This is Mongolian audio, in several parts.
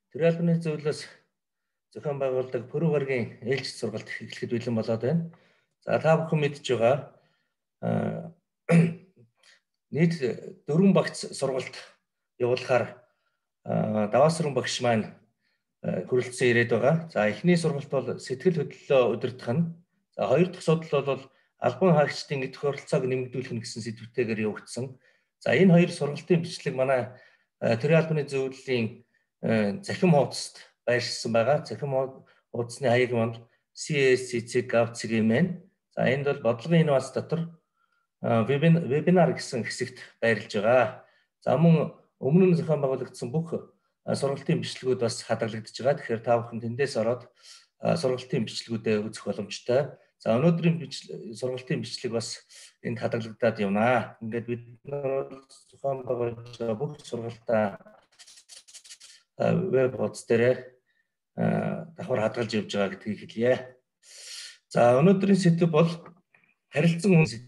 Тэр албаны зөвлөлөөс зохион байгуулдаг Пүрэв гарагийн ээлжид сургалт эхлэхэд бэлэн болоод байна. За та бүхэн мэдж байгаа нийт 4 багц сургалт явуулахаар даваасран багш маань хүрэлцэн ирээд байгаа. За эхний сургалт бол сэтгэл хөдлөлөө удирдах нь. За хоёр дахь судал бол албан хаагчдын идэх оролцоог нэмэгдүүлэх нь гэсэн сэдвтэйгээр явагдсан. За энэ хоёр сургалтын бичлэг манай төрийн албаны зөвлөлийн захим хуудасд байршсан байгаа. Захим хуудасны хаяг маань CSCC.gov.cg-ийн. За энд бол бодлогын инновац дотор вебинар гэсэн хэсэгт байрлаж байгаа. За мөн өмнө нь зохион байгуулагдсан бүх сургалтын бичлэгүүд бас хадгалагдаж байгаа. Тэгэхээр та бүхэн тэндээс ороод сургалтын бичлэгүүдээ үзэх боломжтой. За өнөөдрийн сургалтын бичлэг бас энд хадгалагдаад явнаа. Ингээд бид зохион байгуулж байгаа бүх сургалтаа веб хуудас дээр давхар хадгалж явж байгаа гэдгийг хэлье. За өнөөдрийн сэдэв бол харилцан хүн сэдэв.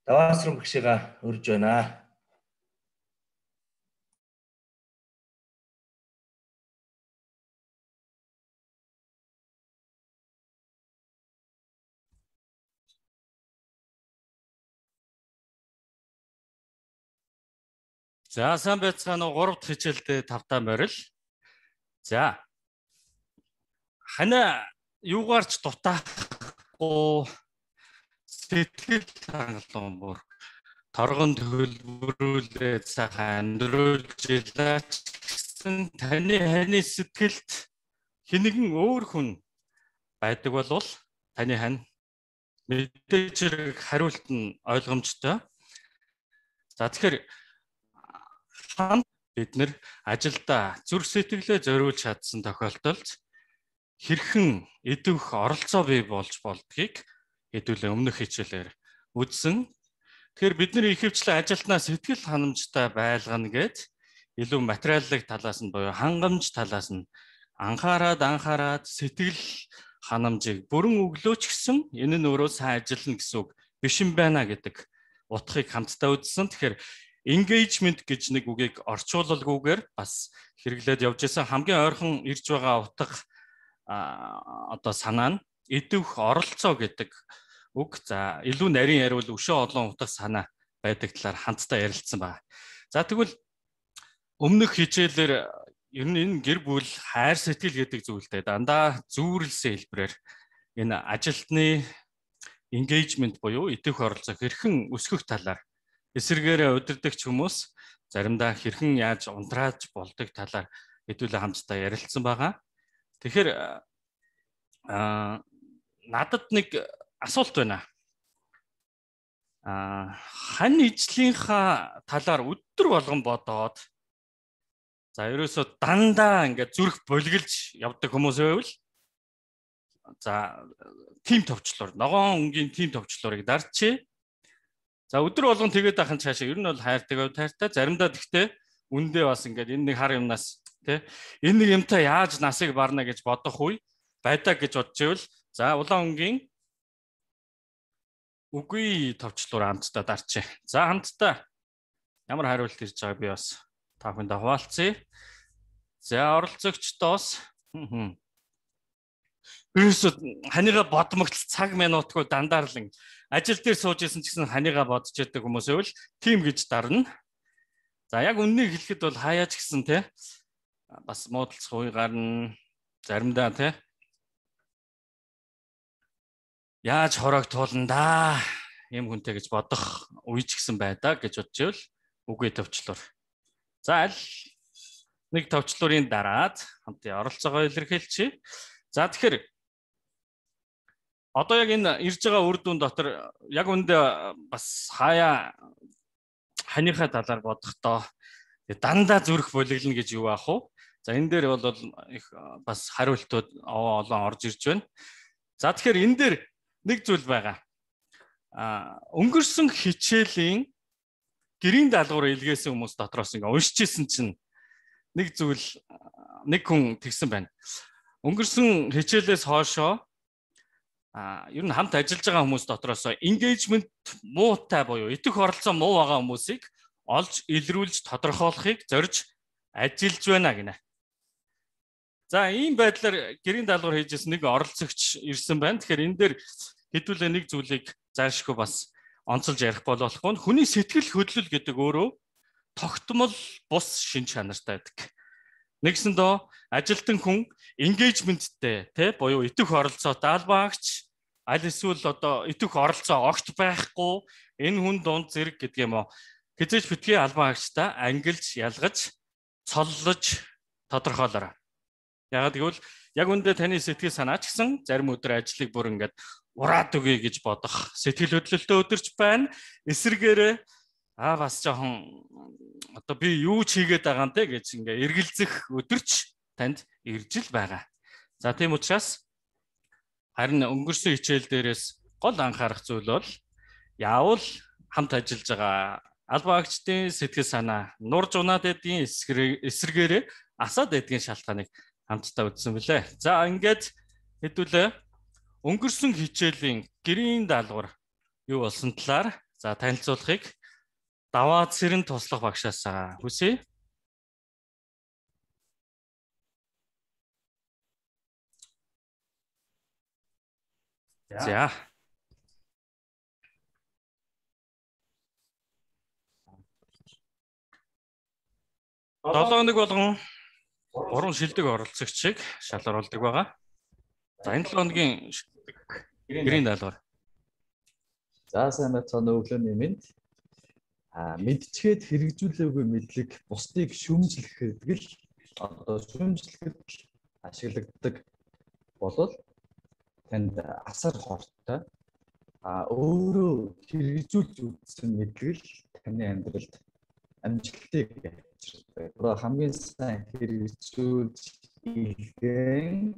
Даваасран багшигаа урьж байна. За сайн байцгаана уу 3 дахь хичээлдээ тавтаа морил. За хана юугаарч дутаахгүй сэтгэл хангалуун бүр торгон төлбөрүүлээ цаахан амьдруулж илаач гэсэн таны сэтгэлд хинэгэн өөр хүн байдаг болвол таны хань мэдээж хэрэг хариулт нь ойлгомжтой. За тэгэхээр бид нэр ажилдаа зүрх сэтгэлээ зориулж чадсан тохиолдолд хэрхэн идэвх оролцоо бий болж болдгийг хэдүүлээ өмнөх хичээлээр үзсэн. Тэгэхээр бид нар ихэвчлэн ажилтнаа сэтгэл ханамжтай байлгана гэж илүү материаллык талаас нь буюу хангамж талаас нь анхаарад сэтгэл ханамжийг бүрэн өглөөч гэсэн энэ нь өөрөө сайн ажиллана гэсэн үг биш юм байна гэдэг утгыг хамтдаа үзсэн. Тэгэхээр engagement гэж нэг үгийг орчуулалгүйгээр бас хэрэглээд явж исэн хамгийн ойрхон ирж байгаа утга одоо санаа нь идэвх оролцоо гэдэг үг. За илүү нарийн яриул өшөө олон утга санаа байдаг талаар хамтдаа ярилцсан байна. За тэгвэл өмнөх хичээлээр ер нь энэ гэр бүл хайр сэтгэл гэдэг зүйлтэй дандаа зүүрлсэн хэлбэрээр энэ ажилтны engagement буюу идэвх оролцоо хэрхэн өсгөх талаар эсэргээрээ удирдагч хүмүүс заримдаа хэрхэн яаж унтрааж болдог талаар хэдүүлээ хамтдаа ярилцсан байгаа. Тэгэхээр надад нэг асуулт байна. Хань ижлийнхаа талаар өдөр болгон бодоод за ерөөсөө дандаа ингээд зүрх болгилж явдаг хүмүүс байвал за тим товчлуур ногоон өнгийн тим товчлуурыг дарчээ. За өдөр болгон тэгээд ахын цаашаа ер нь бол хайртай заримдаа тэгтээ үндэ бас ингээд энэ нэг хар юмнаас тий энэ нэг юмтай яаж насыг барна гэж бодох үе байдаа гэж бодож ивэл за улаан өнгийн үгүй товчлуур хамтдаа дарчээ. За хамтдаа ямар хариулт ирж байгааг би бас та бүхэнд хуваалцъя. За оролцогчдоос ерөөсөө ханига бодмогц цаг минутгүй дандаарлан ажил дээр сууж исэн ч гэсэн ханига бодож яддаг хүмүүс байвал тим гэж дарна. За яг үннийг хэлэхэд бол хаяач гэсэн те бас муудалцах үе гарна. Заримдаа те яаж хороог туулна да юм хүнтэй гэж бодох үе ч гэсэн байдаа гэж бодож ивэл үгүй товчлуур. За аль нэг товчлуурын дараад хамтын оролцоогоо илэрхийлчихье. За тэгэхээр одоо яг энэ ирж байгаа үр дүн дотор яг үндэ бас хаяа ханыхаа талаар бодохдоо дандаа зүрх болиглно гэж юу аах вэ? За энэ дээр бол их бас хариултууд олон орж ирж байна. За тэгэхээр энэ дээр нэг зүйл байгаа. Өнгөрсөн хичээлийн гэрийн даалгавар илгээсэн хүмүүс дотроос ингээ уншижсэн чинь нэг зүйл нэг хүн тэгсэн байна. Өнгөрсөн хичээлээс хоошоо ер нь хамт ажиллаж байгаа хүмүүс дотроос engagement муутай буюу идэх оролцоо муу байгаа хүмүүсийг олж илрүүлж тодорхойлохыг зорж ажиллаж байна гинэ. За ийм байдлаар гэрийн даалгавар хийжсэн нэг оролцогч ирсэн байна. Тэгэхээр энэ дээр хэдүүлээ нэг зүйлийг заашгүй бас онцолж ярих болохгүй. Хүний сэтгэл хөдлөл гэдэг өөрөө тогтмол бус шин чанартай байдаг. Нэгсэндөө ажилтан хүн engagement-тэй тий буюу идэх оролцоотой албаагч аль эсвэл одоо идэх оролцоо огт байхгүй энэ хүн дунд зэрэг гэдэг юм уу хизээж битгий албаагчтай ангилж ялгаж цоллож тодорхойлоорой. Ягаад гэвэл яг үндэ таны сэтгэл санаа ч гэсэн зарим өдөр ажлыг бүр ингээд ураад өгье гэж бодох сэтгэл хөдлөлтөө өдөрч байна. Эсвэргээрээ бас жоохон одоо би юу ч хийгээд байгаа юм те гэж ингээ эргэлзэх өдөрч танд ирж л байгаа. За тийм учраас харин өнгөрсөн хичээл дээрээс гол анхаарах зүйл бол яавал хамт ажиллаж байгаа албаагчдын сэтгэл санаа нурж унаад байдгийн эсрэгээрээ асаад байдгийн шалтгааныг хамтдаа үзсэн билээ. За ингээд хэдүүлээ өнгөрсөн хичээлийн гэрийн даалгавар юу болсон талаар за танилцуулахыг Даваа Цэрэн туслах багшаас хүсье. За. Долооног болгон 3 шилдэг оролцогчийг шалгаруулдаг байгаа. За энэ 7 хоногийн гэрийн даалгавар. За сайн байцгаана өглөөний мэнд. Мэдчихэд хэрэгжүүлээгүй мэдлэг бусдыг шүүмжлэхэд л одоо шүүмжлэхэд ашигладаг болол танд асар хортой. Өөрөө хэрэгжүүлж үзсэн мэдлэг л таны амьдралд амжилтыг авчирдаг. Одоо хамгийн сайн хэрэгжүүлж илгээн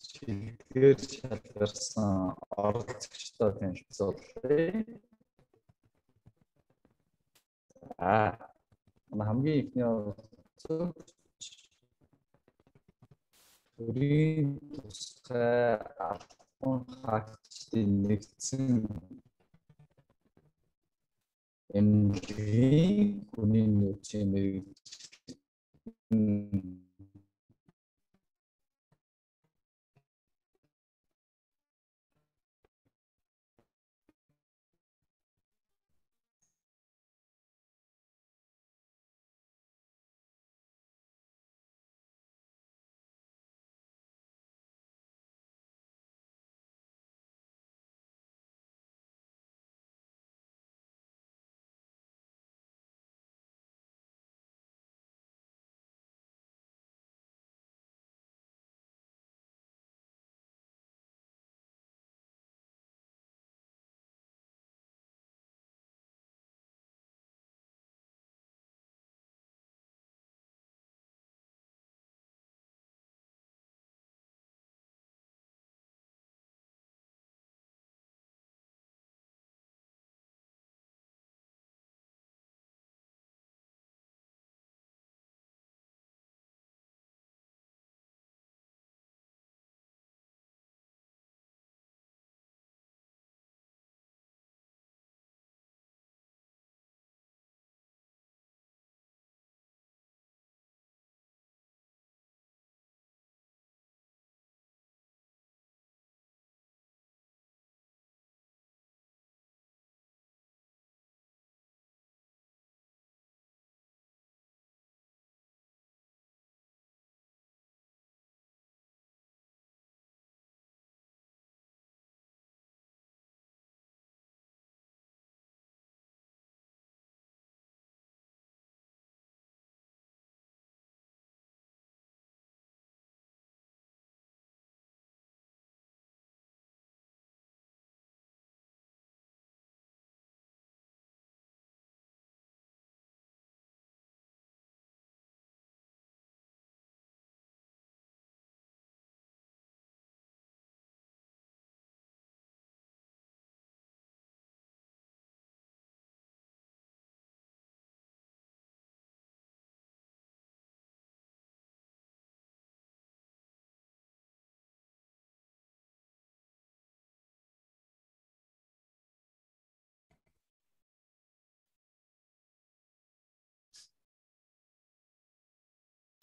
шилдгээр шалгарсан оролцогчтой танилцуулъя. Хамгийн ихний оролцогч төрийн тусгай албан хаагчдын нэгдсэн эмнэлгийн хүний нөөцийн мэргэжил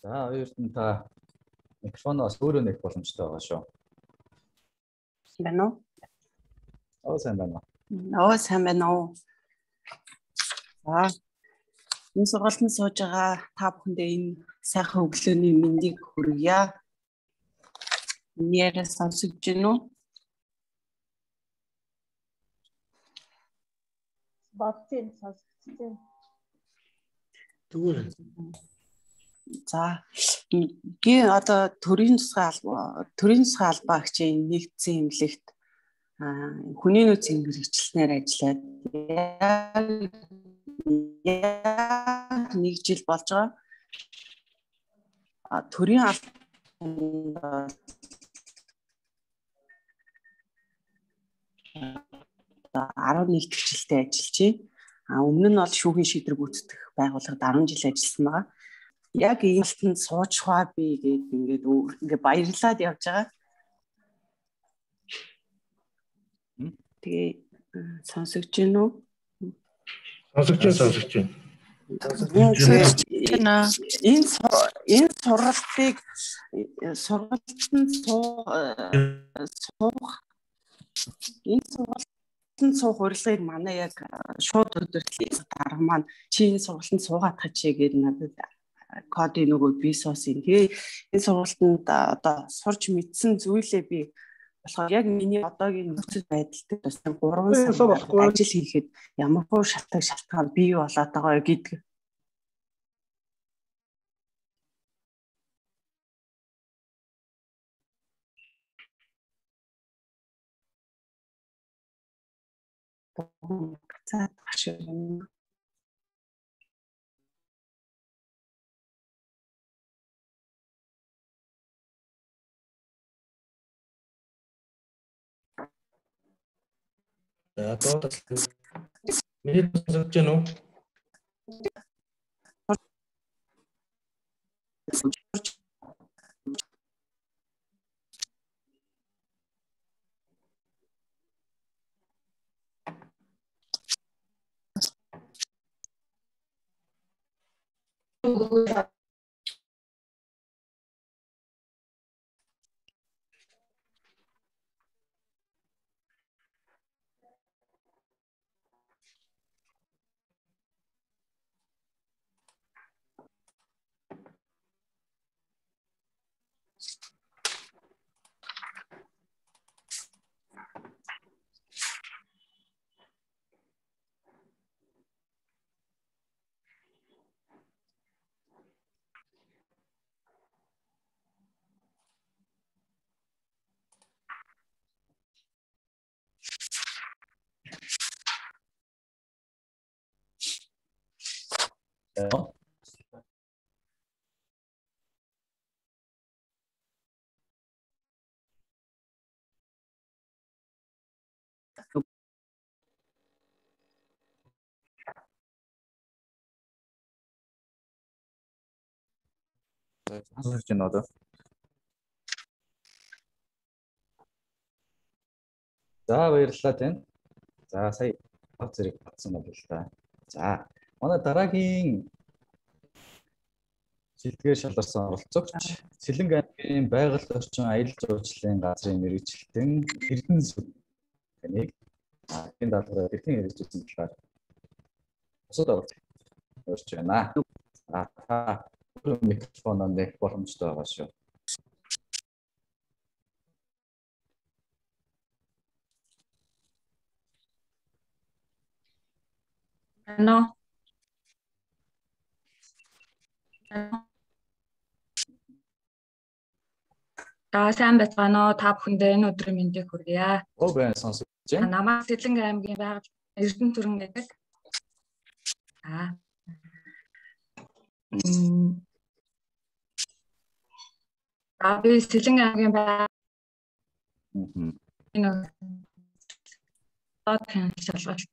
За хоёрт нь та микрофоноос өөрөө нэх боломжтой байгаа шүү. Байна уу? Сайн байна. Сайн байна уу? За энэ сургалтанд сууж байгаа та бүхэндээ энэ сайхан өглөөний мэндийг хүргье. Нэрээ сонсож байна уу? Бодсон сонсогдсон. Тэгвэл За би одоо төрийн засгийн албаа хичээний нэгдсэн эмнэлэгт хүний нөөцийн мэргэжилтнээр ажиллаад яг 1 жил болж байгаа. Төрийн албанд 11 дэх жилдээ ажиллаж байна. Өмнө нь бол шүүхийн шийдвэр гүйцэтгэх байгууллагад 10 жил ажилласан байгаа. Яг ийм талтанд суучхаа би ингээд баярлаад явж байгаа. Тэгээ сонсогч гин үү? сонсогч байна. Энэ сургалтыг сургалтанд суух урилгыг манай яг шууд өдөртлөлийн дарга маань чи энэ сургалтанд суугаад хачээ гэж надад кодын нөгөө би суусан. Тэгээ энэ сургалтанд одоо сурч мэдсэн зүйлээ би болохоор яг миний одоогийн нөхцөл байдалтай бас 3 сар ажил хийхэд ямар хөө шалтгаан бий болоод байгаа гэдэг. За одоо миний сонсогч байна уу? Сонсогч байна одоо. За баярлалаа тань. За сая баг зэрэг батсан байна л да. За манай дараагийн шилдгээр шалгарсан оролцогч Сэлэнг аймгийн байгаль орчин аялал жуулчлалын газрын мэргэжилтэн Эрдэнэ сүд таныг энэ даалгавраар хэрхэн хэрэгжүүлсэн талаар бусад оролцогч өрч байна. Та микрофоноо нэх боломжтой байгаа шүү. Ano. Сайн байцгаана уу? Та бүхэндээ энэ өдрийн мэндийг хүргье. Байна сонсогч байна. Намайг Сэлэнг аймгийн байгаль Эрдэнэ түрэн гэдэг. Би Сэлэнг аймгийн байгаль энэ шалгалт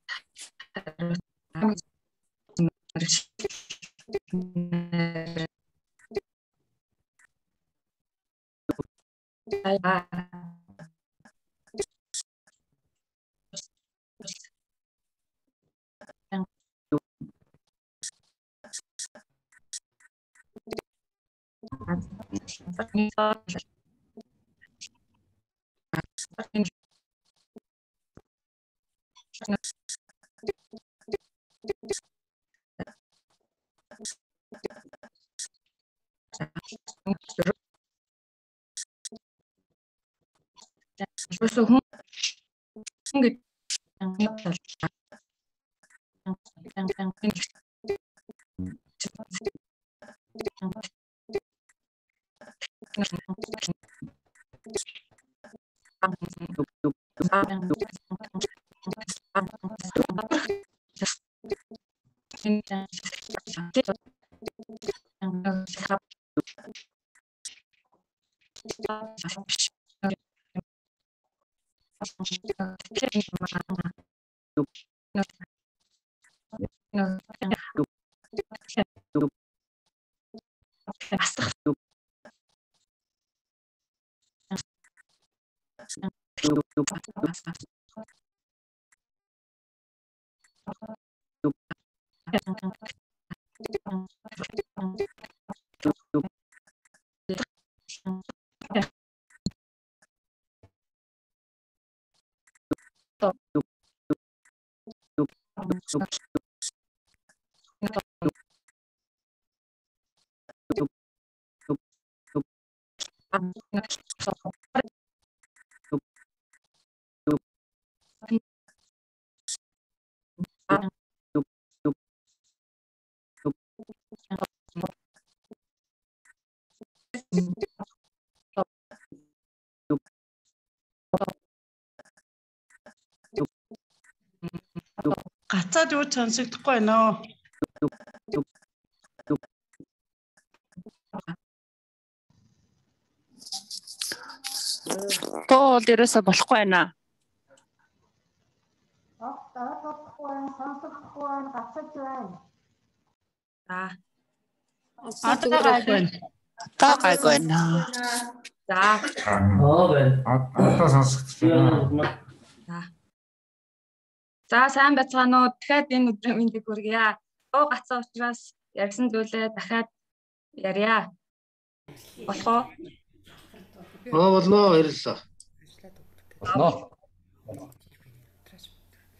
Гацаад юу сонсогдохгүй байна оо. Тоо дээрээс болохгүй байна. Одоо гайгүй байна. Таа гайгүй байна. За. Одоо сонсогдож байна. За сайн байцгаана уу. Дахиад энэ өдрийн мэндийг хүргье. Дуу гацсан учраас ярьсан зүйлээ дахиад ярья. Болох уу? Болно баярлалаа. Болно.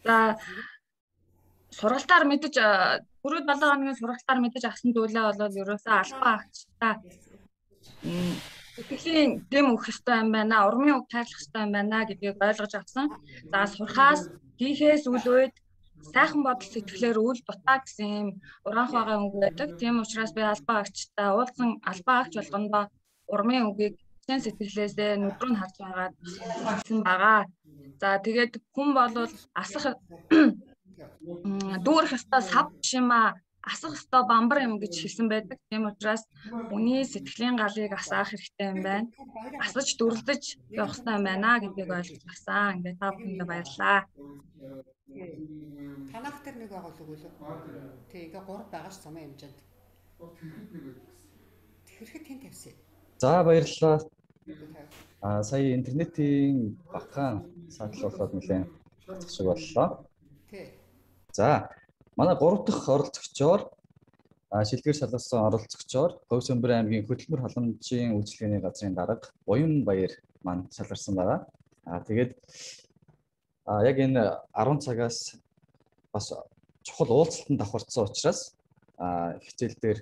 За сургалтаар мэдэж түрүүд 7 хоногийн сургалтаар мэдэж авсан зүйлээ бол ерөөсөө албан агчтай сэтгэлийн дэм өгөх ёстой юм байна. Урмын үг тайлах ёстой юм байна гэдгийг ойлгож авсан. За сурхаас хийхээс үл үед сайхан бодол сэтгэлээр үл дутаа гэсэн юм уранх байгаа үг байдаг. Тийм учраас би албан агчтай уулзсан албан агч болгондоо урмын үгийг хэн сэтгэлээсээ нүдрүү нь харж байгаа гэсэн байгаа. За тэгээд хүн бол асах дүүрэх ёстой сав шима асах ёстой бамбар юм гэж хэлсэн байдаг. Тийм учраас үний сэтгэлийн галыг асаах хэрэгтэй юм байна. Асаж дүрлэж явах ёстой юм байна гэдгийг ойлгож авсан. Ингээд та бүхэндээ баярлалаа. Танах тэр нэг байгаа л үгүй л. Тэг ингээ 3 байгаа ш замын хэмжээнд. Тэгэхэд тэн тавьсан. За баярлалаа. Сая интернетийн багахан саатал болоод нэлээд шиг боллоо. Тий. За манай 3 дахь оролцогчоор шилдэгэр шалгасан оролцогчоор Говь Сөмбөр аймгийн хөдөлмөр халамжийн үйлчилгээний газрын дарга Буян Баяр маань шалгарсан байгаа. Тэгээд яг энэ 10 цагаас бас чухал уулзалтанд давхарцсан учраас хичээл дээр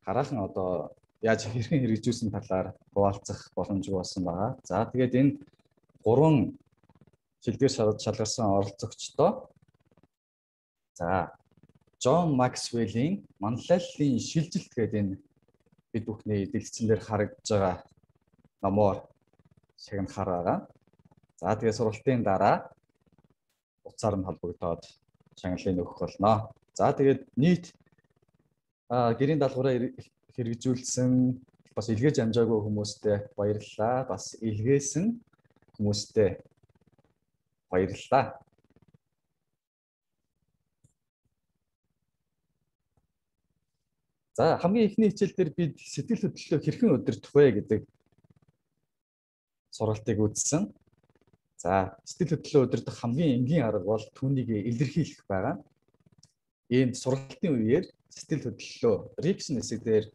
хараахан одоо яаж хэрхэн хэрэгжүүлсэн талаар хуваалцах боломжгүй болсон байгаа. За тэгээд энэ 3 шилдэгэр шалгарсан оролцогчдоо за Джон Максвеллийн манлайллын шилжилт гэдэг энэ бид бүхний дэлгэцэн дээр харагдж байгаа номоор шагнахаар байгаа. За тэгээд сургалтын дараа утсаар нь холбогдоод шагналыг өгөх болно. За тэгээд нийт гэрийн даалгавраа хэрэгжүүлсэн бас илгээж амжаагүй хүмүүстээ баярлалаа. Бас илгээсэн хүмүүстээ баярлалаа. За хамгийн эхний хичээл дээр бид сэтгэл хөдлөлөө хэрхэн удирдах вэ гэдэг сургалтыг үзсэн. За сэтгэл хөдлөлөө удирдах хамгийн энгийн арга бол түүнийг илэрхийлэх байгаа. Ийм сургалтын үеэр сэтгэл хөдлөлөө рефлекшн хэсэг дээр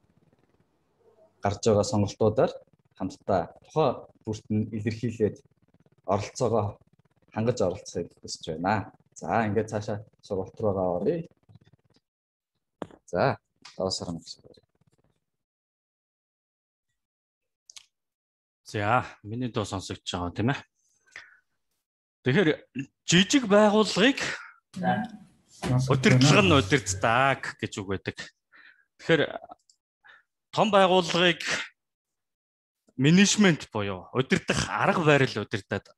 гарч байгаа сонголтуудаар хамтдаа тухайн бүрт нь илэрхийлээд оролцоогоо хангаж оролцохыг хүсэж байна. За ингээд цаашаа сургалт руугаа оръё. За даваас харна гэж байна. За миний дуу сонсогдож байгаа тийм ээ. Тэгэхээр жижиг байгууллагыг удирдлага нь удирддаг гэж үг байдаг. Тэгэхээр том байгууллагыг менежмент буюу удирдах арга барил удирдаад.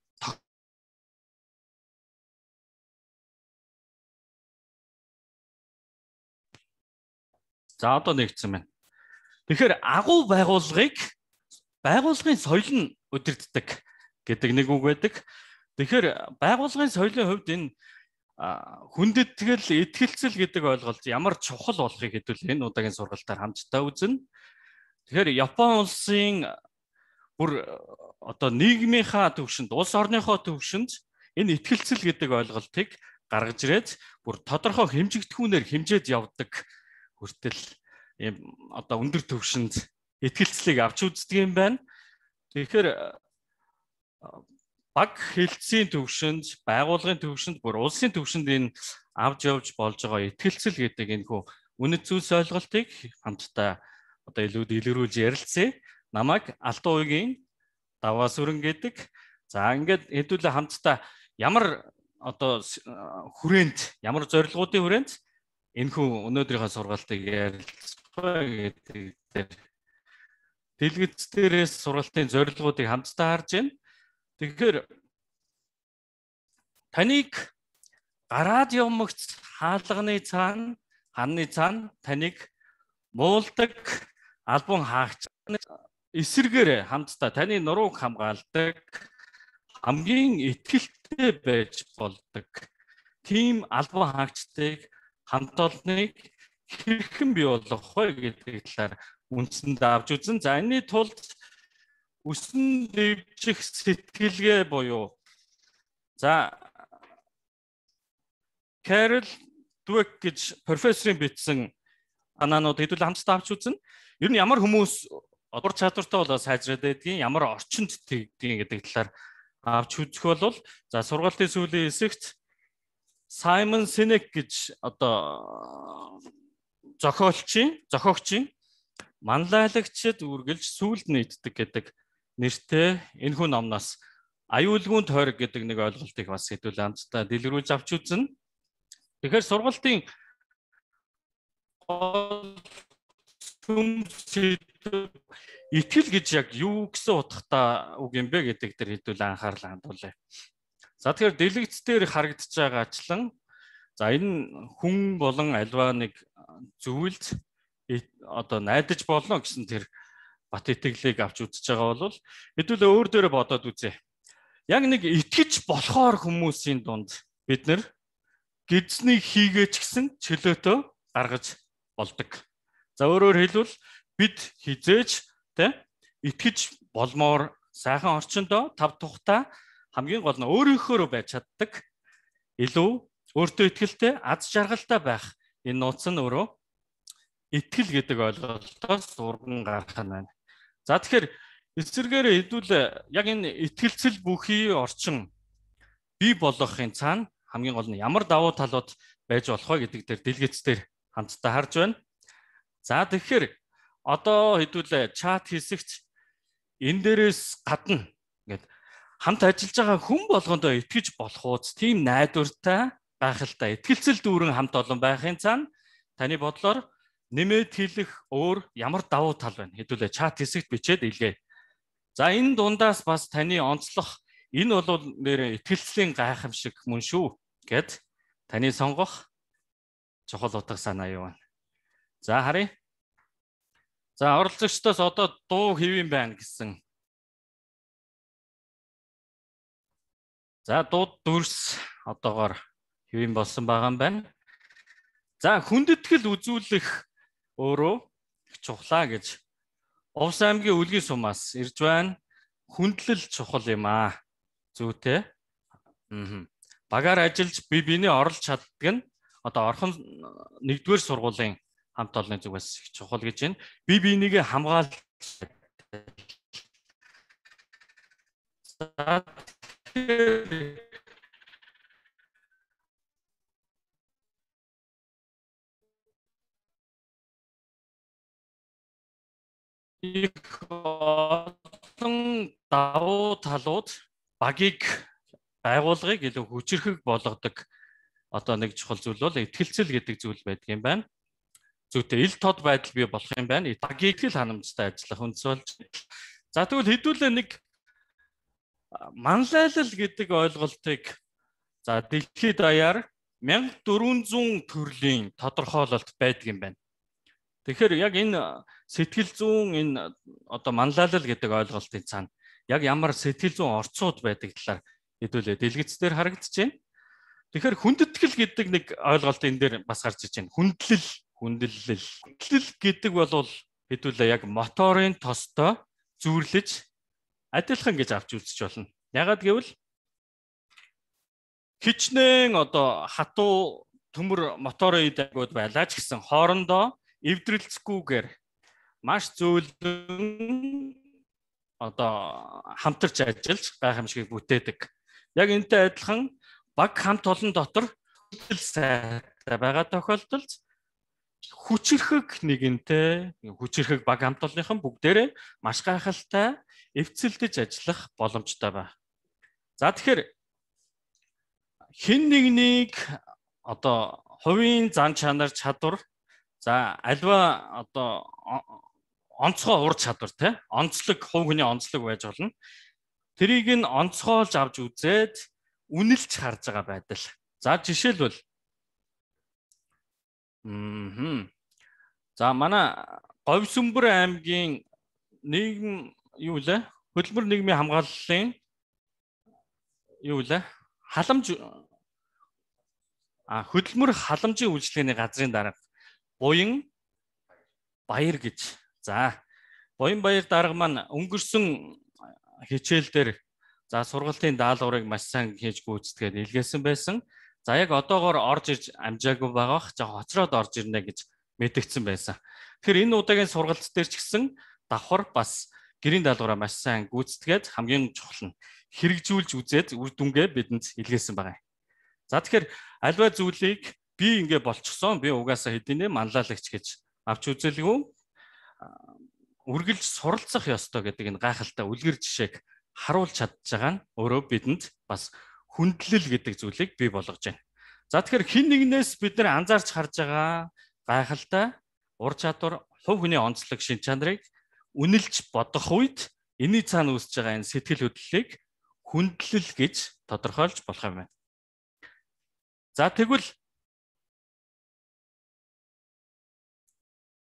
За одоо нэгдсэн байна. Тэгэхээр агуу байгууллагын соёл нь удирддаг гэдэг нэг үг байдаг. Тэгэхээр байгууллагын соёлын хувьд энэ хүндэтгэл, итгэлцэл гэдэг ойлголт ямар чухал болохыг хэдүүл энэ удаагийн сургалтаар хамтдаа үзнэ. Тэгэхээр Япон улсын бүр одоо нийгмийнхаа төвшөнд, улс орныхоо төвшөнд энэ итгэлцэл гэдэг ойлголтыг гаргаж ирээд бүр тодорхой хэмжигдэхүүнээр хэмжээд явдаг хүртэл ийм одоо өндөр төвшөнд итгэлцлийг авч үздэг юм байна. Тэгэхээр баг хэлтсийн төвшөнд, байгууллагын төвшөнд, бүр улсын төвшөнд энэ авч явж болж байгаа итгэлцэл гэдэг энэ хүү үнэт зүйлс ойлголтыг хамтдаа одоо илрүүлж ярилцъя. Намайг Алтан уугийн даваа сүрэн гэдэг. За ингээд хэдүүлээ хамтдаа ямар одоо хүрээнд, ямар зорилгоодын хүрээнд энэ хүү өнөөдрийнхөө сургалтыг ярилцах гэдэг дэлгэц дээрээс сургалтын зорилгоодыг хамтдаа харж байна. Тэгэхээр таныг гараад явмагц хаалганы цаана, ханны цаана таныг муулдаг албан хаагч эсэргээр хамтдаа таны нурууг хамгаалдаг, хамгийн итгэлтэй байж болдог тийм албан хаагчдыг хамт олныг хэрхэн бий болгох вэ гэдэг талаар үндсэнд авч үзэн. За энэний тулд үсэн дэвжих сэтгэлгээ буюу за Carol Dweck гэж профессорын бичсэн анаанууд хэдүүл хамтдаа авч үзнэ. Ер нь ямар хүмүүс ур чадвартай болоо сайжраад байдгийг, ямар орчинд тэгдгийг гэдэг талаар авч үзэх бол за сургалтын сүүлийн хэсэгт Simon Sinek гэж одоо зохиогчийн манлайлагчид үргэлж сүүлд нийтдэг гэдэг нэртэй энэхүү номноос аюулгүй тойрог гэдэг нэг ойлголтыг бас хэдүүл хамтдаа дэлгэрүүлж авч үзнэ. Тэгэхээр сургалтын итгэл гэж яг юу гэсэн утгатай үг юм бэ гэдэг дээр хэдүүл анхаарал хандуулъя. За тэгэхээр дэлгэц дээр харагдаж байгаачлан за энэ хүн болон альва нэг зүйлд одоо найдаж болно гэсэн тэр бат итгэлийг авч үзэж байгаа бол хэдүүлээ өөр дээрээ бодоод үзье. Яг нэг итгэж болохоор хүмүүсийн дунд бид нэр гидснийг хийгээч гэсэн чөлөөтөө гаргаж болдог. За өөрөөр хэлбэл бид хизээж итгэж болмоор сайхан орчиндөө тав тухта хамгийн гол нь өөрийнхөө байж чаддаг илүү өөртөө итгэлтэй аз жаргалтай байх энэ нууц нь өөрөө итгэл гэдэг ойлголтоос урган гарах нь байна. За тэгэхээр эсвэргээр хэдүүлээ яг энэ итгэлцэл бүхий орчин бий болгохын цаана хамгийн гол нь ямар давуу талууд байж болох вэ гэдэг дээр дэлгэцээр хамтдаа харж байна. За тэгэхээр одоо хэдүүлээ чат хэсэгт энэ дээрээс гадна ингээд хамт ажиллаж байгаа хүн болгондоо итгэж болох ууц тийм найдвартай байх л та. Итгэлцэл дүүрэн хамт олон байхын цаана таны бодлоор нэмээд хэлэх өөр ямар давуу тал байна? Хэдүүлээ чат хэсэгт бичээд илгээе. За энэ дундаас бас таны онцлох энэ бол нэр итгэлцлийн гайхамшиг мөн шүү гэд таны сонгох чухал утга санаа юу вэ? За харъя. За оролцогчдоос одоо дуу хэвэн байна гэсэн. За дууд дүрс одоогоор хэвэн болсон байгаа юм байна. За хүндэтгэл үзүүлэх өөрөө чухлаа гэж Увс аймгийн үлгийн сумаас ирж байна. Хүндлэл чухал юм аа. Зүйтэй. Багаар ажиллаж бие биенээ орлож чаддаг нь одоо орхон 1-р сургуулийн хамт олонны зүгээс их чухал гэж байна. Бие биенийгээ хамгаалж За их олон давуу талууд багийг байгууллагыг илүү хүчрхэг болгодог одоо нэг чухал зүйл бол итгэлцэл гэдэг зүйл байдаг юм байна. Зүйтэй ил тод байдал бий болох юм байна. Багийг л ханамжтай ажиллах үндэс болж. За тэгвэл хэдүүлээ нэг манлайлал гэдэг ойлголтыг за дэлхийд даяар 1400 төрлийн тодорхойлолт байдаг юм байна. Тэгэхээр яг энэ сэтгэл зүйн энэ одоо манлайлал гэдэг ойлголтын цаана яг ямар сэтгэл зүйн орцууд байдаг талаар хэдүүлээ дэлгэцээр харагдаж байна. Тэгэхээр хүндэтгэл гэдэг нэг ойлголт энэ дээр бас гарч иж байна. Хүндлэл гэдэг бол хэдүүлээ яг моторын тостой зүйрлэж адилхан гэж авч үзэж болно. Ягаад гэвэл хичнээн одоо хатуу төмөр моторын идэгүүд байлаа ч гэсэн хоорондоо эвдрэлцгүйгээр маш зөөлөн одоо хамтарч ажиллаж гайхамшигыг бүтээдэг. Яг энэтэй адилхан баг хамт олон дотор сайтай байгаа тохиолдолд хүчрхэг нэгэнтэй хүчрхэг баг хамт олонныхан бүгдээрээ маш гайхалтай эвцэлдэж ажиллах боломжтой байна. За тэгэхээр хэн нэгнийг одоо хувийн зан чанар чадвар за альва одоо онцгой ур чадвар те онцлог хувь хүний онцлог байж болно. Тэрийг нь онцгойлж авч үзээд үнэлж харж байгаа байдал. За жишээлбэл за манай Говьсүмбэр аймгийн нийгэм юу лээ? Хөдөлмөр нийгмийн хамгааллын юу лээ? Хөдөлмөр халамжийн үйлчилгээний газрын дарга Буян Баяр гэж. За Буян Баяр дарга маань өнгөрсөн хичээлдэр за сургалтын даалгаврыг маш сайн хийж гүйцэтгээд илгээсэн байсан. За яг одоогоор орж ирж амжаагүй байгаах жоо хоцроод орж ирнэ гэж мэдгдсэн байсан. Тэгэхээр энэ удаагийн сургалт дээр ч гэсэн давхар бас гэрийн даалгавраа маш сайн гүйцэтгээд хамгийн чухал нь хэрэгжүүлж үзээд үр дүнгээ бидэнд илгээсэн байгаа. За тэгэхээр альва зүйлийг би ингэ болчихсон би угаасаа хэдийнэ манлайлагч гэж авч үзэлгүй үргэлж суралцах ёстой гэдэг энэ гайхалтай үлгэр жишээг харуулж чадж байгаа нь өөрөө бидэнд бас хүндлэл гэдэг зүйлийг бий болгож байна. За тэгэхээр хэн нэгнээс бид нар анзаарч харж байгаа гайхалтай ур чадвар, хувь хүний онцлог шин чанарыг үнэлж бодох үед энэний цаана үүсэж байгаа энэ сэтгэл хөдлөлийг хүндлэл гэж тодорхойлж болох юм байна. За тэгвэл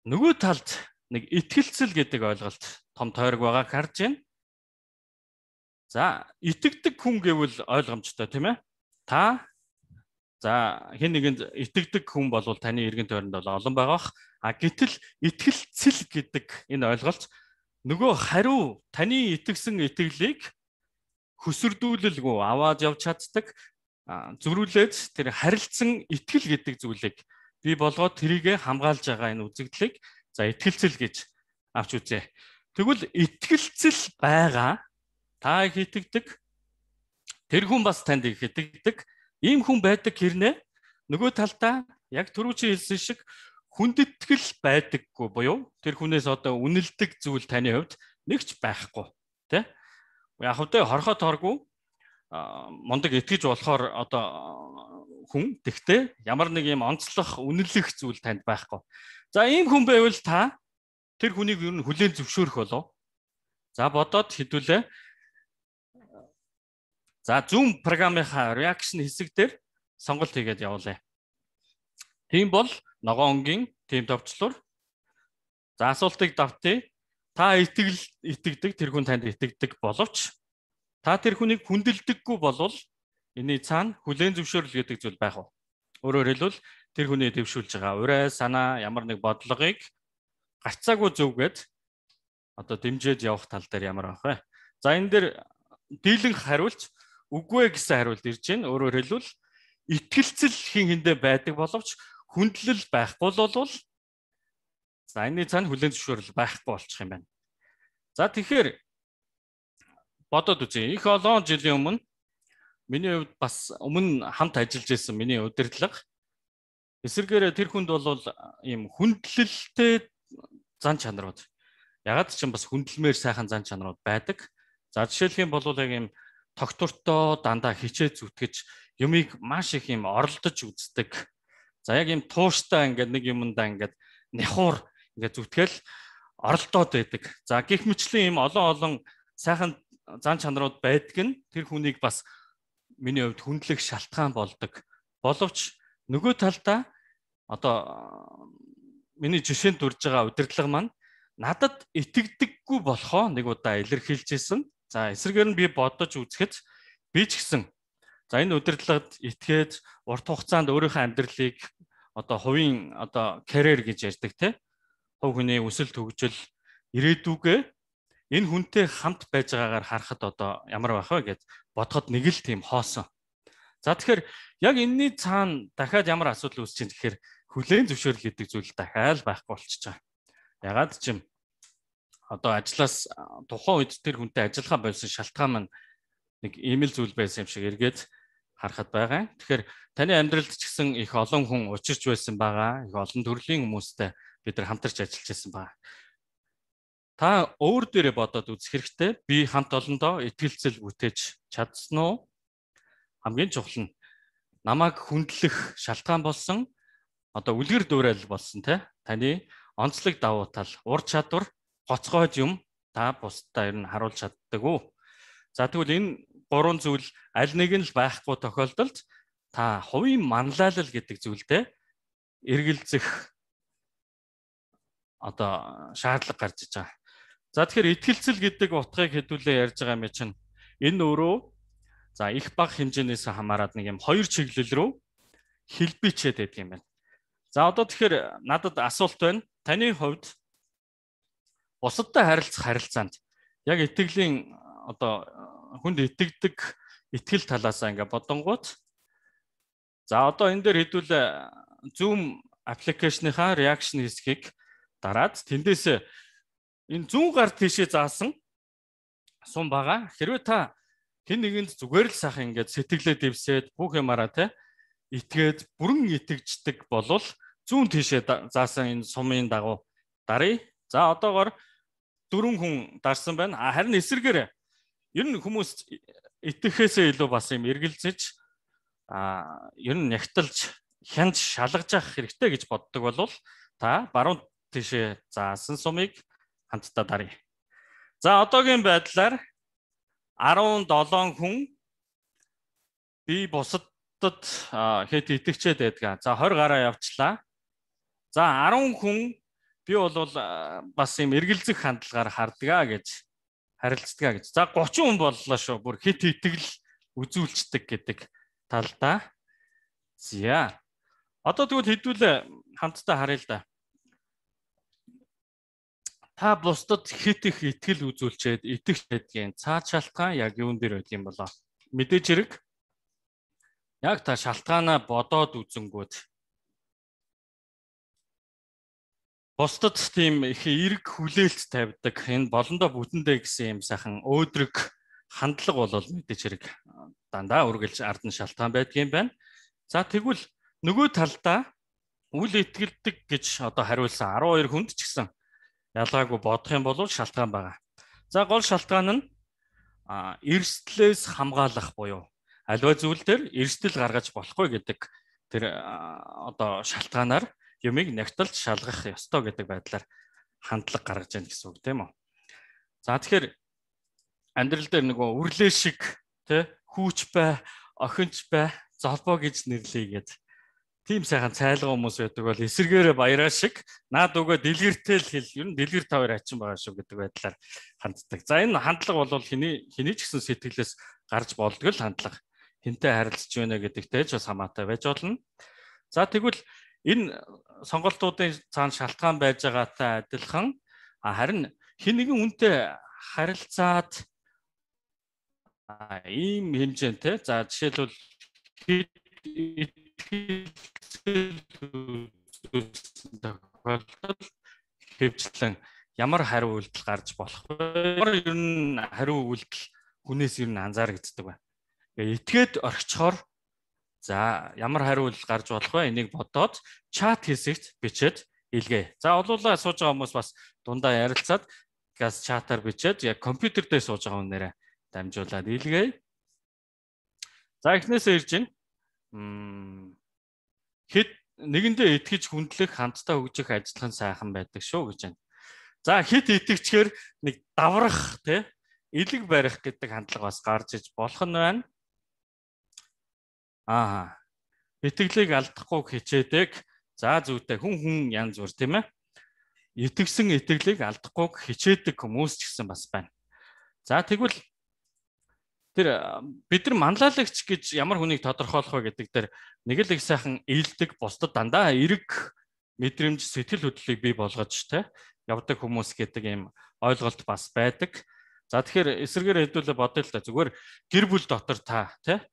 нөгөө талд нэг итгэлцэл гэдэг ойлголт том тойрог байгааг харж байна. За итгэдэг хүн гэвэл ойлгомжтой тийм ээ. Та за хэн нэгэнд итгэдэг хүн бол таны эргэн тойронд бол олон байгаах. Гэтэл итгэлцэл гэдэг энэ ойлголт нөгөө хариу таны итгэсэн итгэлийг хөсөрдүүлэлгүй аваад явж чаддаг зөрүүлээд тэр харилцсан итгэл гэдэг зүйлийг бий болгоод тэрийг хамгаалж байгаа энэ үзэгдлийг за итгэлцэл гэж авч үзье. Тэгвэл итгэлцэл байгаа та их итгэдэг тэр хүн бас танд их итгэдэг ийм хүн байдаг хэрнээ нөгөө талдаа яг түрүүчийн хэлсэн шиг хүндэтгэл байдаггүй буюу тэр хүнээс одоо үнэлдэг зүйл таны хувьд нэгч байхгүй тий. Яг хөдөө хорхот хоргүй мундаг итгэж болохоор одоо хүн тэгтээ ямар нэг юм онцлох үнэлэх зүйл танд байхгүй. За ийм хүн байвал та тэр хүнийг ер нь хүлээн зөвшөөрөх болов. За бодоод хэдүүлээ. За Zoom програмынхаа reaction хэсэг дээр сонголт хийгээд явуулъя. Тийм бол ногоонгийн тим товчлуур. За асуултыг давтъя. Та итгэдэг тэр хүн танд итгэдэг боловч та тэр хүнийг хүндэлдэггүй болвол энэний цаана хүлээн зөвшөөрөл гэдэг зүйл байх уу? Өөрөөр хэлбэл тэр хүний дэвшүүлж байгаа урай санаа ямар нэг бодлогыг гарцаагүй зөвгээд одоо дэмжиж явах тал дээр ямар байх вэ? За энэ дээр дийлэнх хариулж үгүй гэсэн хариулт ирж байна. Өөрөөр хэлбэл итгэлцэл хин хэндэ байдаг боловч хүндлэл байхгүй болвол за энэний цаана хүлээн зөвшөөрөл байхгүй болчих юм байна. За тэгэхээр бодоод үзье. Их олон жилийн өмнө миний хувьд бас өмнө хамт ажиллаж байсан миний удирдлага эсвэргээр тэр хүнд бол ийм хүндлэлтэй зан чанарууд. Ягаад ч юм бас хүндлэмээр сайхан зан чанарууд байдаг. За жишээлх юм бол яг ийм тогтвортой дандаа хичээ зүтгэж юмыг маш их ийм оролдож үздэг. За яг ийм тууштай ингээд нэг юмдаа ингээд нэхуур ингээд зүтгэл оролдоод байдаг. За гэх мэтлэн ийм олон сайхан зан чанарууд байдаг нь тэр хүнийг бас миний хувьд хүндлэх шалтгаан болдог. Боловч нөгөө талдаа одоо миний жишээнд дурж байгаа удирдлага маань надад итгэдэггүй болохоо нэг удаа илэрхийлжсэн. За эсрэгээр нь би бодож үзэхэд би ч гэсэн за энэ удирдлагад итгээд урт хугацаанд өөрийнхөө амьдралыг одоо хувийн одоо карьер гэж ярьдаг те. Хувь хүний өсөл төгжил ирээдүгээ энэ хүнтэй хамт байж байгаагаар харахад одоо ямар байх вэ гэд бодоход нэг л тийм хоосон. За тэгэхээр яг энэний цаана дахиад ямар асуудал үүсэж байна гэхээр хүлээн зөвшөөрөл гэдэг зүйл дахиад байхгүй болчихж байгаа. Ягаад ч юм одоо ажлаас тухайн үед тэр хүнтэй ажиллахаа болсон шалтгаан маань нэг ийм л зүйл байсан юм шиг эргээд харахад байгаа. Тэгэхээр таны амьдралд ч гэсэн их олон хүн учирч байсан байгаа. Их олон төрлийн хүмүүстэй бид нар хамтарч ажиллаж байсан байгаа. Та өөр дээрээ бодоод үзэх хэрэгтэй. Би хамт олондоо итгэлцэл бүтээж чадсан уу? Хамгийн чухал нь намайг хүндлэх шалтгаан болсон одоо үлгэр дуурайл болсон те. Таны онцлог давуу тал, ур чадвар, гоцгойд юм та бусдаа ер нь харуулж чаддаг уу? За тэгвэл энэ гурван зүйл аль нэг нь л байхгүй тохиолдолд та хувийн манлайлал гэдэг зүйлдээ эргэлзэх одоо шаардлага гарч иж байгаа. За тэгэхээр итгэлцэл гэдэг утгыг хэдүүлээ ярьж байгаа юм чинь энэ өөрөө за их бага хэмжээнээс хамаарат нэг юм хоёр чиглэл рүү хэлбичээд байдаг юм байна. За одоо тэгэхээр надад асуулт байна. Таны хувьд бусадтай харилцах харилцаанд яг итгэлийн одоо хүнд итгэдэг итгэл талаасаа ингээ бодонгууд за одоо энэ дээр хэдүүлээ Zoom аппликейшныхаа реакшн хэсгийг дараад тэндээс энэ зүүн гар тийшээ заасан сум байгаа. Хэрвээ та хэн нэгэнд зүгээр л сайхан ингээд сэтгэлээ дэвсээд бүх юмараа те итгээд бүрэн итгэждэг болвол зүүн тийшээ заасан энэ сумын дагуу даръя. За одоогоор 4 хүн дарсан байна. Харин эсэргээр ер нь хүмүүс итгэхээсээ илүү бас юм эргэлзэж ер нь нягтлж хянж шалгаж авах хэрэгтэй гэж боддог болвол та баруун тийшээ заасан сумыг хамтдаа даръя. За одоогийн байдлаар 17 хүн би бусадад хэд итгэжээд байдаг. За 20 гараа явчлаа. За 10 хүн би бол бас юм эргэлзэх хандлагаар хардгаа гэж харилцдаг гэж. За 30 хүн боллоо шүү. Бүр хит итгэл үзүүлцдэг гэдэг талдаа. За. Одоо тэгвэл хэдүүлээ хамтдаа харъя л да. Та бусдад хит их итгэл үзүүлчихэд итгэх гэдгийн цаад шалтгаан яг юун дээр байд юм болоо. Мэдээж хэрэг яг та шалтгаанаа бодоод үзэнгүүт бусдад тийм их эрг хүлээлт тавьдаг энэ болондоо бүтэндээ гэсэн юм сайхан өөдрөг хандлага бол мэдээж хэрэг дандаа үргэлж ард нь шалтгаан байдгийн байна. За тэгвэл нөгөө талдаа үл итгэлдэг гэж одоо хариулсан 12 хүнд ч гэсэн ялгаагүй бодох юм бол шалтгаан байгаа. За гол шалтгаан нь эрсдлээс хамгаалах буюу аливаа зүйл дээр эрсдэл гаргаж болохгүй гэдэг тэр одоо шалтгаанаар юмыг нягтлж шалгах ёстой гэдэг байдлаар хандлага гаргаж яана гэсэн үг тийм үү. За тэгэхээр амьдрал дээр нөгөө үрлээ шиг тий хүүч бай, охинч бай, золбоо гэж нэрлэе гэдэг тийм сайхан цайлга хүмүүс байдаг бол эсэргээрээ баяраа шиг наад өгөө дэлгэртэй л хэл ер нь дэлгэр тавар ачин байгаа шүү гэдэг байдлаар ханддаг. За энэ хандлага бол хэний ч гэсэн сэтгэлээс гарч болдог л хандлага. Хинтээ харилцаж байна гэдэгтэй ч бас хамаатай байж болно. За тэгвэл энэ сонголтуудын цаана шалтгаан байж байгаатай адилхан харин хэн нэгэн үнтэй харилцаад ийм хэмжээтэй за жишээлбэл хэвчлэн ямар хариу үйлдэл гарч болох вэ? Ер нь хариу үйлдэл хүнээс ер нь анзаарэгддэг байна. Итгээд орхичоор за ямар хариулт гарч болох вэ? Энийг бодоод чат хэсэгт бичээд илгээе. За олуулаа сууж байгаа хүмүүс бас дундаа ярилцаад газ чатаар бичээд яг компьютер дээр сууж байгаа хүнээрээ дамжуулаад илгээе. За эхнээсээ ирж байна. Хэд нэгэндээ итгэж хүндлэх хамтдаа хөгжих ажиллах нь сайхан байдаг шүү гэж байна. За хэд итгэжгээр нэг даврах тий элэг барих гэдэг хандлага бас гарч иж болох нь байна. Итгэлийг алдахгүй хичээдэг. За зүйтэй хүн янз бүр тийм ээ. Итгэсэн итгэлийг алдахгүй хичээдэг хүмүүс ч гэсэн бас байна. За тэгвэл тэр бид нар манлайлагч гэж ямар хүнийг тодорхойлох вэ гэдэг дээр нэг л их сайхан ээлдэг бусдад дандаа эрг мэдрэмж сэтгэл хөдлөлийг бий болгож те явдаг хүмүүс гэдэг ийм ойлголт бас байдаг. За тэгэхээр эсрэгээр хэдүүлээ бодъё л да. Зүгээр гэр бүл дотор та те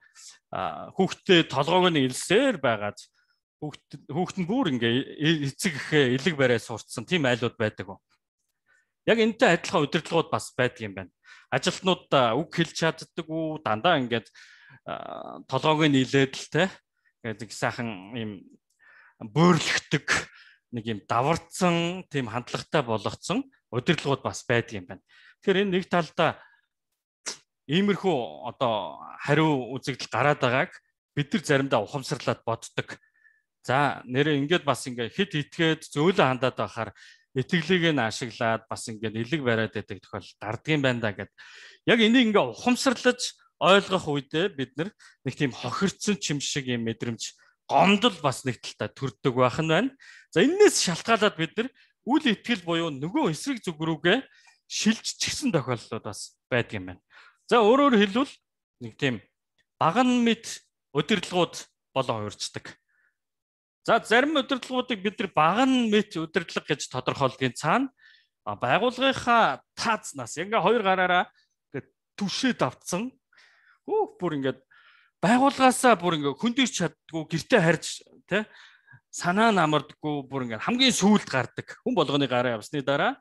хүүхдээ толгойг нь илсээр байгаад хүүхэд нь бүр ингээ эцэг ихээ элэг барай сурцсан тийм айлууд байдаг уу? Яг энэтэй адилхан удирдлагууд бас байдаг юм байна. Ажилтнууд үг хэлж чаддаг уу? Дандаа ингээд толгойг нь илээд л те гэдэг сайхан ийм бөөрөлгдөг нэг юм даварцсан тийм хандлагатай болгоцсон удирдлагууд бас байдаг юм байна. Тэгэхээр энэ нэг талдаа иймэрхүү одоо хариу үзэгдэл гараад байгааг бид нар заримдаа ухамсарлаад боддог. За нэрээ ингээд бас ингээд хэд итгээд зөөлөн хандаад байхаар итгэлийг нь ашиглаад бас ингээд элэг бариад байдаг тохиол гардгийн байна да гэд. Яг энийг ингээд ухамсарлаж ойлгох үедээ бид нар нэг тийм хохирцсон чим шиг юм мэдрэмж гомдол бас нэг талтаа төрдөг байх нь байна. За энээс шалтгаалаад бид нар үл итгэл буюу нөгөө эсрэг зүг рүүгээ шилж чигсэн тохиолдлууд бас байдаг юм байна. За өөрөөр хэлбэл нэг тийм баган мэд удирдлагууд болон хувирчдаг. За зарим удирдлагуудыг бид нар баган мэд удирдлага гэж тодорхойлдгийн цаана байгууллагынхаа таазнаас ингээ хоёр гараараа ингээ түшээд авцсан. Бүр ингээд байгууллагаасаа бүр ингээ хөндөрч чаддгүй гэртээ харж тий санаа намардаггүй бүр ингээ хамгийн сүүлд гардаг. Хүн болгоны гараа явсны дараа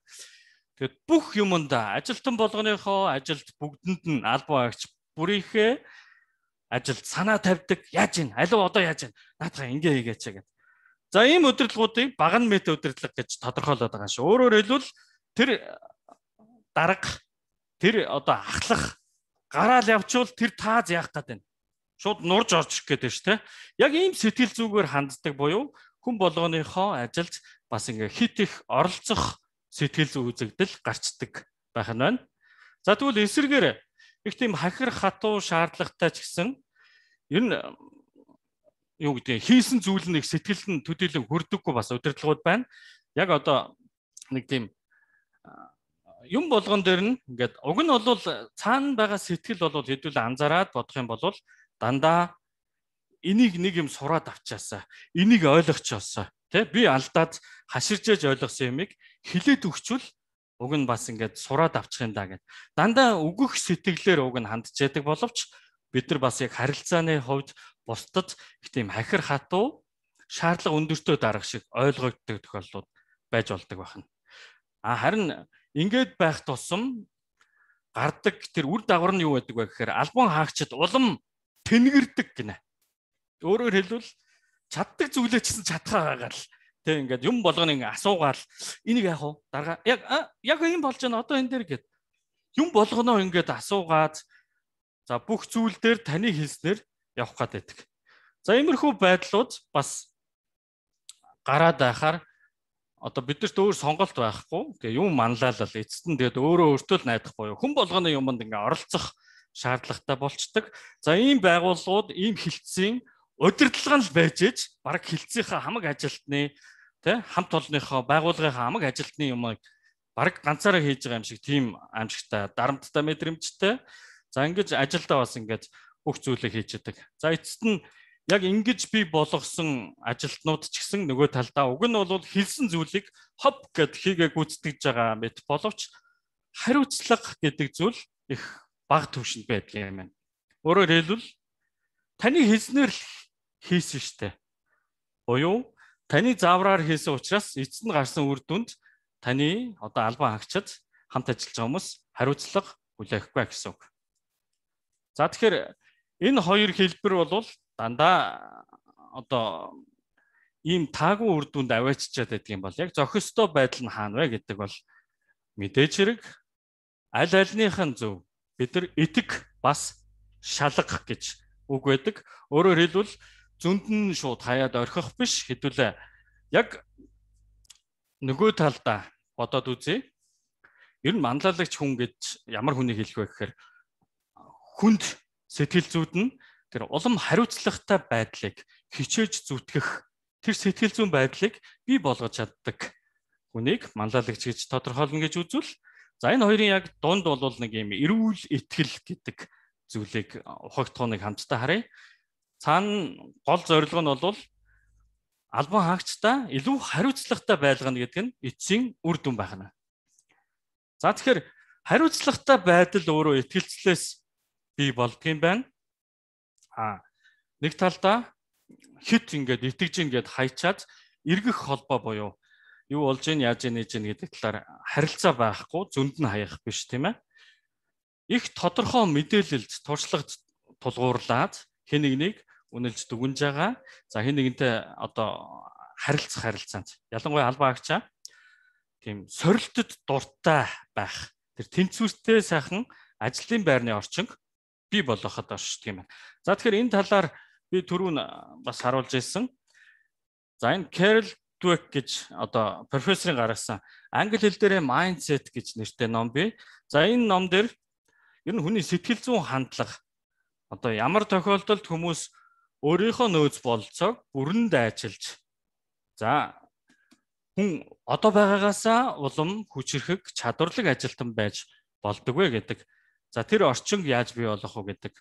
тэгээд бүх юмд ажилтан болгоныхоо ажилд бүгдэнд нь албан агч бүрийнхээ ажилд санаа тавьдаг. Яаж ийн? Алуу одоо яаж ийн? Наадхаа ингээ хийгээч гэдэг. За ийм удирдлагуудыг баган мэт удирдлага гэж тодорхойлоод байгаа шүү. Өөрөөр хэлбэл тэр дарга тэр одоо ахлах гараал явчвал тэр тааз яах гээд байна. Шууд нурж орж ирэх гээд байна шүү, тэ. Яг ийм сэтгэл зүгээр ханддаг буюу хүн болгоныхоо ажилд бас ингээ хит их оролцох сэтгэл зүй үзэгдэл гарчдаг байх нь байна. За тэгвэл эсрэгээр их тийм хахир хатуу шаардлагатай ч гэсэн ер нь юу гэдэг хийсэн зүйл нь их сэтгэлд нь төдийлөн хүрдэггүй бас удирдлагууд байна. Яг одоо нэг тийм юм болгон дээр нь ингээд уг нь бол цаана байгаа сэтгэл бол хэдүүл анзаараад бодох юм бол дандаа энийг нэг юм сураад авчаасаа энийг ойлгочихосоо тий би алдаад хаширжээж ойлгосон юмыг хилээд өгчвөл уг нь бас ингээд сураад авчих юм да гэд. Дандаа өгөх сэтгэлээр уг нь хандж яадаг боловч бид нар бас яг харилцааны хувьд бусдад их тийм хахир хатуу шаардлага өндөртөө дарах шиг ойлгогддог тохиолдлууд байж болдог байна. Харин ингээд байх тусам гардаг тэр үр дагавар нь юу байдаг вэ гэхээр албан хаагчид улам тэнгэрдэг гинэ. Өөрөөр хэлбэл чаддаг зүйлээ ч гэсэн чадхаа байгаа л тэг ингээд юм болгоно ингээ асуугаал энийг яах вэ? Дарга яг юм болж байна одоо энэ дээр гээд юм болгоно ингээд асуугаад за бүх зүйл дээр таны хэлснээр явах гэдэг. За иймэрхүү байдлууд бас гараад байхаар одоо бидэрт өөр сонголт байхгүй. Тэгээ юм манлайлал эцэст нь тэгээд өөрөө өөртөө л найдах буюу хүн болгоны юмд ингээ оролцох шаардлагатай болчдөг. За ийм байгууллагууд ийм хилцээний удирдлага нь л байж ээж баг хилцээний хамаг ажилтны тий хамт олонныхоо байгууллагынхаа хамаг ажилтны юмыг баг ганцаараа хийж байгаа юм шиг тийм аимшигтай дарамттай мэдрэмжтэй. За ингэж ажилдаа бас ингэж бүх зүйлийг хийж яадаг. За эцэст нь яг ингэж би болгосон ажилтнууд ч гэсэн нөгөө талдаа уг нь бол хэлсэн зүйлийг хоп гэд хийгээ гүйцэтгэж байгаа мэт боловч хариуцлага гэдэг зүйл их бага түвшинд байдаг юм байна. Өөрөөр хэлбэл таны хэлснээр л хийсэн штэ. Буюу таны заавраар хийсэн учраас эцэст нь гарсан үр дүнд таны одоо албан хаагчид хамт ажиллаж байгаа хүмүүс хариуцлага хүлээхгүй гэсэн үг. За тэгэхээр энэ хоёр хэлбэр бол дандаа одоо ийм таагүй үр дүнд авааччаад байдаг юм бол яг зохистой байдал нь хаана вэ гэдэг бол мэдээж хэрэг аль альнийхэн зөв бид нар этг бас шалгах гэж үг байдаг. Өөрөөр хэлбэл зөнд нь шууд хаяад орхих биш хэдүүлээ яг нөгөө талдаа бодоод үзье. Ер нь манлайлагч хүн гэж ямар хүнийг хэлэх вэ гэхээр хүнд сэтгэл зүйд нь тэр улам хариуцлагатай байдлыг хичээж зүтгэх тэр сэтгэл зүйн байдлыг бий болгож чаддаг хүнийг манлайлагч гэж тодорхойлно гэж үзвэл за энэ хоёрын яг дунд бол нэг юм эрүүл итгэл гэдэг зүйлийг ухагтхууныг хамтдаа харъя. Цаана гол зорилго нь бол албан хаагчдаа илүү хариуцлагатай байлгана гэдэг нь эцсийн үр дүн байна. За тэгэхээр хариуцлагатай байдал өөрөө итгэлцлээс бий болдгийм байна. Нэг талдаа хит ингээд итгэж ийн гэд хайчаад эргэх холбоо буюу юу болж ийн яаж ийн нэж ийн гэдэг талаар харилцаа байхгүй зөнд нь хаях биш тийм ээ. Их тодорхой мэдээлэлд туршлага тулгуурлаад хэн нэгнийг үнэлж дүгнж байгаа. За хэн нэгнтэй одоо харилцаанд ялангуяа албан хаагчаа тийм сорилтод дуртай байх. Тэр тэнцвэртэй сайхан ажлын байрны орчинг бий болгоход оршдог юм байна. За тэгэхээр энэ талаар би түрүүн бас харуулж ирсэн. За энэ Carol Dweck гэж одоо профессорын гаргасан англи хэл дээрээ mindset гэж нэртэй ном бий. За энэ ном дээр ер нь хүний сэтгэл зүйн хандлага одоо ямар тохиолдолд хүмүүс өөрийнхөө нөөц болцоог бүрэн дайчилж за хүн одоо байгаагаасаа улам хүчрхэг чадварлаг ажилтан байж болдог вэ гэдэг. За тэр орчинг яаж бий болох вэ гэдэг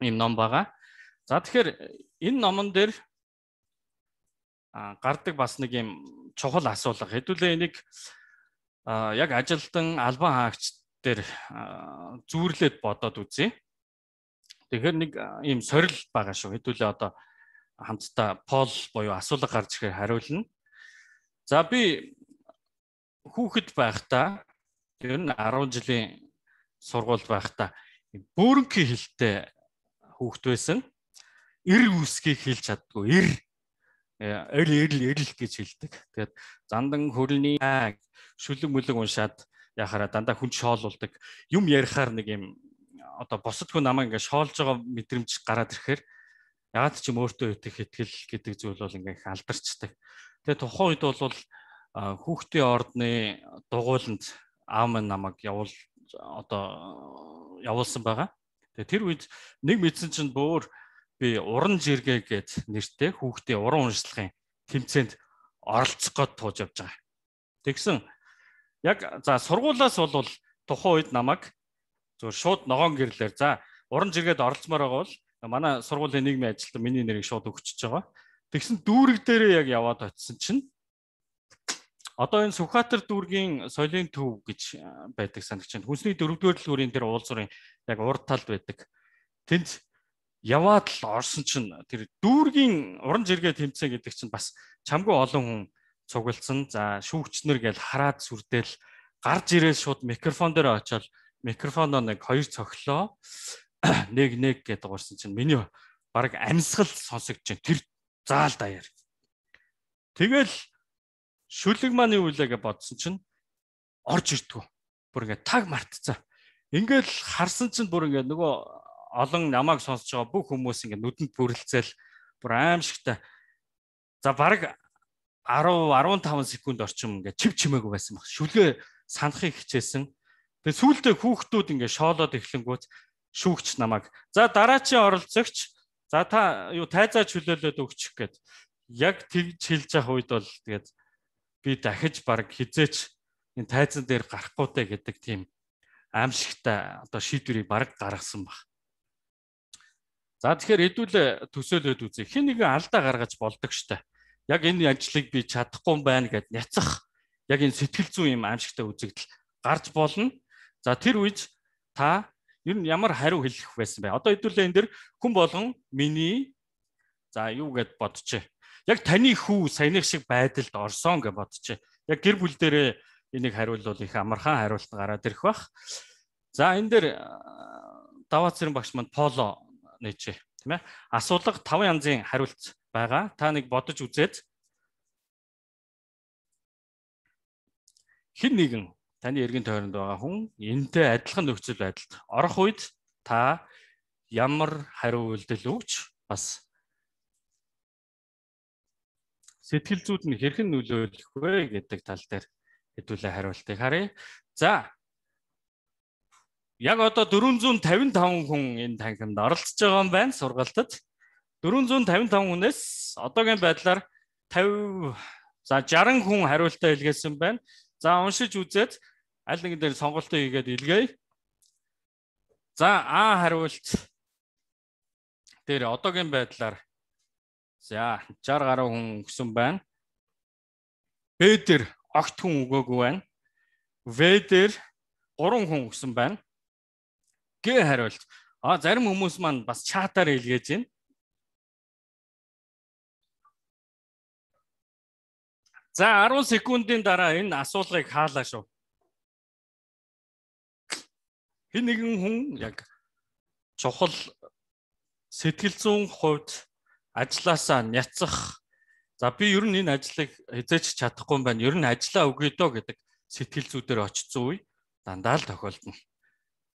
ийм ном байгаа. За тэгэхээр энэ номон дээр гардаг бас нэг юм чухал асуулга. Хэдүүлээ энийг яг ажилтан албан хаагч дээр зүүрлээд бодоод үзье. Тэгэхээр нэг ийм сорил байгаа шүү. Хэдүүлээ одоо хамтдаа пол буюу асуулга гарч ирэхээр хариулна. За би хүүхэд байхдаа ер нь 10 жилийн сургууль байхдаа бөөрөнгийн хэлтэй хүүхэд байсан. Эр үсгийг хэлж чаддгүй. Эрл гэж хэлдэг. Тэгээд зандан хөрөлний шүлэг мүлэг уншаад яхаараа дандаа хүн шоолуулдаг. Юм ярихаар нэг юм одоо босдгүй намайг ингээ шоолж байгаа мэдрэмж гараад ирэхээр ягаад ч юм өөртөө итгэх итгэл гэдэг зүйл бол ингээ их алдарчдаг. Тэгээд тухайн үед бол хүүхдийн ордны дугуйланд аав минь намайг явуулсан байгаа. Тэгээд тэр үед нэг мэдсэн чинь бөөр би уран жиргээ гэд нэртэй хүүхдийн уран уншлагын тэмцээнд оролцох гээд тууж явж байгаа. Тэгсэн яг за сургуулаас бол тухайн үед намайг зөв шууд ногоон гэрлээр за уран жиргээд оролцмоор байгаа бол манай сургуулийн нийгмийн ажилтан миний нэрийг шууд өгчөж байгаа. Тэгсэн дүүрэг дээрээ яг яваад очисон чинь одоо энэ Сүхбаатар дүүргийн соёлын төв гэж байдаг санагч байна. Хүнсний 4-р дэлгүүрийн тэр уулзуурын яг урд талд байдаг. Тэнд яваад л орсон чинь тэр дүүргийн уран жиргээ тэмцээн гэдэг чинь бас чамгүй олон хүн цугласан. За шүүгчнэр гээл хараад сүрдээл гарч ирээд шууд микрофон дээр очиод микрофоноо нэг хоёр цохлоо нэг гэдэг уурсан чинь миний баг амьсгал сонсогдож байна. Тэр заал даяар. Тэгэл шүлэг маань юу вэ гэж бодсон чинь орж ирдгүү. Бүр ингээд таг мартцсан. Ингээд харсан чинь бүр ингээд нөгөө олон намайг сонсож байгаа бүх хүмүүс ингээд нүдэнд бүрэлцээл бүр аимшигтай. За баг 10-15 секунд орчим ингээд чив чимээгүй байсан баг. Шүлгээ санахыг хичээсэн. Тэгээ сүүлдээ хүүхдүүд ингээд шоолоод эхлэнгүүт шүүгч намайг за дараачийн оролцогч за та юу тайзаа чөлөөлөд өгчих гээд яг тэгж хэлж явах үед бол тэгээд би дахиж баг хизээч энэ тайзан дээр гарахгүйтэй гэдэг тийм аимшигтай одоо шийдвэрийг баг гаргасан баг. За тэгэхээр хэдүүлээ төсөөлөд үзье. Хэн нэгэн алдаа гаргаж болдог штэ. Яг энэ ажлыг би чадахгүй байна гэд няцах яг энэ сэтгэл зүйн юм аимшигтай үзэгдэл гарч болно. За тэр үед та ер нь ямар хариу хэлэх байсан бэ? Одоо хэдүүлээ энэ дэр хүн болгон миний за юу гэд бодчихъя. Яг таны хүү саяных шиг байдалд орсон гэж бодчихъя. Яг гэр бүл дээрээ энийг хариулвал их амархан хариулт гараад ирэх бах. За энэ дээр даваа цэрэн багш манд поло нээжээ, тийм ээ. Асуулга 5 янзын хариулт байгаа. Та нэг бодож үзээд хэн нэгэн таны эргэн тойронд байгаа хүн энэтэй адилхан нөхцөл байдалд орох үед та ямар хариу үйлдэл өгч бас сэтгэл зүйд нь хэрхэн нөлөөлөх вэ гэдэг тал дээр хэдүүлээ хариултыг харъя. За. Яг одоо 455 хүн энэ танхимд оролцож байгаа юм байна сургалтад. 455 хүнээс одоогийн байдлаар 50 за 60 хүн хариултаа илгээсэн байна. За уншиж үзээд аль нэгэн дээр сонголтоо хийгээд илгээе. За А хариулт дээр одоогийн байдлаар за 60 гаруй хүн өгсөн байна. Б дээр огт хүн өгөөгүй байна. В дээр 3 хүн өгсөн байна. Г хариулт. Зарим хүмүүс маань бас чатаар илгээж байна. За 10 секундын дараа энэ асуулгыг хаалаа шүү. Хэн нэгэн хүн яг чухал сэтгэл зүйн хувьд ажилласаа няцах. За би ер нь энэ ажлыг хязгаарч чадахгүй юм байна. Ер нь ажиллаа өгье доо гэдэг сэтгэл зүйдээр очсон үе дандаа л тохиолдно.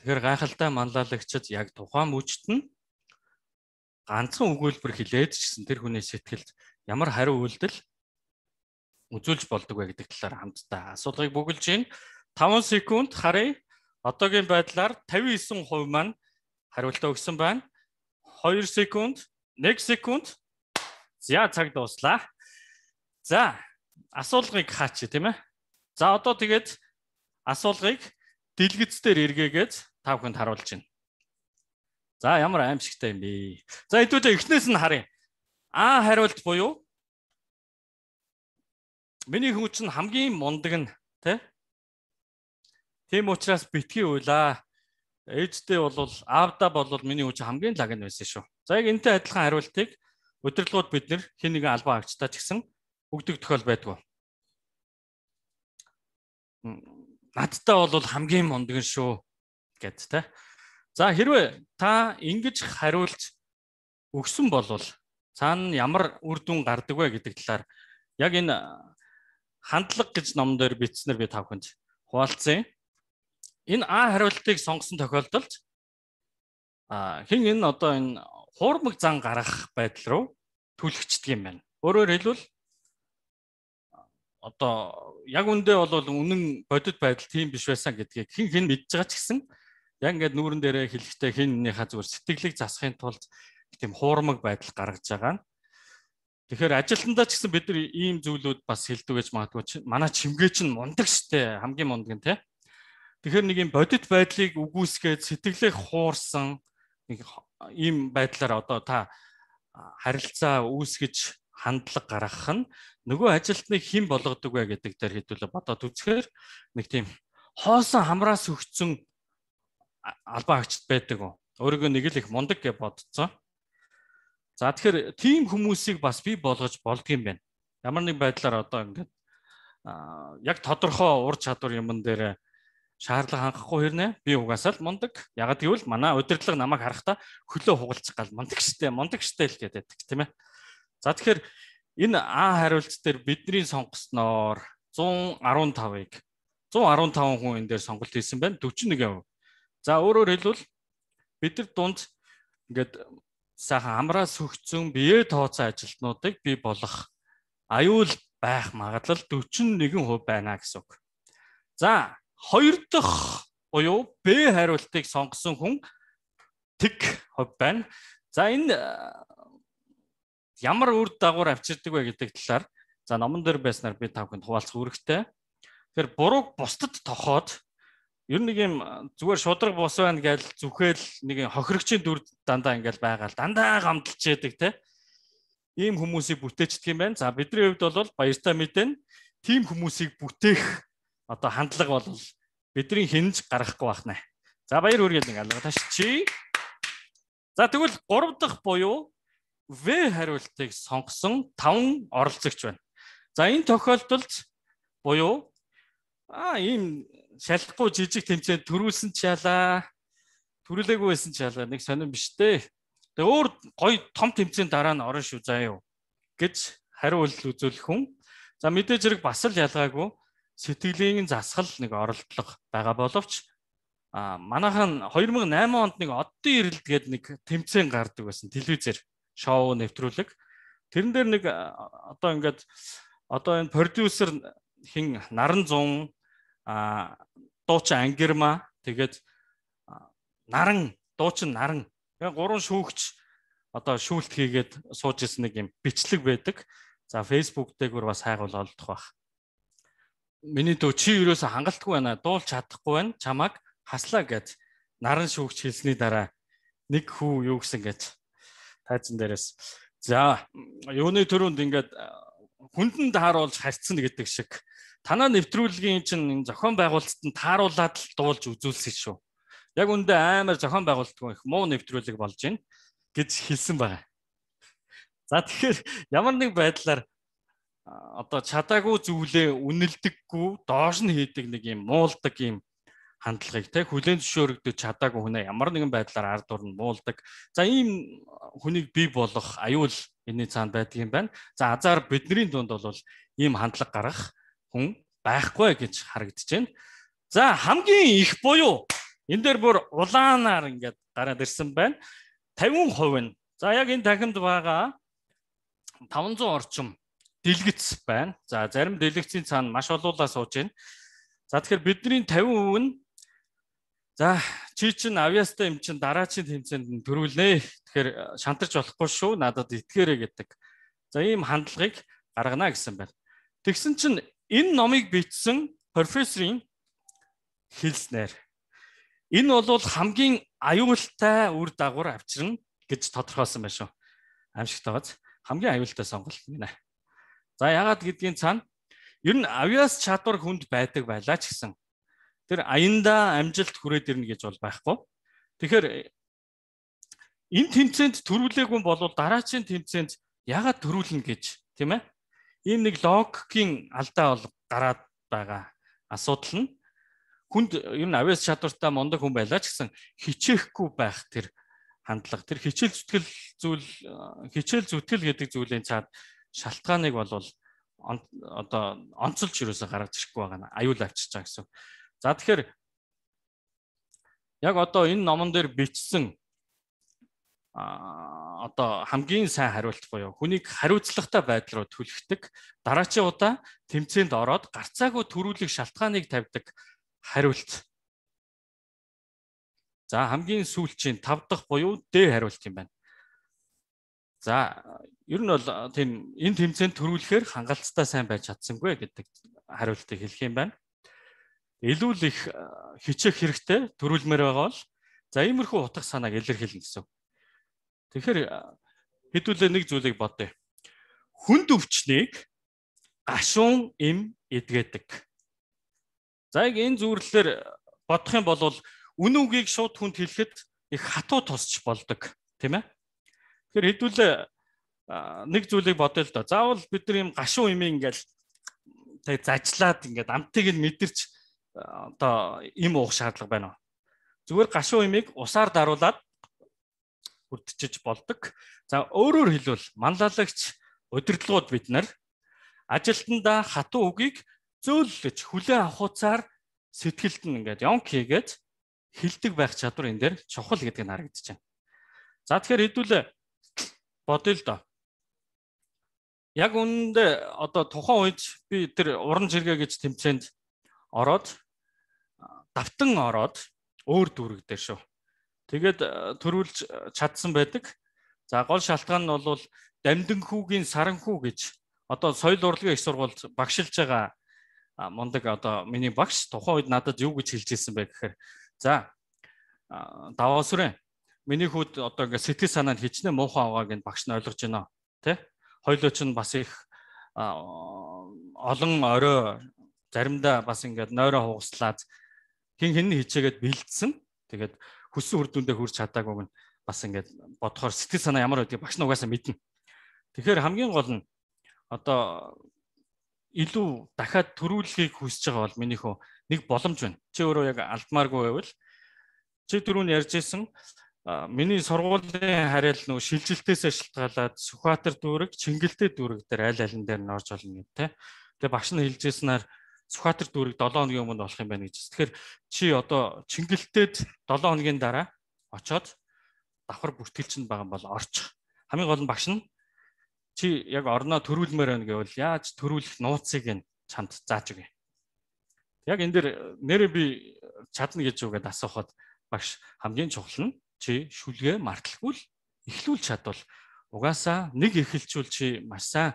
Тэгэхээр гайхалтай манлайлагчид яг тухайн мөчт нь ганцхан өгүүлбэр хэлээд ч гэсэн тэр хүний сэтгэлд ямар хариу үйлдэл үзүүлж болдог вэ гэдэг талаар хамтдаа асуулгыг бүгэлж байна. 5 секунд харъя. Одоогийн байдлаар 59% маань хариултаа өгсөн байна. 2 секунд, 1 секунд. За цаг дуслаа. За асуулгыг хаач тийм ээ. За одоо тэгээд асуулгыг дэлгэц дээр эргээгээд та бүхэнд харуулж байна. За ямар аимшигтай юм бэ? За хэдүүлээ эхнээс нь харъя. А хариулт буюу миний хүн чинь хамгийн мундаг нь тийм учраас битгий уйлаа. Ээжтэй бол аавда бол миний хүн чинь хамгийн лаг нь байсан шүү. За яг энэтэй адилхан хариултыг удирдлагууд бид нэр хэн нэгэн албан агчтай ч гэсэн өгдөг тохиол байдгүй. Надтай бол хамгийн мундаг нь шүү гэд тэ. За хэрвээ та ингэж хариулж өгсөн бол цаана ямар үр дүн гардаг вэ гэдэг талаар яг энэ хандлага гэж ном дээр бичснээр би та бүхэнд хуваалцсан. Энэ А хариултыг сонгосон тохиолдолд хэн энэ одоо энэ хуурмаг зан гаргах байдал руу түлхэгчдэг юм байна. Өөрөөр хэлбэл одоо яг үндэ бол үнэн бодит байдал тийм биш байсан гэдгийг хэн мэдж байгаа ч гэсэн яг ингээд нүүрэн дээрээ хэлэхдээ хиннийхээ зүгээр сэтгэлийг засахын тулд тийм хуурмаг байдал гаргаж байгаа. Тэгэхээр ажилтнаа ч гэсэн бид нар ийм зүйлүүд бас хэлдэг гэж магадгүй. Манай чимгээ чинь мундаг штэ, хамгийн мундаг нь тий. Тэгэхээр нэг юм бодит байдлыг үгүйсгээд сэтгэлээ хуурсан нэг ийм байдлаар одоо та харилцаа үүсгэж хандлага гаргах нь нөгөө ажилтныг хэн болгодог вэ гэдэг дээр хэдүүлээ бодоод үзэхээр нэг тийм хоосон хамраас өгцөн албан агчд байдаг. Өөрийгөө нэг л их мундаг гэж бодцоо. За тэгэхээр тийм хүмүүсийг бас бий болгож болдгийм байна. Ямар нэг байдлаар одоо ингээд яг тодорхой ур чадвар юмн дээр шаардлага хангахгүй хэрнээ би угаасаа л мундаг. Ягаад гэвэл манай удирдлага намайг харахтаа хөлөө хугалчих гал мундаг штэ л гэдэг тийм ээ. За тэгэхээр энэ А хариулт дээр бидний сонгосноор 115 хүн энэ дээр сонголт хийсэн байна. 41%. За өөрөөр хэлбэл бид нар дунд ингээд сайхан амраас хөгцсөн бие тооцоо ажилтнуудыг бий болгох аюул байх магадлал 41% байна гэсэн үг. За 2 дахь буюу Б хариултыг сонгосон хүн тэг хувь байна. За энэ ямар үр дагавар авчирдаг вэ гэдэг талаар за номон дээр байснаар би та бүхэнд хуваалцах үүрэгтэй. Тэгэхээр бурууг бусдад тохоод ер нь нэг юм зүгээр шудраг бус байна гэж зүхэл нэг хохирогчийн дүр дандаа ингээл байгаал дандаа гамталж яадаг те. Ийм хүмүүсийг бүтээчдэг юм байна. За бидний хувьд бол баяртай мэдэн тийм хүмүүсийг бүтээх одоо хандлага бол бидний хинж гаргахгүй байна. За баяр хүргээл нэг алга ташчи. За тэгвэл 3 дахь буюу В хариултыг сонгосон 5 оролцогч байна. За энэ тохиолдолд буюу ийм шалахгүй жижиг тэмцээнд төрүүлсэн ч ялаа. Төрүүлээгүй байсан ч ялгаа нэг сонирн биш дээ. Тэгээ өөр гоё том тэмцээний дараа нь орно шүү заа юу гэж хариу үйлдэл үзүүлэх хүн. За мэдээж хэрэг бас л ялгаагүй сэтгэлийн засгал нэг оролдлого байгаа боловч манайхан 2008 онд нэг оддын ирэлт гээд нэг тэмцээн гардаг байсан телевизээр шоу нэвтрүүлэг. Тэрэн дээр нэг одоо ингээд одоо энэ продюсер хин Наран Зун дуучин Ангирма тэгээд Наран дуучин Наран гурван шүүгч одоо шүүлт хийгээд сууж ирсэн нэг юм бичлэг байдаг. За Facebook дээр бас хайгуул олдох байх. Миний дөө чи юусоо хангалтгүй байна. Дуулж чадахгүй байна. Чамааг хаслаа гэж Наран шүүгч хэлсний дараа нэг хүү юу гэсэн гэж тайзан дээрээс за юуны төрөнд ингээд хүндэн тааруулж харьцсан гэдэг шиг танаа нэвтрүүлгийн чинь зохион байгуулалтад нь тааруулаад л дуулж үзүүлсэн шүү. Яг үндэ амар зохион байгуулалтгүй их муу нэвтрүүлэг болж байна гэж хэлсэн байгаа. За тэгэхээр ямар нэг байдлаар одоо чадаагүй зүйлээ үнэлдэггүй доош нь хийдэг нэг юм муулдаг юм хандлагыг те хүлээн зөвшөөрөгдөж чадаагүй хүнээ ямар нэгэн байдлаар ард турн муулдаг. За ийм хүнийг бий болох аюул энэний цаанд байдаг юм байна. За азар бидний дунд бол ийм хандлага гаргах хүн байхгүй гэж харагдаж байна. За хамгийн их буюу энэ дээр бүр улаанаар ингээд гараад ирсэн байна. 50% нь. За яг энэ танхимд байгаа 500 орчим дэлгэц байна. За зарим дэлгэцийн цаана маш олуулаа сууж байна. За тэгэхээр бидний 50% нь за чи чин авьяастай юм чин дараачийн тэмцээнд төрүүлнэ. Тэгэхээр шантарч болохгүй шүү. Надад итгээрэй гэдэг. За ийм хандлагыг гаргана гэсэн байна. Тэгсэн чин энэ номыг бичсэн профессорын хэлснээр энэ бол хамгийн аюултай үр дагавар авчирна гэж тодорхойлсон байна шүү. Аимшигт байгааз хамгийн аюултай сонголт гинэ. За яагаад гэдгийг цаана ер нь авьяас чадвар хүнд байдаг байлаа ч гэсэн тэр аяндаа амжилт хүрээд ирнэ гэж бол байхгүй. Тэгэхээр энэ тэмцээнд төрүүлээгүй бол дараачийн тэмцээнд яагаад төрүүлнэ гэж тийм ээ? Ийм нэг логикийн алдаа бол гараад байгаа асуудал нь хүнд ер нь авьяас чадвартай мундаг хүн байлаа ч гэсэн хичээхгүй байх тэр хандлага тэр хичээл зүтгэл гэдэг зүйлийн цаад шалтгааныг бол одоо онцолж юусоо гаргаж ирэхгүй байгаа нь аюул авчиж байгаа гэсэн. За тэгэхээр яг одоо энэ номон дээр бичсэн одоо хамгийн сайн хариулт буюу хүнийг хариуцлагатай байдал руу түлхдэг дараачийн удаа тэмцээнд ороод гарцаагүй төрүүлэх шалтгааныг тавьдаг хариулт. За хамгийн сүүлчийн 5 дахь буюу Д хариулт юм байна. За ер нь бол тийм энэ тэмцээнд төрүүлэхээр хангалттай сайн байж чадсангүй гэдэг хариултыг хэлэх юм байна. Илүү л их хичээх хэрэгтэй төрүүлмээр байгаа бол за иймэрхүү утга санааг илэрхийлнэ гэсэн. Тэгэхээр хэдүүлээ нэг зүйлийг бодъё. Хүнд өвчнийг гашуун эм эдгээдэг. За яг энэ зүйлээр бодох юм бол үн үгийг шууд хүнд хэлэхэд их хатуу тусч болдог, тийм ээ? Тэгэхээр хэдүүлээ нэг зүйлийг бодъё л доо. Заавал бид нар юм гашуун эмээ ингээл тэг зажлаад ингээд амтыг нь мэдэрч одоо им уух шаардлага байна уу? Зүгээр гашуун эмийг усаар даруулаад хүртчиж болдог. За өөрөөр хэлбэл манлайлагч удирдлагууд бид нар ажилтнаа хатуу үгийг зөөлөж хүлээн авахуцаар сэтгэлд нь ингээд ёнк хийгээд хилдэг байх чадвар энэ дээр чухал гэдэг нь харагдаж байна. За тэгэхээр хэдүүлээ бодъё л доо. Яг үүндээ одоо тухайн үед би тэр уран жиргээ гэж тэмцээнд ороод давтан ороод өөр дүүрэг дээр шүү. Тэгээд төрүүлж чадсан байдаг. За гол шалтгаан нь бол Дамдин хүүгийн Саранхүү гэж одоо соёл урлагийн их сургуульд багшилж байгаа мундаг одоо миний багш тухайн үед надад юу гэж хэлж ирсэн бэ гэхээр за даваасүрэн миний хүүд одоо ингээ сэтгэл санаа нь хичнээн муухай авааг энэ багш нь ойлгож байна тий? Хоёлоо ч бас их олон орой заримдаа бас ингээд нойроо хугаслаад хин хичээгээд бэлдсэн. Тэгээд хүссэн үр дүндээ хүрч чадаагүй нь бас ингээд бодохоор сэтгэл санаа ямар байдгийг багш нь угаасаа мэднэ. Тэгэхээр хамгийн гол нь одоо илүү дахиад төрүүлэхийг хүсэж байгаа бол минийхөө нэг боломж байна. Чи өөрөө яг алдмааргүй байвал чи түрүүн ярьжсэн миний сургуулийн харьяал нөгөө шилжилтээс шалтгаалаад Сүхбаатар дүүрэг, Чингэлтэй дүүрэг дээр аль алин дээр нь орж олно гэдэг. Тэгээ багш нь хэлжсэнээр Сүхбаатар дүүрэг 7 хоногийн өмнө болох юм байна гэж. Тэгэхээр чи одоо Чингэлтэд 7 хоногийн дараа очоод давхар бүртгэлч нь байгаа бол орчих. Хамгийн гол нь багш нь чи яг орноо төрүүлмээр байна гэвэл яаж төрүүлэх нууцыг нь чамд зааж өгье. Яг энэ дэр нэрээ би чадна гэж үгээд асуухад багш хамгийн чухал нь чи шүлгээ марталгүй л эхлүүлж чадвал угаасаа нэг эхэлчүүл чи маш сайн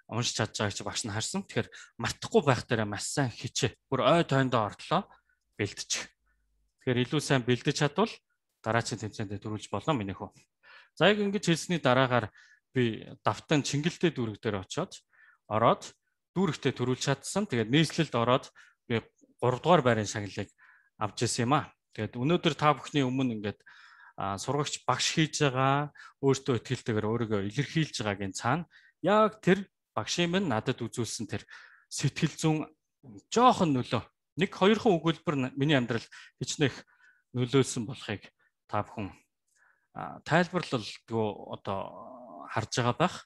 уншиж чадж байгааг чи багш нь харсан. Тэгэхээр мартахгүй байх дээр маш сайн хичээ. Бүр ой тойндоо ортлоо бэлдчих. Тэгэхээр илүү сайн бэлдэж чадвал дараачийн тэмцээнд төрүүлж болно миний хөө. За яг ингэж хэлсний дараагаар би давтан Чингэлтэй дүүрэг дээр очиод ороод дүүрэгтээ төрүүлж чадсан. Тэгээд нийслэлд ороод би 3 дугаар байрын шагналыг авч ирсэн юм аа. Тэгээд өнөөдөр та бүхний өмнө ингээд сургагч багш хийж байгаа өөртөө итгэлтэйгээр өөрийгөө илэрхийлж байгаагийн цаана яг тэр багшийн минь надад үзүүлсэн тэр сэтгэл зүйн жоохон нөлөө 1-2 өгүүлбэр миний амьдрал хичнээн нөлөөлсөн болохыг та бүхэн тайлбарлалгүй одоо харж байгаа байх.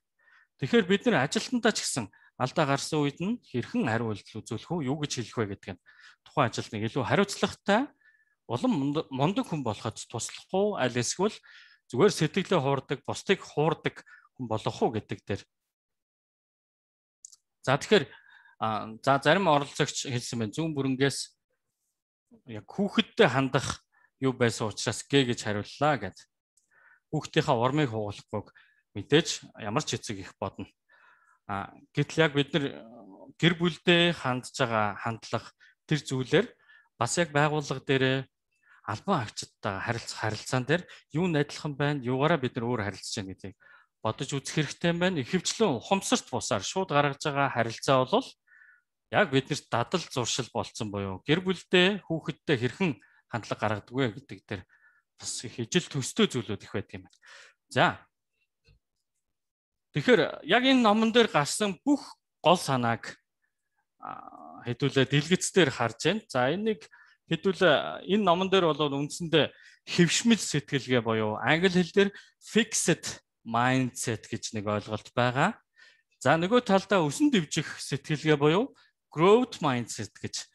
Тэгэхээр бид нэр ажилтнаа ч гэсэн алдаа гарсан үед нь хэрхэн хариу үйлдэл үзүүлэх үү, юу гэж хэлэх вэ гэдэг нь тухайн ажилтныг илүү хариуцлагатай улам мундаг хүн болоход туслах уу, аль эсвэл зүгээр сэтгэлээ хуурдаг, бусдыг хуурдаг хүн болох уу гэдэг дээр. За тэгэхээр зарим оролцогч хэлсэн байна. Зүүн бүрэнгээс яг хүүхэдтэй хандах юу байсан учраас гээ гэж хариуллаа гэд. Хүүхдийнхаа урмыг хугалахгүйг мэдээж ямар ч эцэг их бодно. Гэтэл яг бид нар гэр бүлдээ хандж байгаа хандлага тэр зүйлээр бас яг байгууллага дээрээ албан агчдтай харилцаан дээр юу нь адилхан байна, юугаараа бид нар өөр харилцаж байна гэдгийг бодож үзэх хэрэгтэй юм байна. Ихэвчлэн ухамсарт бусаар шууд гаргаж байгаа харилцаа бол яг биднэрт дадал зуршил болцсон буюу гэр бүлдээ хүүхэдтэй хэрхэн хандлага гаргадаг вэ гэдэг дээр бас их ижил төстэй зүйлүүд их байдаг юм байна. За. Тэгэхээр яг энэ номон дээр гарсан бүх гол санааг хэдүүлээ дэлгэцээр харж байна. За энийг хэдүүлээ энэ номон дээр бол үндсэндээ хэвшмэл сэтгэлгээ буюу англи хэл дээр fixed mindset гэж нэг ойлголт байгаа. За нөгөө талдаа өсөн дэвжих сэтгэлгээ буюу growth mindset гэж.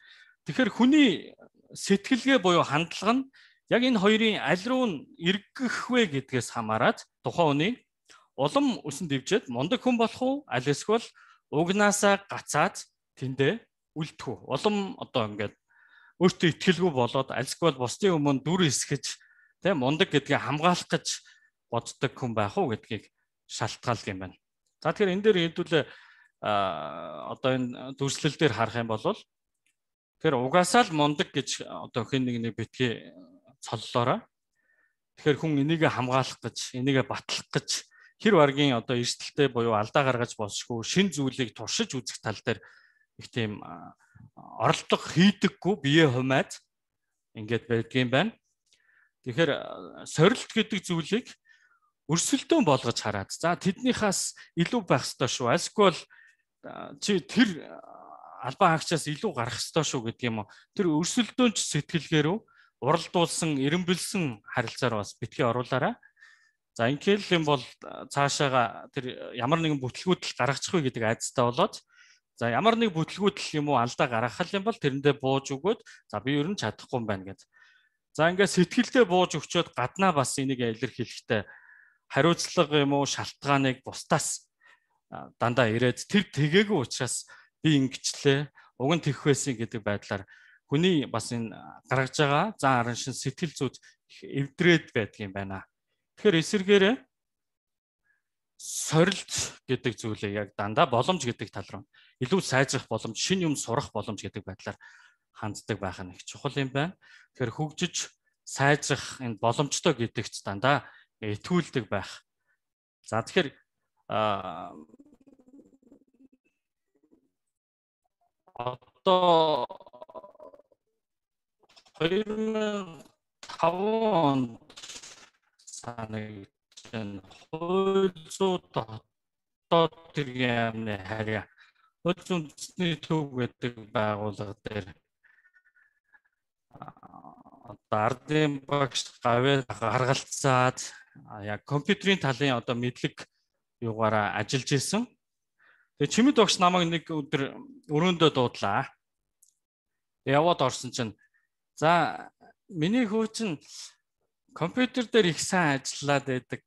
Тэгэхээр хүний сэтгэлгээ буюу хандлага нь яг энэ хоёрын аль руу нь эргэх вэ гэдгээс хамаарат тухайн хүний улам өсөн дэвжээд мундаг хүн болох уу, аль эсвэл угнаасаа гацаад тэндээ үлдэх үү. Улам одоо ингээд өөртөө итгэлгүй болоод аль эсвэл бусдын өмнө дүр эсгэж тийм мундаг гэдгийг хамгаалах гэж боддог хүн байх уу гэдгийг шалтгаалдаг юм байна. За тэгэхээр энэ дээр хэдүүлээ одоо энэ дүрслэл дээр харах юм бол тэгэхээр угаасаа л мундаг гэж одоо хэн нэг битгий цоллоороо. Тэгэхээр хүн энийг хамгаалах гэж, энийг батлах гэж хэр баргийн одоо эрсдэлтэй буюу алдаа гаргаж болшгүй шин зүйлийг туршиж үзэх тал дээр их тийм оролдох хийдэггүй бие хумаад ингээд байдгийм байна. Тэгэхээр сорилт гэдэг зүйлийг өрсөлдөөн болгож хараад за тэднийхээс илүү байх ёстой шүү. Эсвэл чи тэр албан хаагчаас илүү гарах ёстой шүү гэдэг юм уу. Тэр өрсөлдөөнч сэтгэлгээрөө уралдуулсан, эренбэлсэн харилцаар бас битгий оруулаарай. За ингээл юм бол цаашаага тэр ямар нэгэн бүтлгүүдэл гаргачих вэ гэдэг айдастай болоод за ямар нэг бүтлгүүдэл юм уу алдаа гаргах юм бол тэрэндээ бууж өгөөд за би ер нь чадахгүй юм байна гэд. За ингээд сэтгэлдээ бууж өгчөөд гаднаа бас энийг илэрхийлэхдээ хариуцлага юм уу шалтгааныг бусдаас дандаа ирээд тэр тэгээгүй учраас би ингэчлээ уг нь тэгэх байсан гэдэг байдлаар хүний бас энэ гаргаж байгаа зан аран шин сэтгэл зүйд эвдрээд байдаг юм байна. Тэгэхээр эсэргээрээ сорилт гэдэг зүйлээ яг дандаа боломж гэдэг тал руу илүү сайжрах боломж, шинэ юм сурах боломж гэдэг байдлаар ханддаг байх нь их чухал юм байна. Тэгэхээр хөгжиж сайжрах энэ боломжтой гэдэгт дандаа итгүүлдэг байх. За тэгэхээр одоо 2005 онд санагдсан хууль зүйн дотоод хэргийн яамны харьяа хууль зүйн үндэсний төв гэдэг байгууллага дээр одоо ардын багш гавьяа гаргалцаад яг компьютерийн талын одоо мэдлэг юугаараа ажиллаж исэн. Тэгээ чимэд багш намайг нэг өдөр өрөөндөө дуудлаа. Яваад орсон чинь за миний хүү чинь компьютер дээр их сайн ажиллаад байдаг.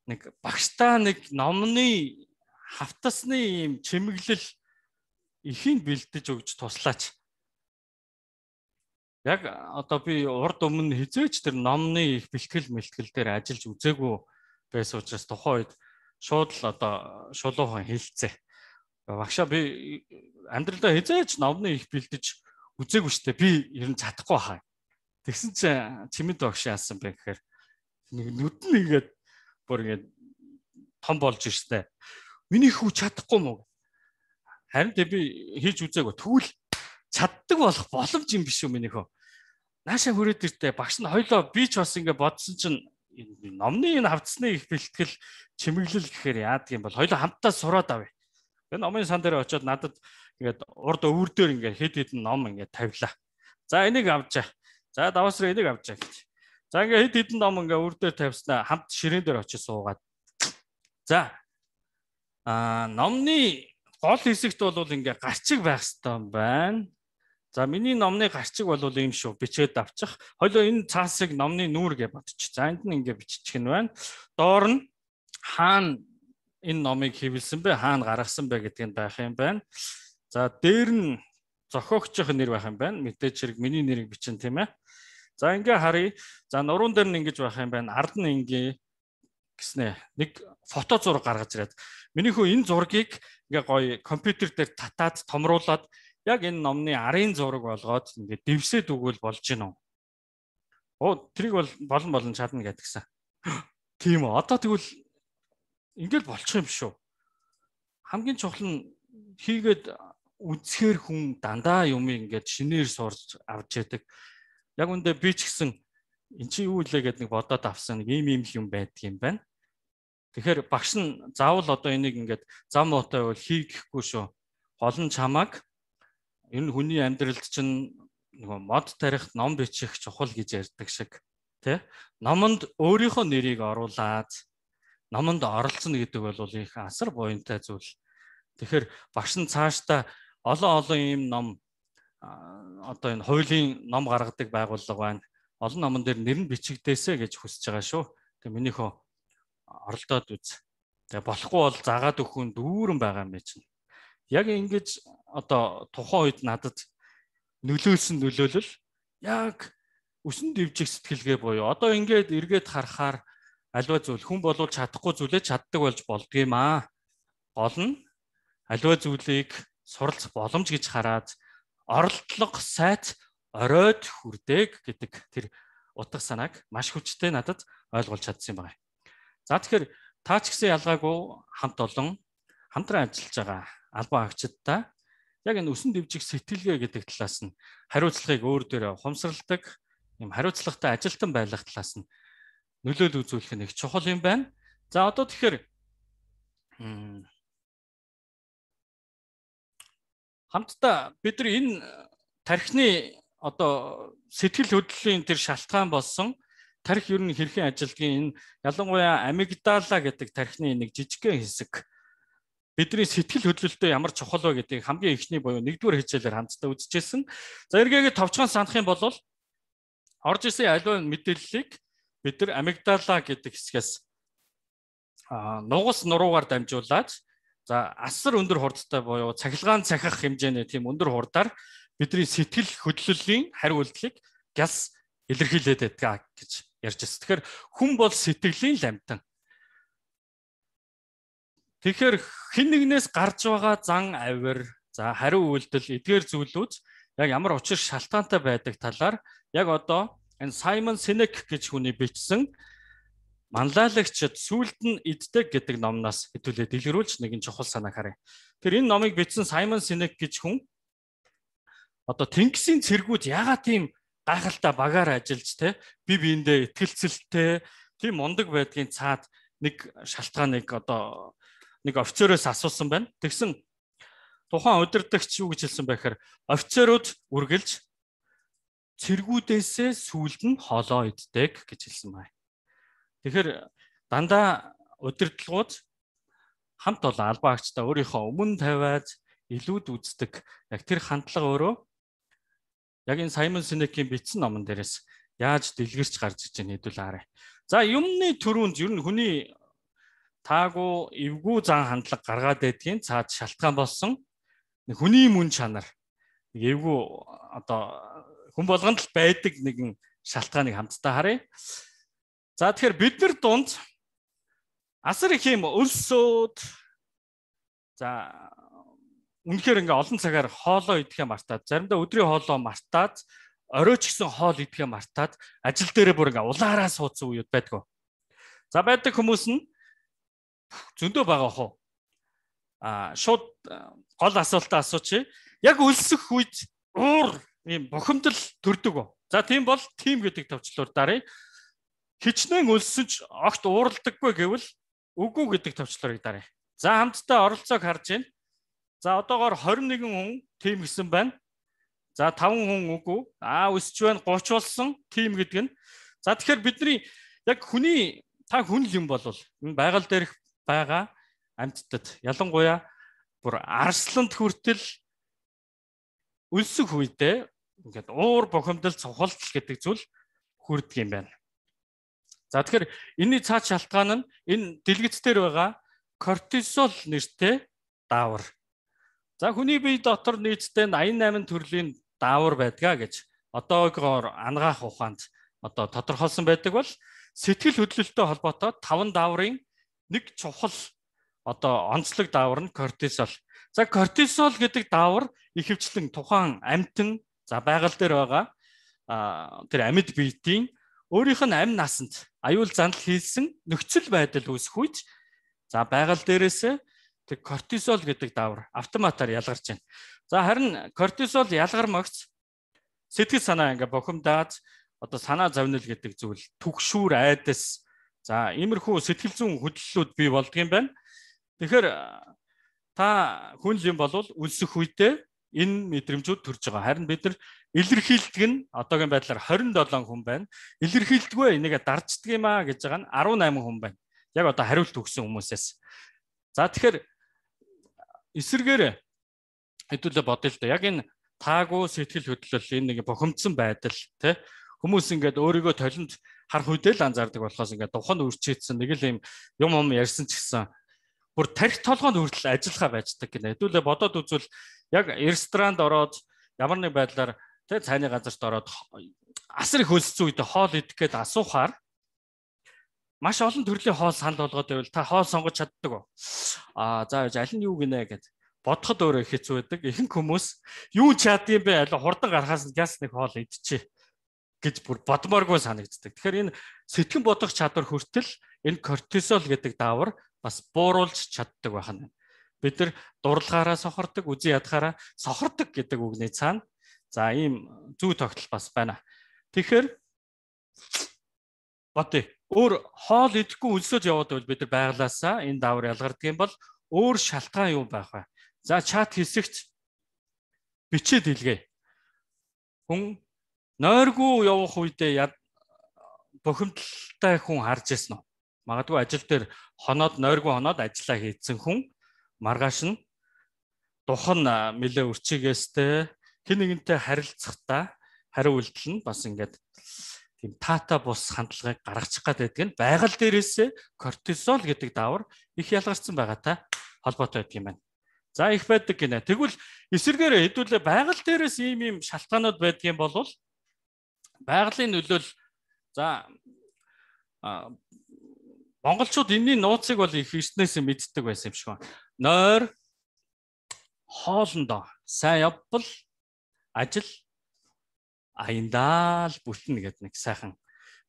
Нэг багштаа нэг номны хавтасны юм чимэглэл ихийн бэлдэж өгч туслаач. Яг одоо би урд өмнө хизээч тэр номны их бэлтгэл мэлтгэл дээр ажиллаж үзээгүй байсан учраас тухайн үед шууд л одоо шулуухан хэлцээ. Багшаа би амьдралдаа хизээч номны их бэлдэж үзээгүй штэ. Би ер нь чадахгүй хаа. Тэгсэн чинь чимэд багш яасан бэ гэхээр нүд нь ингээд бүр ингээд том болж штэ. Миний хүү чадахгүй мó. Харин тэ би хийж үзээгүй. Тэгвэл чаддаг болох боломж юм биш үү миний хөө. Наашаа хүрээд иртээ багш нь хоёлоо би ч бас ингээд бодсон чинь номны энэ хавцсны их бэлтгэл чимэглэл гэхээр яадаг юм бол хоёлоо хамтдаа сураад авъя. Энэ номын сан дээр очиод надад ингээд урд өвөр дээр ингээд хэд хэдэн ном ингээд тавилаа. За энийг авчаа. За даваасраа энийг авчаа гэж. За ингээд хэд хэдэн ном ингээд өвөр дээр тавьснаа хамт ширээн дээр очиж суугаад. За номны гол хэсэгт бол ингээ гарчиг байх хэрэгтэй юм байна. За миний номны гарчиг бол ийм шүү. Бичээд авчих. Хоёлоо энэ цаасыг номны нүүр гэж бодчих. За энд нь ингээ биччих нь байна. Доор нь хаана энэ номыг хэвлсэн бэ? Хаана гаргасан бэ гэдгийг байх юм байна. За дээр нь зохиогчийн нэр байх юм байна. Мэдээж хэрэг миний нэрийг бичин тийм ээ. За ингээ харъя. За нуруунд дээр нь ингэж байх юм байна. Ард нь ингээ гэснэ. Нэг фото зураг гаргаж ирээд. Миний хөө энэ зургийг ингээ гоё компьютер дээр татаад томруулаад яг энэ номны арын зураг болгоод ингээ дэвсээд өгвөл болж гинөө. Оо тэрийг бол болон чадна гэдгсэн. Тийм үү. Одоо тэгвэл ингээл болчих юм шүү. Хамгийн чухал нь хийгээд үзэхэр хүн дандаа юм ингээд шинээр сурч авч яадаг. Яг үндэ би ч гэсэн эн чи юу илээ гэд нэг бодоод авсан нэг ийм юм байдаг юм байна. Тэгэхээр багш нь заавал одоо энийг ингээд зам муутай бол хийхгүй шүү. Гол нь чамааг энэ хүний амьдралд чинь нөгөө мод тарих, ном бичих чухал гэж ярьдаг шиг тий. Номонд өөрийнхөө нэрийг оруулаад номонд оролцсон гэдэг бол их асар буянтай зүйл. Тэгэхээр багш нь цаашдаа олон ийм ном одоо энэ хуулийн ном гаргадаг байгууллага байна. Олон номон дээр нэр нь бичигдээсэ гэж хүсэж байгаа шүү. Тэгээ минийхөө оролдоод үз. Тэгээ болохгүй бол загаад өгөх нь дүүрэн байгаа юм чинь. Яг ингэж одоо тухайн үед надад нөлөөлсөн нөлөөлөл яг өсөн дэвжих сэтгэлгээ буюу одоо ингээд эргээд харахаар альва зүйл хүн болвол чадахгүй зүйлээ чаддаг болж болдгийм аа. Гол нь альва зүйлийг суралцах боломж гэж хараад оролдлого сайт оройд хүрдэг гэдэг тэр утга санааг маш хүчтэй надад ойлгуулж чадсан юм байна. За тэгэхээр та ч гэсэн ялгаагүй хамт олон хамтран ажиллаж байгаа албан агчдаа яг энэ өсөн дэвжих сэтгэлгээ гэдэг талаас нь хариуцлагыг өөр дээрээ ухамсарладаг юм хариуцлагатай ажилтан байх талаас нь нөлөөлөл үзүүлэх нь их чухал юм байна. За одоо тэгэхээр хамтдаа бид нар энэ тархины одоо сэтгэл хөдлөлийн тэр шалтгаан болсон тархи ер нь хэрхэн ажилдгийг энэ ялангуяа амигдала гэдэг тархины нэг жижигхэн хэсэг бидний сэтгэл хөдлөлтөд ямар чухал вэ гэдгийг хамгийн эхний буюу нэгдүгээр хичээлээр хамтдаа үзчихсэн. За эргээгээ товчхон санах юм бол орж исэн аливаа мэдээллийг бид нар амигдала гэдэг хэсгээс нугас нуруугаар дамжуулаад за асар өндөр хурдтай буюу цахилгаан цахих хэмжээний тийм өндөр хурдаар бидний сэтгэл хөдлөлийн хариу үйлдэлийг гяс илэрхийлээд байдаг гэж ярьж байна. Тэгэхээр хүн бол сэтгэлийн ламтан. Тэгэхээр хэн нэгнээс гарч байгаа зан авир, за хариу үйлдэл, эдгээр зүйлүүд яг ямар учир шалтгаантай байдаг талаар яг одоо энэ Саймон Синек гэж хүний бичсэн Манлайлагчид сүлд нь иддэг гэдэг номноос хэдүүлээ дэлгэрүүлж нэгэн чухал санааг харъя. Тэр энэ номыг бичсэн Саймон Синек гэж хүн одоо тэнгисийн цэргүүд яагаад тийм гайхалтай багаар ажиллаж те бие биендээ итгэлцэлтэй тийм мундаг байдгийн цаад нэг шалтгааныг одоо нэг офицероос асуусан байна. Тэгсэн тухайн удирдагч юу гэж хэлсэн бэ гэхээр офицерууд үргэлж цэргүүдээсээ сүүлд нь хоолоо иддэг гэж хэлсэн байна. Тэгэхээр дандаа удирдлагууд хамт олон албан агчтай өөрийнхөө өмнө тавиад илүүд үздэг. Яг тэр хандлага өөрөө яг энэ Саймон Синекийн бичсэн номон дээрээс яаж дэлгэрч гарч иж байгааг хэдүүл харъя. За юмны төрөнд ер нь хүний таагүй эвгүй зан хандлага гаргаад байдгийн цаад шалтгаан болсон хүний мөн чанар эвгүй одоо хүн болгонд л байдаг нэгэн шалтгааныг хамтдаа харъя. За тэгэхээр бид нар дунд асар их юм өлсөөд за үнэхээр ингээ олон цагаар хоолоо идэхээ мартаад заримдаа өдрийн хоолоо мартаад оройч гисэн хоол идэхээ мартаад ажил дээрээ бүр ингээ улаараа суудсан үед байдгүй. За байдаг хүмүүс нь зөндөө байгаа хөө. Шууд гол асуултаа асуучих. Яг өлсөх үед уур ийм бухимдал төрдөг. За тийм бол тим гэдэг товчлуур дарыг хичнээн өлсөн ч огт ууралдаггүй гэвэл үгүй гэдэг товчлуурыг дарыг. За хамтдаа оролцоог харж байна. За одоогоор 21 хүн тим гэсэн байна. За 5 хүн үгүй. Өсч байна 30 болсон тим гэдэг нь. За тэгэхээр бидний яг хүний та хүн юм бол энэ байгаль дээрх байгаа амьтдад ялангуяа бүр арсланд хүртэл өлсөх үедээ ингээд уур бухимдал цувхалтал гэдэг зүйл хүрдэг юм байна. За тэгэхээр энэний цаад шалтгаан нь энэ дэлгэц дээр байгаа кортизол нэртэй даавар. За хүний бие дотор нийтдээ 88 төрлийн даавар байдгаа гэж одоогоор ангаах ухаанд одоо тодорхойлсон байдаг бол сэтгэл хөдлөлтөй холбоотой 5 дааврын нэг чухал одоо онцлог даавар нь кортизол. За кортизол гэдэг даавар ихэвчлэн тухайн амьтан за байгаль дээр байгаа тэр амьд биетийн өөрийнх нь амь насанд аюул занал хийсэн нөхцөл байдал үүсэх үед за байгаль дээрээс тэр кортизол гэдэг даавар автоматар ялгарч байна. За харин кортизол ялгармагц сэтгэл санаа ингээ бохимдаад одоо санаа зовнил гэдэг зүйл түгшүүр айдас за иймэрхүү сэтгэл зүйн хөдлөлүүд бий болдгийм байна. Тэгэхээр та хүн юм бол өлсөх үедээ энэ мэдрэмжүүд төрж байгаа. Харин бид нар илэрхийлдэг нь одоогийн байдлаар 27 хүн байна. Илэрхийлдэггүй энийг дарждаг юм аа гэж байгаа нь 18 хүн байна. Яг одоо хариулт өгсөн хүмүүсээс. За тэгэхээр эсэргээр хэдүүлээ бодъё л да. Яг энэ таагүй сэтгэл хөдлөл энэ нэг бохимдсан байдал тий хүмүүс ингээд өөрийгөө толинд харах үедээ л анзаардаг болохоос ингээд духан үрчээдсэн нэг л юм ярьсан ч гэсэн бүр тарих толгойд хүртэл ажиллахаа байждаг гэнэ. Хэдүүлээ бодоод үзвэл яг ресторанд ороод ямар нэг байдлаар тий цайны газарт ороод асар их өлссөн үед хоол идэх гээд асуухаар маш олон төрлийн хоол санал болгоод байвал та хоол сонгож чаддаг уу? За аль нь юу гинэ гэд бодоход өөрөө хэцүү байдаг. Ихэнх хүмүүс юу чаддсан бэ? Аль хурдан гарахаас гяс нэг хоол идчихэ гэж бүр бодмооргүй санагддаг. Тэгэхээр энэ сэтгэн бодох чадвар хүртэл энэ кортизол гэдэг даавар бас бууруулж чаддаг байна. Бид нар дурлагаараа сохордог, үзэн ядахаараа сохордог гэдэг үгний цаана за ийм зүй тогтол бас байна. Тэгэхээр бодъё. Өөр хоол идэхгүй өлсөж яваад байвал бид нар байглаасаа энэ даавар ялгардаг юм бол өөр шалтгаан юу байх вэ? За чат хэсэгт бичээд илгээе. Хүн нойргүй явах үедээ бохимдолтой хүн харж ирсэн үү? Магадгүй ажил дээр нойргүй хоноод ажиллаа хийцэн хүн маргааш нь духан нэлээ үрчигээстэй хэн нэгэнтэй харилцахдаа хариу үйлдэл нь бас ингээд тийм таата бус хандлагыг гаргачих гэдэг нь байгаль дээрээс кортизол гэдэг даавар их ялгарсан байгаатай холбоотой байдаг юм байна. За их байдаг гинэ. Тэгвэл эсэргээр хэдүүлээ байгаль дээрээс ийм шалтгаанууд байдгийн бол байгалийн нөлөөл за монголчууд энэний нууцыг бол их эртнээс мэддэг байсан юм шиг байна. Нойр хоолндоо сайн явбал ажил аяндаа л бүтнэ гэдэг нэг сайхан.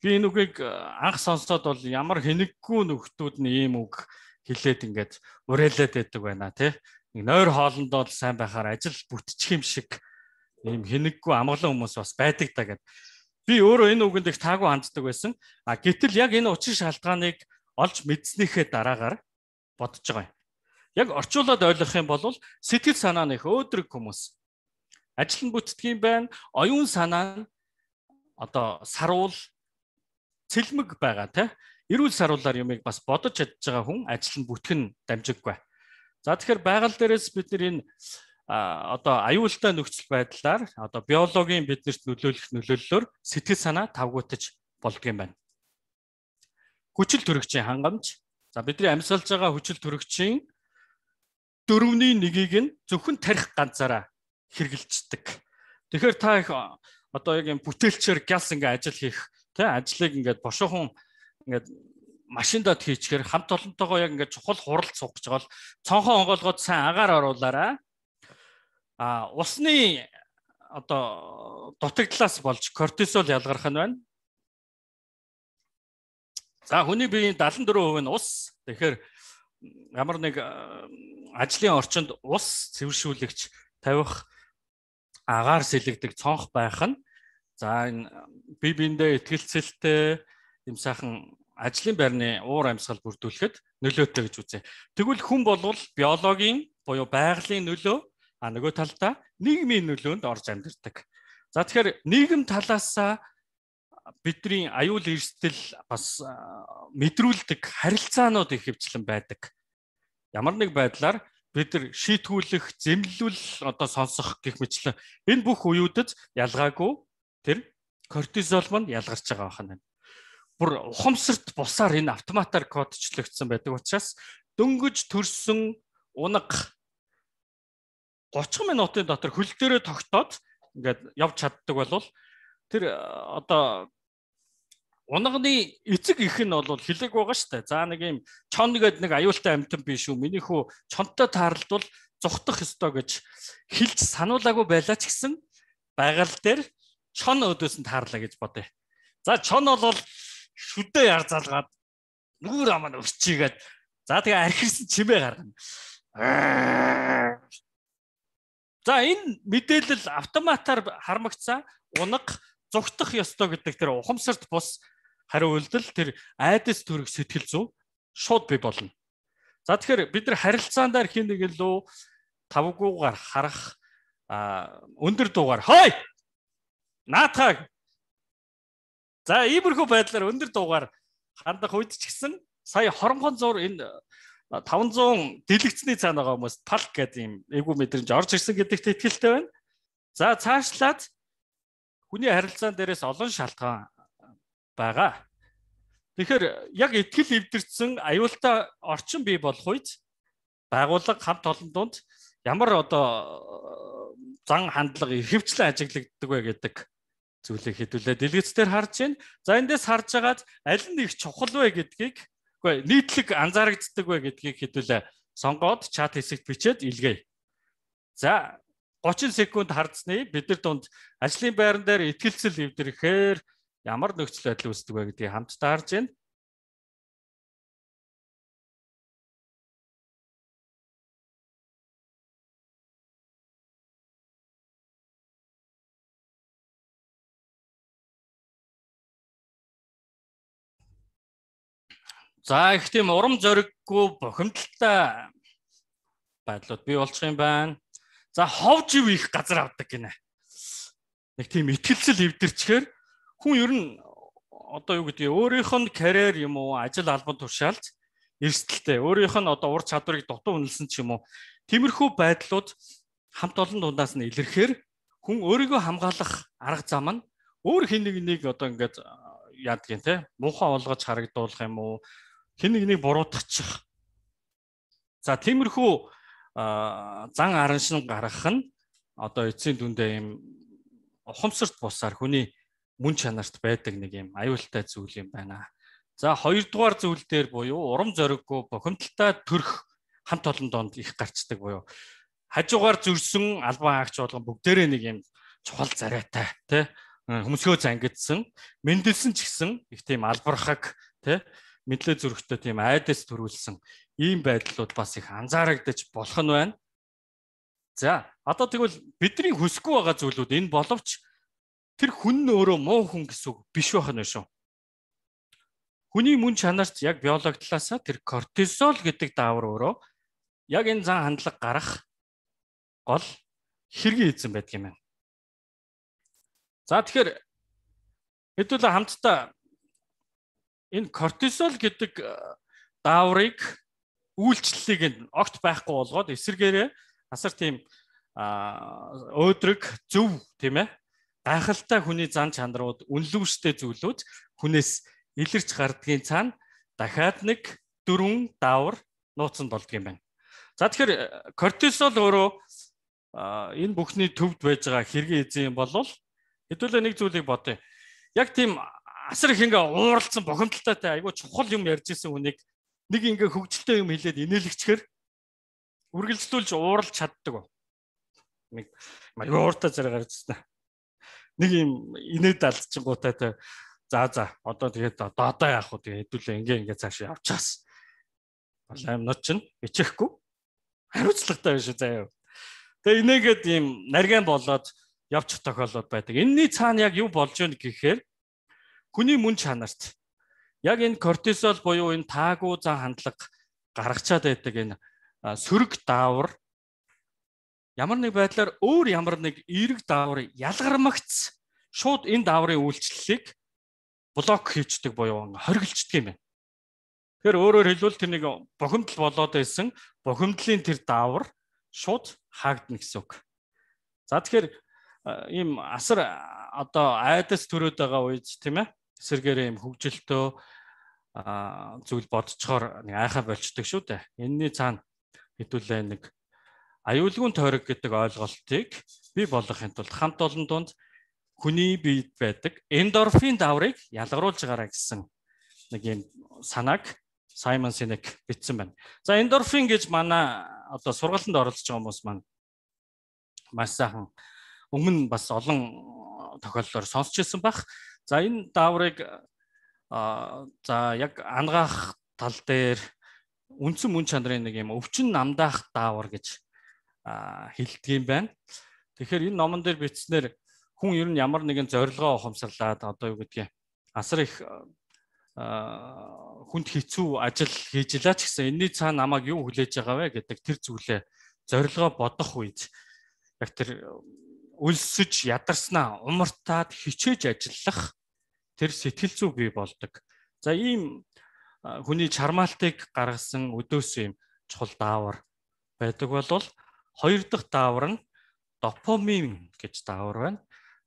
Би энэ үгийг анх сонсоод бол ямар хэнэггүй нөхдүүд нь ийм үг хэлээд ингээд уриалаад байдаг байна тий. Нэг нойр хоолндоо л сайн байхаар ажил бүтчих юм шиг ийм хэнэггүй амгалан хүмүүс бас байдаг да гэд. Би өөрөө энэ үгэнд их таагүй ханддаг байсан. Гэтэл яг энэ учир шалтгааныг олж мэдснийхээ дараагаар бодож байгаа юм. Яг орчуулад ойлгох юм бол сэтгэл санаа нь их өөдрөг хүмүүс. Ажил нь бүтдэг юм байна. Оюун санаа нь одоо саруул цэлмэг байгаа те. Эрүүл саруулаар юмыг бас бодож чадж байгаа хүн ажил нь бүтгэн дамжиггүй. За тэгэхээр байгаль дээрээс бид энэ одоо аюултай нөхцөл байдлаар одоо биологийн биднэрт нөлөөлөх нөлөөллөөр сэтгэл санаа тавгуутаж болдго юм байна. Хүчил төрөгчийн хангамж. За бидний амьсгалж байгаа хүчил төрөгчийн 4/1-ийг нь зөвхөн тарих ганцаараа хэрэгжилждэг. Тэгэхээр та их одоо яг юм бүтээлчээр гялс ингээ ажил хийх, тэ ажлыг ингээд бошоохон ингээд машиндад хийчихээр хамт олонтойгоо яг ингээд чухал хуралд суух гэж байгаа бол цонхоо онгоолгоод сайн агаар оруулаарай. Усны одоо дутагдлаас болж кортизол ялгарх нь байна. За хүний биеийн 74% нь ус. Тэгэхээр ямар нэг ажлын орчинд ус цэвэршүүлэгч тавих, агаар сэлэгдэг цонх байх нь за энэ бие биендээ итгэлцэлтэй юм сайхан ажлын байрны уур амьсгал бүрдүүлэхэд нөлөөтэй гэж үзье. Тэгвэл хүн болвол биологийн буюу байгалийн нөлөө, нөгөө талдаа нийгмийн нөлөөнд орж амьдардаг. За тэгэхээр нийгэм талаас бидний аюул эрсдэл бас мэдрүүлдэг харилцаанууд их хвчлэн байдаг. Ямар нэг байдлаар бид нар шийтгүүлэх, зэмлэл одоо сонсох гэх мэтлэн энэ бүх үеүүдэд ялгаагүй тэр кортизол мань ялгарч байгаа байна. Бүр ухамсарт бусаар энэ автоматар кодчлогдсон байдаг учраас дөнгөж төрсөн унаг 30 минутын дотор хөл дээрээ тогтоод ингээд явж чаддаг болвол тэр одоо унагны эцэг их нь бол хилэг байгаа шүү дээ. За нэг юм чон гэдэг нэг аюултай амьтан биш үү? Минийхүү чонтой таарлдвал зүхтах ёстой гэж хэлж сануулаагүй байлаа ч гэсэн байгаль дээр чон өдөөс нь таарлаа гэж бодъё. За чон бол шүдээ яр залгаад нүүр амаа өрчигээд за тэгээ архирсан чимээ гаргана. За энэ мэдээлэл автоматар хармагцаа унаг зүхтах ёстой гэдэг тэр ухамсарт бус хариу үйлдэл тэр айдас төрөх сэтгэл зүй шууд бий болно. За тэгэхээр бид нар харилцаандаар хин нэг лөө тавгуугаар харах өндөр дуугаар хой наатхаг. За иймэрхүү байдлаар өндөр дуугаар хандах үед ч гэсэн сая хоромхон зур энэ 500 дэлгэцний цаана байгаа хүмүүс палк гэдэг юм эвгүй мэдрэмж орж ирсэн гэдэгт итгэлтэй байна. За цаашлаад хүний харилцаан дээрээс олон шалтгаан байгаа. Тэгэхээр яг итгэл эвдэрсэн аюултай орчин бий болох үед байгууллага хамт олон донд ямар одоо зан хандлага ихэвчлэн ажиглагддаг вэ гэдэг зүйлийг хэдүүлээ дэлгэцээр харж байна. За эндээс харж агаад аль нь их чухал вэ гэдгийг үгүй нийтлэг анзаарэгддэг вэ гэдгийг хэдүүлээ сонгоод чат хэсэгт бичээд илгээе. За 30 секунд хардсны бид нар дунд ажлын байран дээр итгэлцэл эвдрэхээр ямар нөхцөл байдал үүсдэг вэ гэдгийг хамтдаа харж байна. За их тийм урам зориггүй бохимдолтой байдлууд бий болчих юм байна. За ховж ив их газар авдаг гинэ. Нэг тийм итгэлцэл эвдэрчгээр хүн ер нь одоо юу гэдэг өөрийнх нь карьер юм уу ажил албан тушаалд эрсдэлтэй өөрийнх нь одоо ур чадварыг дутуу үнэлсэн ч юм уу тиймэрхүү байдлууд хамт олон дундаас нь илэрхээр хүн өөрийгөө хамгаалах арга зам нь өөр хин нэг одоо ингээд яадаг юм те муухай олгож харагдуулах юм уу хин нэг буруутгачих. За тиймэрхүү зан араншин гаргах нь одоо эцсийн дүндээ юм ухамсарт бусаар хүний мөн чанарт байдаг нэг юм аюултай зүйл юм байна. За хоёрдугаар зүйл дээр буюу урам зориггүй бохимдолтой төрх хамт олон донд их гарчдаг буюу хажуугаар зөрсөн албан хаагч болгон бүгдээрээ нэг юм чухал царайтай тий хөмсгөө зангидсан мэндэлсэн ч гэсэн их тийм албархаг тий мэдлээ зүрхтэй тийм айдас төрүүлсэн ийм байдлууд бас их анзаарагдаж болох нь байна. За одоо тэгвэл бидний хүсэхгүй байгаа зүйлүүд энэ боловч тэр хүн нь өөрөө муу хүн гэсэн үг биш байх нь шүү. Хүний мөн чанарт яг биологи талаасаа тэр кортизол гэдэг даавар өөрөө яг энэ зан хандлага гарах гол хэргийн эзэн байдаг юм байна. За тэгэхээр хэдүүлээ хамтдаа энэ кортизол гэдэг дааврыг үйлчлэлийг нь огт байхгүй болгоод эсэргээрээ асар тийм өөдрөг зөв тийм ээ гайхалтай хүний зан чанарууд үнэлүүштэй зүйлүүд хүнээс илэрч гардгийн цаана дахиад нэг дөрвөн даавар нууцсан болдго юм байна. За тэгэхээр кортизол өөрөө энэ бүхний төвд байж байгаа хэргийн эзэн бол хэдүүлээ нэг зүйлийг бодъё. Яг тийм асар их ингээ ууралцсан бохомдолтой айгүй чухал юм ярьж исэн хүнийг нэг ингээ хөвгөлтэй юм хэлээд инээлгчээр үргэлжлүүлж ууралж чаддаг. Нэг ууртай зэрэг гарчсан. Нэг юм инээд алдчихгуутай за одоо тэгээд одоо яах вэ тэгээд хэдүүлээ ингээ цааш явчихаас. Болоо юмнууд чинь бичихгүй хариуцлагатай биш үү заяа. Тэгээ инээгээд ийм нарийн болоод явчих тохиолдол байдаг. Энэний цаана яг юу болж байна гэхээр хүний мөн чанарт яг энэ кортизол буюу энэ таагүй зан хандлага гаргачаад байдаг энэ сөрөг даавар ямар нэг байдлаар өөр ямар нэг эерэг даавар ялгармагц шууд энэ дааврын үйлчлэлийг блок хийчдэг буюу хориглцдаг юм байна. Тэгэхээр өөрөөр хэлбэл тэр нэг бохимдол болоод байсан бохимдлын тэр даавар шууд хаагдана гэсэн үг. За тэгэхээр ийм асар одоо айдас төрөөд байгаа үед тийм ээ эсэргээрээ ийм хөвгөлтөө зүйл бодцохоор нэг айхаа болчдөг шүү дээ. Энэний цаана хэдүүлээ нэг аюулгүй тойрог гэдэг ойлголтыг бий болгохын тулд хамт олон донд хүний биед байдаг эндорфин дааврыг ялгаруулж гараа гэсэн нэг юм санааг Саймон Синек бичсэн байна. За эндорфин гэж манай одоо сургалтанд оролцож байгаа хүмүүс маань маш сайхан өмнө бас олон тохиолдолд сонсч ирсэн байх. За энэ дааврыг за яг ангаах тал дээр үндсэн мөн чанарын нэг юм өвчин намдаах даавар гэж хэлдэг юм байна. Тэгэхээр энэ номон дээр бичснээр хүн ер нь ямар нэгэн зорилгоо ухамсарлаад одоо юу гэдгийг асар их хүнд хэцүү ажил хийж илаа ч гэсэн энэний цаана намайг юу хүлээж байгаа вэ гэдэг тэр зүйлээ зорилгоо бодох үед яг тэр өлсөж ядарснаа умартаад хичээж ажиллах тэр сэтгэл зүй бий болдог. За ийм хүний чармаалтыг гаргасан өдөөс юм чухал даавар байдаг бол хоёр дахь даавар нь допамин гэж даавар байна.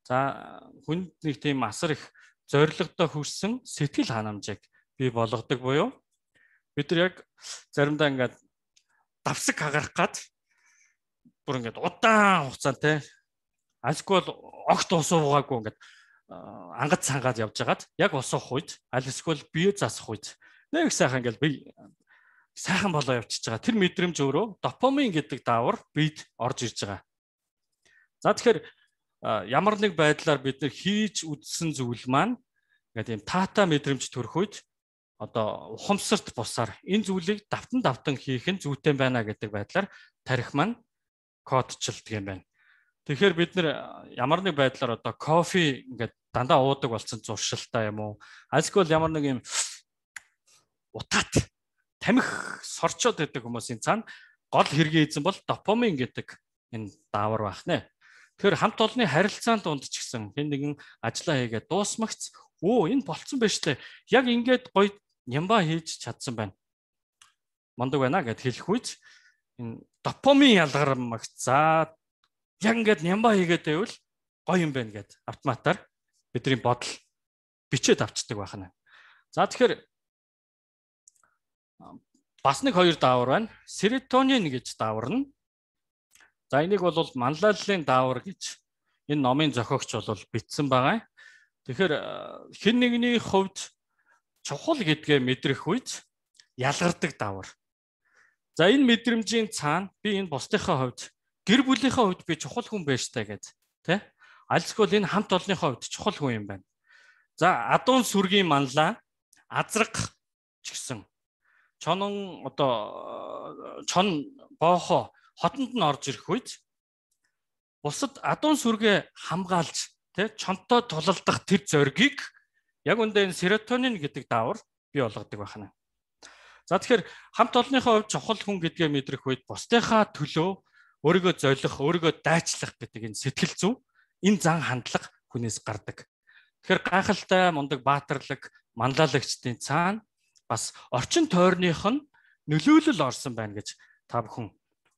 За хүнд нэг тийм асар их зорилгодоо хүрсэн сэтгэл ханамжийг бий болгодог буюу бид нар яг заримдаа ингээд давсаг хагарах гад бүр ингээд удаан хугацаантай альскол огт усуугаагүй ингээд ангад цангаад явж хагаад яг усуух үед аль эсвэл бие засах үед нэг сайхан ингээд би сайхан болоо явчихж байгаа. Тэр мэдрэмж өөрөө допамин гэдэг даавар бид орж ирж байгаа. За тэгэхээр ямар нэг байдлаар бид нар хийж үдсэн зүйл маань ингээд юм таата мэдрэмж төрөх үед одоо ухамсарт бусаар энэ зүйлийг давтан хийх нь зүйтэй байна гэдэг байдлаар тарих маань кодчилдаг юм байна. Тэгэхээр бид нар ямар нэг байдлаар одоо кофе ингээд дандаа уудаг болсон зуршилтай юм уу? Альскол ямар нэг юм утаат тамхи сорчоод байдаг хүмүүсийн цаана гол хэргийн эзэн бол допамин гэдэг энэ даавар байх нэ. Тэгэхээр хамт олонны харилцаанд дунд ч гэсэн хэн нэгэн ажиллаа хийгээд дуусмагц энэ болцсон байж тээ. Яг ингээд гоё нямба хийж чадсан байна. Мондог байна гэд хэлэх үед энэ допамин ялгармагц. За яг ингээд нямба хийгээд байвал гоё юм байна гэд автоматар бидний бодол бичээд авчдаг байна. За тэгэхээр бас нэг хоёр даавар байна. Серотонин гэж даавар нь. За энийг бол манлайллын даавар гэж энэ номын зохиогч бол бичсэн байгаа. Тэгэхээр хэн нэгний хувьд чухал гэдгээ мэдрэх үед ялгардаг даавар. За энэ мэдрэмжийн цаана би энэ бусдынхаа хувьд гэр бүлийнхаа хувьд би чухал хүн байж таа гэд тий. Альцгүй энэ хамт олонныхаа хувьд чухал хүн юм байна. За адуун сүргийн манлаа азрах ч гэсэн чонон одоо чон боохоо хотонд нь орж ирэх үед бусад адуун сүргээ хамгаалж тий чонтой тулалдах тэр зоригийг яг үндэ энэ серотонин гэдэг даавар бий болгодог байна. За тэгэхээр хамт олонныхоо хувьд чухал хүн гэдгээ мэдрэх үед бусдынхаа төлөө өөрийгөө золих, өөрийгөө дайчлах гэдэг энэ сэтгэл зүй, энэ зан хандлага хүнээс гардаг. Тэгэхээр гайхалтай мундаг баатарлаг манлайлагчдын цаана бас орчин тойрных нь нөлөөлөл орсон байна гэж та бүхэн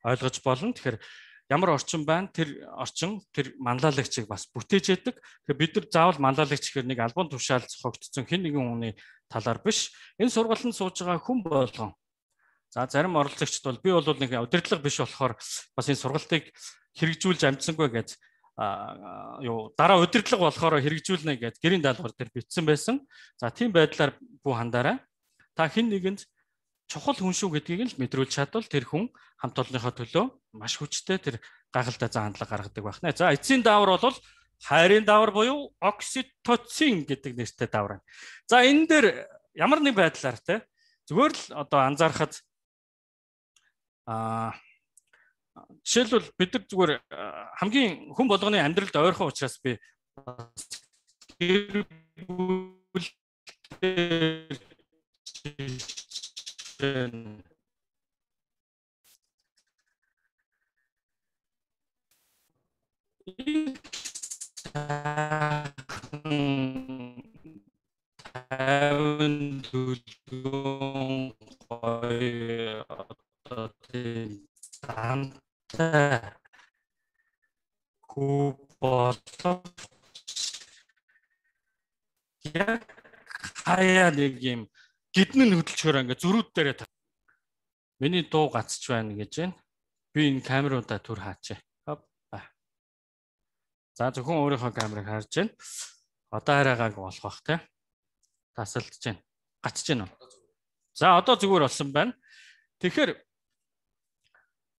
ойлгож болно. Тэгэхээр ямар орчин байна? Тэр орчин тэр манлайлагчийг бас бүтээж яадаг. Тэгэхээр бид нар заавал манлайлагч гэхэр нэг албан тушаал зохиогдсон хэн нэгэн хүний талаар биш. Энэ сургалтанд сууж байгаа хүн болгон. За зарим оролцогчд бол би бол нэг удирдлага биш болохоор бас энэ сургалтыг хэрэгжүүлж амжсангүй гэж дараа удирдлага болохоор хэрэгжүүлнэ гэж гэрийн даалгавар дээр бичсэн байсан. За тийм байдлаар бүү хандаарай. Та хэн нэгэнд чухал хүн шүү гэдгийг л мэдрүүлж чадвал тэр хүн хамт олонныхоо төлөө маш хүчтэй тэр гайхалтай зан хандлага гаргадаг байх нэ. За эцсийн даавар бол хайрын даавар буюу окситоцин гэдэг нэртэй даавар. За энэ дээр ямар нэг байдлаар те зүгээр л одоо анзаарахад жишээлбэл бид нар зүгээр хамгийн хүн болгоны амьдралд ойрхон учраас би хаяа нэг юм гиднэн хөдөлчөөр ингээ зүрүүд дээрээ миний дуу гацж байна гэж байна. Би энэ камеруудаа түр хаачаа. За зөвхөн өөрийнхөө камерыг харж байна. Одоо хараагааг болох бах те. Тасалдж байна. Гацж байна уу? За одоо зүгээр болсон байна. Тэгэхээр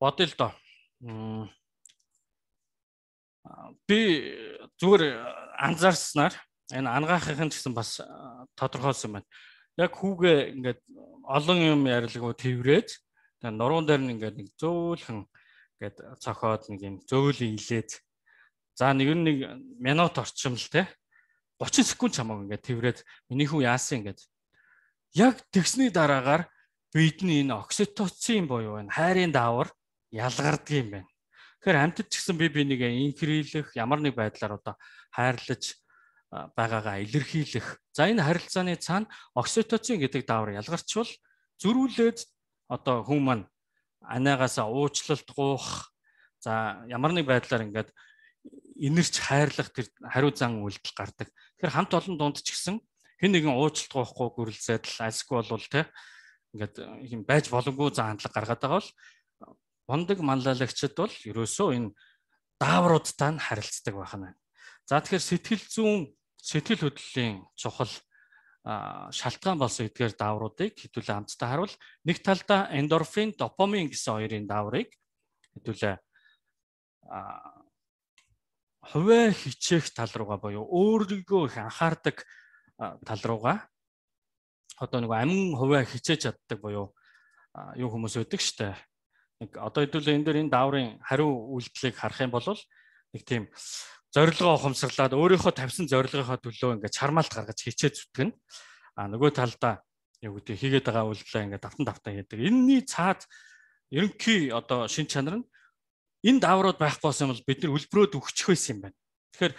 бодъё л доо. Би зүгээр анзаарснаар энэ ангаахын гэсэн бас тодорхойлсон байна. Яг хүүгээ ингээд олон юм ярилгуу тэрврээд нуруунд дээр нь ингээд нэг зөөлхөн ингээд цохоод нэг юм зөөлөн илээд за нэг минут орчим л те 30 секунд чамаг ингээд тэрврээд миний хүн яасан ингээд яг тэгсний дараагаар бидний энэ окситоцин буюу энэ хайрын даавар ялгардаг юм байна. Тэгэхээр амьтад ч гэсэн би нэг инхрийлэх ямар нэг байдлаар одоо хайрлаж байгаагаа илэрхийлэх. За энэ харилцааны цаана окситоцин гэдэг даавар ялгарчвал зөрүүлээд одоо хүн маань анагаасаа уучлалт гуух. За ямар нэг байдлаар ингээд инэрч хайрлах тэр хариу зан үйлдэл гардаг. Тэгэхээр хамт олон дунд ч гэсэн хэн нэгэн уучлалт гуухгүй гүрэлзээд л альсгүй болвол те ингээд юм байж боломгүй зан хандлага гаргаад байгаа бол бондог манлайлагчид бол ерөөсөө энэ даавруудтай нь харилцдаг байна. За тэгэхээр сэтгэл хөдлөлийн чухал шалтгаан болсон эдгээр даавруудыг хэдүүлээ хамтдаа харуул. Нэг талдаа эндорфин, допамин гэсэн хоёрын дааврыг хэдүүлээ хувиа хичээх тал руугаа буюу өөрийгөө их анхаардаг тал руугаа одоо нэг амин хувиа хичээж чаддаг буюу юу хүмүүс өгдөг штэ. Нэг одоо хэдүүлээ энэ дээр энэ дааврын хариу үйлдэлийг харах юм бол нэг тийм зорилгоо ухамсарлаад өөрийнхөө тавьсан зорилгынхаа төлөө ингээд чармаалт гаргаж хичээж зүтгэн. Нөгөө талдаа юу гэдэг хийгээд байгаа үйлдэлээ ингээд давтан хийдэг. Энэний цаад ерөнхий одоо шин чанар нь энэ дааврууд байхгүй болсон бол бид нар үлбрөөд өгчих байсан юм байна. Тэгэхээр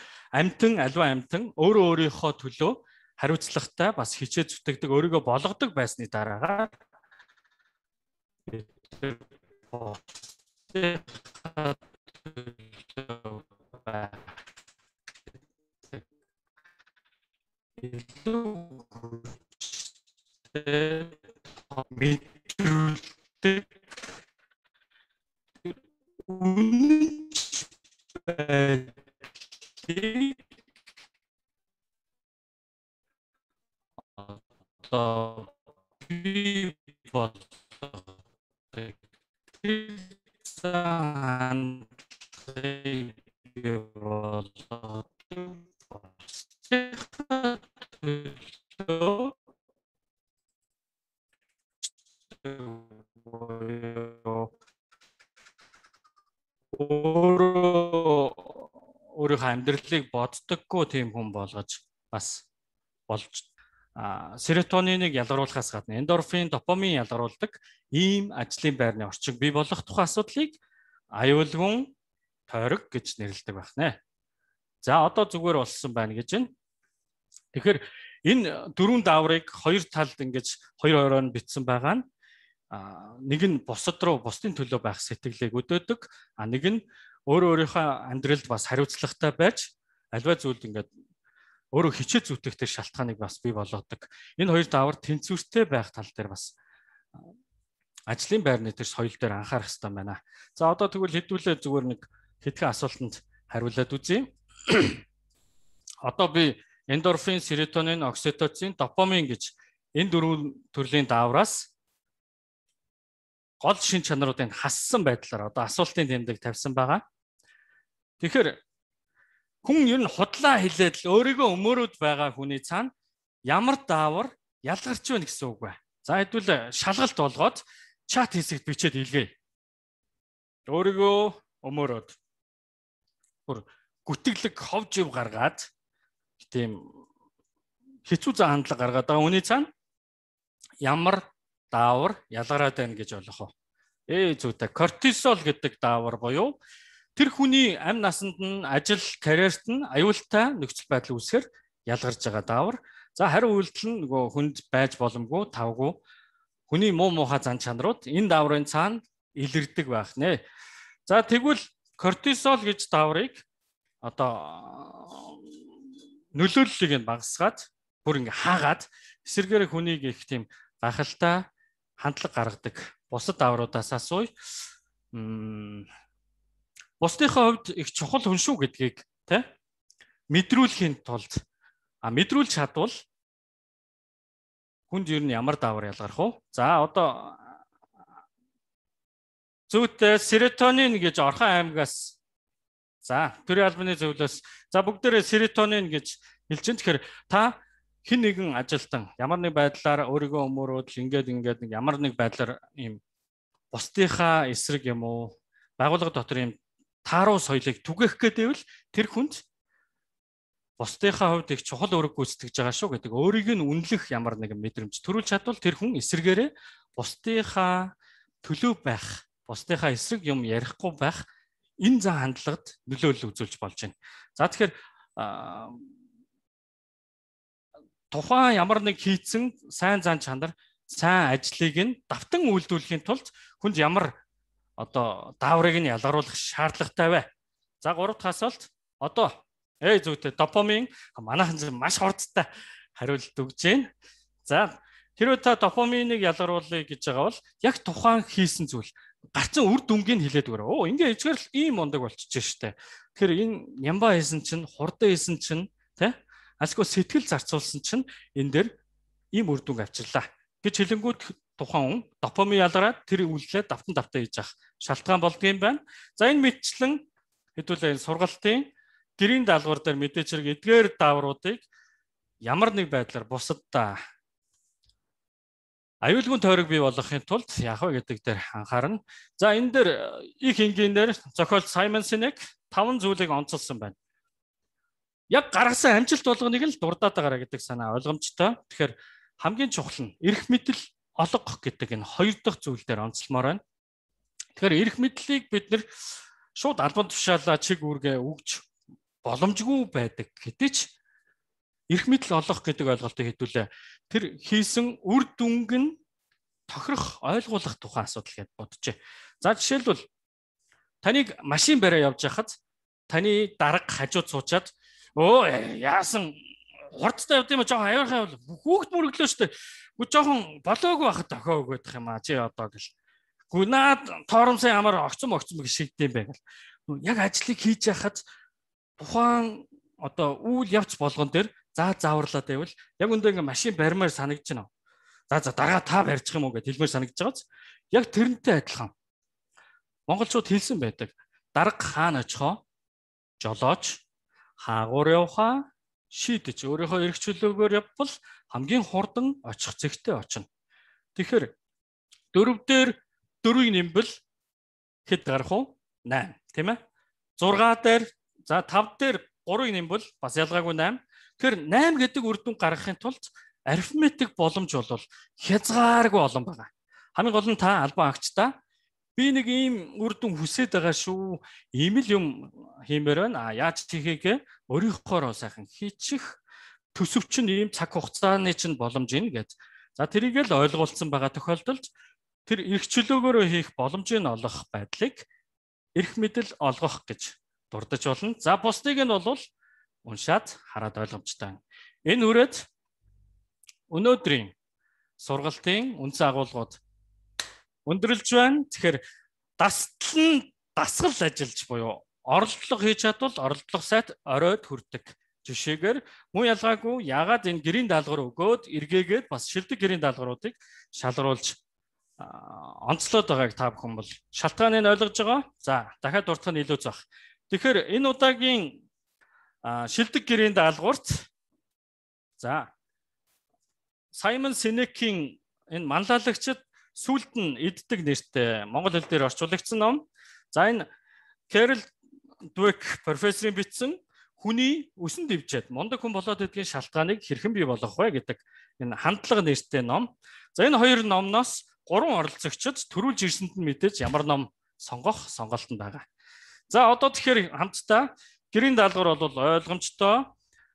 аливаа амьтан өөрөө өөрийнхөө төлөө хариуцлагатай бас хичээж зүтгэдэг, өөрийгөө болгодог байсны дараагаар мэдрүүлдэг үнэнч байдлыг одоо би болгодог өөрийнхөө амьдралыг боддоггүй тийм хүн болгож бас болж серотониныг ялгаруулахаас гадна эндорфин, допамин ялгаруулдаг ийм ажлын байрны орчиг бий болох тухай асуудлыг аюулгүй тойрог гэж нэрлэдэг байна. За одоо зүгээр болсон байна гэж байна. Тэгэхээр энэ дөрвөн дааврыг хоёр талд ингэж хоёр хоёроор нь бичсэн байгаа нь нэг нь бусад руу бусдын төлөө байх сэтгэлийг өдөөдөг, нэг нь өөрийнхөө амьдралд бас хариуцлагатай байж альва зүйлд ингээд өөрөө хичээ зүтгэх тэр шалтгааныг бас бий болгодог. Энэ хоёр даавар тэнцвэртэй байх тал дээр бас ажлын байрны тэр соёл дээр анхаарах хэрэгтэй байна. За одоо тэгвэл хэдүүлээ зүгээр нэг хэдхэн асуултанд хариулаад үзье. Одоо би эндорфин, серотонин, окситоцин, допамин гэж энэ дөрвөн төрлийн даавраас гол шин чанаруудыг хассан байдлаар одоо асуултын тэмдэг тавьсан байгаа. Тэгэхээр хүн ер нь худлаа хэлээд л өөрийгөө өмөрөөд байгаа хүний цаана ямар даавар ялгарч байна гэсэн үг бай. За хэдүүл шалгалт болгоод чат хэсэгт бичээд илгээе. Өөрийгөө өмөрөөд бүр гүтгэлэг ховж ив гаргаад тийм хэцүү зан хандлага гаргаад байгаа хүний цаана ямар даавар ялгараад байна гэж ойлгох. Зүйтэй кортизол гэдэг даавар буюу тэр хүний амь насанд нь ажил, карьерт нь аюултай нөхцөл байдал үүсэхээр ялгарч байгаа даавар. За хариу үйлдэл нь нөгөө хүнд байж боломгүй, тавгүй хүний муу муухай зан чанарууд энэ дааврын цаана илэрдэг байх нэ. За тэгвэл кортизол гэж дааврыг одоо нөлөөллийг нь багасгаад бүр ингээ хаагаад эсэргээр хүнийг их тийм гахалтай хандлага гаргадаг. Бусад даавруудаас асууя. Бусдынхаа хувьд их чухал хүн шүү гэдгийг мэдрүүлэхийн тулд мэдрүүлж чадвал хүнд ер нь ямар даавар ялгарх вэ? За одоо зүйтэй серотонин гэж орхон аймагаас төрийн албаны зөвлөөс бүгдээрээ серотонин гэж хэлж байна. Тэгэхээр та хэн нэгэн ажилтан ямар нэг байдлаар өөрийгөө өмөрөөд ингээд нэг ямар нэг байдлаар ийм бусдынхаа эсрэг юм уу байгууллага дотор ийм тааруу соёлыг түгээх гэдэвэл тэр хүнд бусдынхаа хувьд их чухал үүрэг гүйцэтгэж байгаа шүү гэдэг өөрийг нь үнэлэх ямар нэгэн мэдрэмж төрүүлж чадвал тэр хүн эсрэгээрээ бусдынхаа төлөө байх, бусдынхаа эсрэг юм ярихгүй байх энэ зан хандлагад нөлөөлөл үзүүлж болж байна. За тэгэхээр тухайн ямар нэг хийцэн сайн зан чанар, сайн ажлыг нь давтан үйлдвэрлэхийн тулд хүнд ямар одоо дааврыг нь ялгаруулах шаардлагатай вэ? За 3 дахь асуулт. Одоо зүйтэй допамин манайхан маш хурдтай хариулт өгж байна. За хэрвээ та допаминыг ялгаруулъя гэж байгаа бол яг тухайн хийсэн зүйл гарцсан үр дүнгийг хэлээд өгөрөө. Ингээ ичгээр л ийм мундаг болчихж штэ. Тэгэхээр энэ нямба хийсэн чинь, хурдан хийсэн чинь асгүй сэтгэл зарцуулсан чинь энэ дээр ийм үр дүнг авчирлаа гэж хэлэнгүүт тухайн хүн допамин ялгараад тэр үйлдэлээ давтан хийж авах шалтгаан болдгийм байна. За энэ мэтчлэн хэдүүлээ энэ сургалтын гэрийн даалгавар дээр мэдээж хэрэг эдгээр даавруудыг ямар нэг байдлаар бусаддаа аюулгүй тойрог бий болгохын тулд яах вэ гэдэг дээр анхаарна. За энэ дээр их энгийнээр зохиолч Саймон Синек 5 зүйлийг онцолсон байна. Яг гаргасан амжилт болгоныг л дурдаад байгаараа гэдэг санаа ойлгомжтой. Тэгэхээр хамгийн чухал нь эрх мэдэл олгох гэдэг энэ хоёр дахь зүйл дээр онцлмоор байна. Тэгэхээр эрх мэдлийг бид нэр шууд албан тушаалаа чиг үүргээ өгж боломжгүй байдаг хэдий ч эрх мэдэл олгох гэдэг ойлголтыг хэдүүлээ тэр хийсэн үр дүнг нь тохирох ойлгуулах тухайн асуудал гэж бодчихъя. За жишээлбэл таныг машин бариа явж байхад таны дарга хажууд суучаад яасан хурдтай явд юм аа жоохон аюурхай бол хүүхд мөрөглөө штэ. Гү жоохон болоогүй байхад охио өгөх юм аа чи одоо гэл. Гү наад торомсын ямар огцом гэж шигдэм бай гэл. Яг ажлыг хийж яхад тухайн одоо үйл явц болгон дээр зааварлаад байвал яг өндөө ингээ машин барьмаар санагдаж байна. За дараа та барьчих юм уу гэж хэлмээр санагдаж байгааз. Яг тэрнтэй адилхан. Монголчууд хэлсэн байдаг. Дарга хаана очихоо жолооч хаагуур явхаа шийдэж өөрийнхөө эрх чөлөөгөөр явбал хамгийн хурдан очих зэгтээ очино. Тэгэхээр 4 дээр 4-ийг нэмбэл хэд гарах вэ? 8, тийм ээ? 6 дээр 5 дээр 3-ыг нэмбэл бас ялгаагүй 8. Тэгэхээр 8 гэдэг үр дүн гаргахын тулд арифметик боломж бол хязгааргүй олон байгаа. Хамгийн гол нь та албан агчдаа би нэг ийм үр дүн хүсээд байгаа шүү. Ийм л юм хиймээр байна. Яаж хийхээ өөрийнхоороо сайхан хийчих төсөвч нь ийм цаг хугацааны чинь боломж ийн гэж. За тэрийг л ойлгуулсан байгаа тохиолдолд тэр эрх чөлөөгөөрөө хийх боломжийг олгох байдлыг эрх мэдэл олгох гэж дурдж болно. За бусдыг нь бол уншаад хараад ойлгомжтой. Энэ үрээд өнөөдрийн сургалтын үндсэн агуулгууд өндөрлж байна. Тэгэхээр дасгал ажиллаж буюу оролдлого хийж чадвал оролдлого сайт оройд хүрдэг жишээгээр мөн ялгаагүй яагаад энэ гэрийн даалгавар өгөөд эргээгээд бас шилдэг гэрийн даалгавруудыг шалгаруулж онцлоод байгааг та бүхэн бол шалтгааныг ойлгож байгаа. За дахиад дурдах нь илүү зах. Тэгэхээр энэ удаагийн шилдэг гэрийн даалгаварт за Саймон Синекийн энэ манлайлагчид сүлд нь иддэг нэртэй монгол хэл дээр орчуулагдсан ном. За энэ Carol Dweck профессорын бичсэн хүний өсөн дэвжээд мундаг хүн болоод идгийн шалтгааныг хэрхэн бий болгох вэ гэдэг энэ хандлага нэртэй ном. За энэ хоёр номноос 3 оролцогчид төрүүлж ирсэнд нь мэдээж ямар ном сонгох сонголтонд байгаа. За одоо тэгэхээр хамтдаа гэрийн даалгавар бол ойлгомжтой.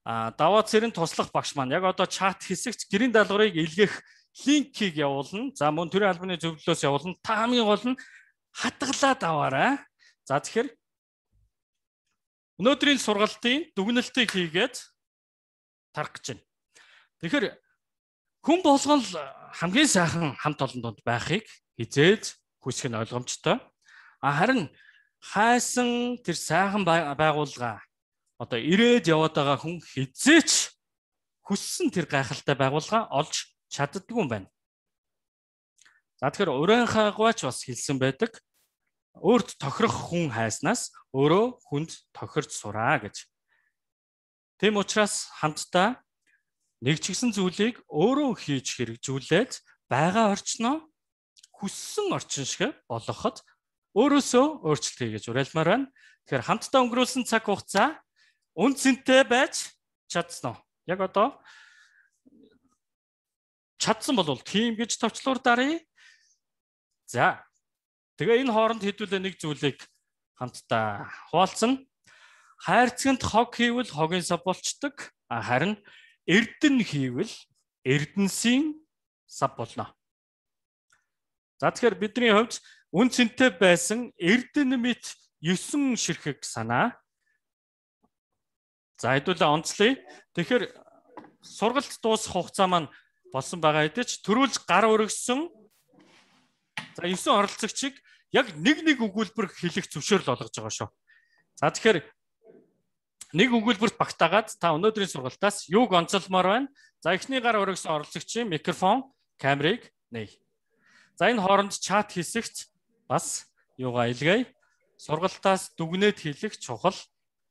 Даваа цэрэн туслах багш маань яг одоо чат хэсэгт гэрийн даалгаврыг илгээх линкийг явуулна. За мөн төрийн албаны зөвлөлөөс явуулна. Та хамгийн гол нь хатгалаад аваарай. За тэгэхээр өнөөдрийн сургалтын дүгнэлтийг хийгээд тарах гэж байна. Тэгэхээр хүн болгон хамгийн сайхан хамт олонд байхыг хизээж хүсэх нь ойлгомжтой. Харин хайсан тэр сайхан байгууллага одоо ирээд яваад байгаа хүн хизээч хүссэн тэр гайхалтай байгууллага олж чаддгүй юм байна. За тэгэхээр урайхаагаач бас хэлсэн байдаг. Өөрт тохирох хүн хайснаас өөрөө хүнд тохирч сураа гэж. Тэм учраас хамтдаа нэг ч гэсэн зүйлийг өөрөө хийж хэрэгжүүлээд байгаа орчноо хүссэн орчин шиг болгоход өөрөөсөө өөрчлөлт хийж уриалмаар байна. Тэгэхээр хамтдаа өнгөрүүлсэн цаг хугацаа үнцэнтэй байж чадсан уу? Яг одоо чадсан бол тийм гэж товчлуур даръя. За тэгээ энэ хооронд хэдүүлээ нэг зүйлийг хамтдаа хуваалцсан. Хайрцагт хог хийвэл хогийн сав болчдөг. Харин эрдэн хийвэл эрдэнсийн сав болно. За тэгэхээр бидний хувьд үнцэнтэй байсан эрдэн мэт 9 ширхэг санаа. За хэдүүлээ онцлоё. Тэгэхээр сургалт дуусах хугацаа маань болсон байгаа хэдий ч төрүүлж гар өргөссөн. За 9 оролцогчийг яг нэг өгүүлбэр хэлэх зөвшөөрөл олгож байгаа шүү. За тэгэхээр нэг өгүүлбэрт багтаагаад та өнөөдрийн сургалтаас юуг онцолмоор байна? За эхний гар өргөсөн оролцогчийн микрофон, камерыг нээ. За энэ хооронд чат хэсэгт бас юугаа илгээе. Сургалтаас дүгнээд хэлэх чухал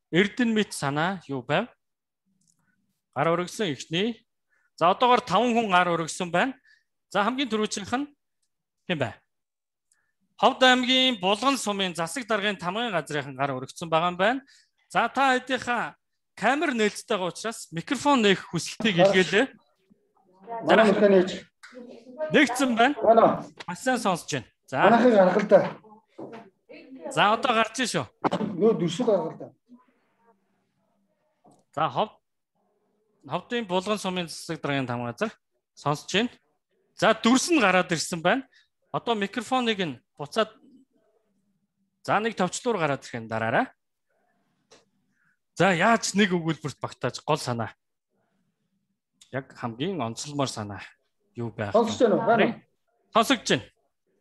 эрдэн мэт санаа юу байв? Гар өргөсөн эхний. За одоогоор 5 хүн гар өргөсөн байна. За хамгийн түрүүчийнх нь хэн бэ? Ховд аймгийн Булган сумын засаг даргын тамгын газрын гар өргөцсөн байгаа юм байна. За та хэдийнхаа камер нээлттэй байгаа учраас микрофон нээх хүсэлтийг илгээлээ. Манай мөрхөө нээж. Нэгцэн байна. Маш сайн сонсож байна. За. Манайхыг гаргах л да. За одоо гарч ийн шүү. Нөө дүрсүү гаргах л да. За Ховдын Булган сумын засаг даргын тамгын газар сонсож байна. За дүрс нь гараад ирсэн байна. Одоо микрофоныг нь буцаад за нэг товчлуур гараад ирэх нь дараарай. За яаж нэг өгүүлбэрт багтааж гол санаа. Яг хамгийн онцлмоор санаа юу байх вэ? Сонсож байна уу? Байна уу? Сонсогдож байна.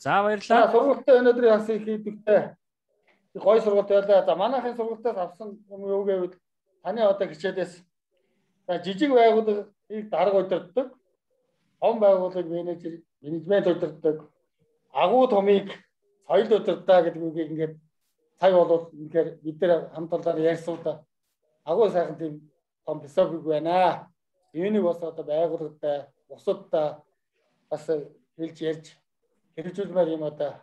За баярлалаа. Сургалтаа өнөөдөр яасан их хийдэгтэй. Гой сургалт байлаа. За манайхын сургалтаас авсан юм юу гэвэл таны одоо хичээлээс за жижиг байгууллагыг дарга удирддаг, том байгууллагыг менежмент удирддаг, агуу томыг соёл удирдаа гэдэг үгийг ингээд цаг болвол үнэхээр бид нэр хамт олоод ярьсан да. Агуу сайхан тийм том философик байна. Энийг бас одоо байгууллагатай, бусадтай бас хэлж ярьж хэрэгжүүлмээр юм одоо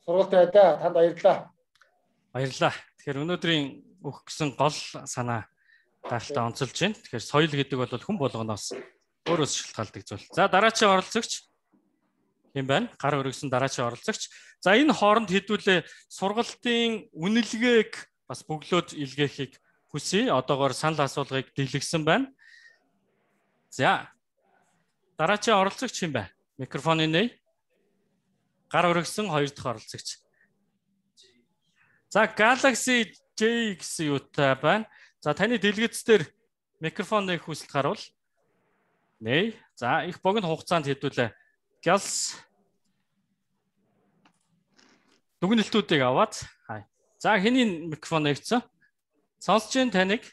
сургалт байдаа. Танд баярлалаа. Баярлалаа. Тэгэхээр өнөөдрийн өгөх гэсэн гол санаа гайхалтай онцолж байна. Тэгэхээр соёл гэдэг бол хүн болгоноос өөрөөс шалтгаалдаг зүйл. За дараачийн оролцогч юм байна. Гар өргөсөн дараачийн оролцогч. За энэ хооронд хэдүүлээ сургалтын үнэлгээг бас бөглөөд илгээхийг хүсье. Одоогоор санал асуулгыг дэлгэсэн байна. За. Дараагийн оролцогч юм бэ? Микрофоны нэй. Гар өргөсөн 2 дахь оролцогч. За, Galaxy J гэсэн юутай байна. За, таны дэлгэц дээр микрофон нэх хүсэлт гарвал. Нэй. За, их богино хугацаанд хэдүүлээ. Gals дүгнэлтүүдийг аваад. За, хэний микрофон нэгцэн? Сонсож байна таныг?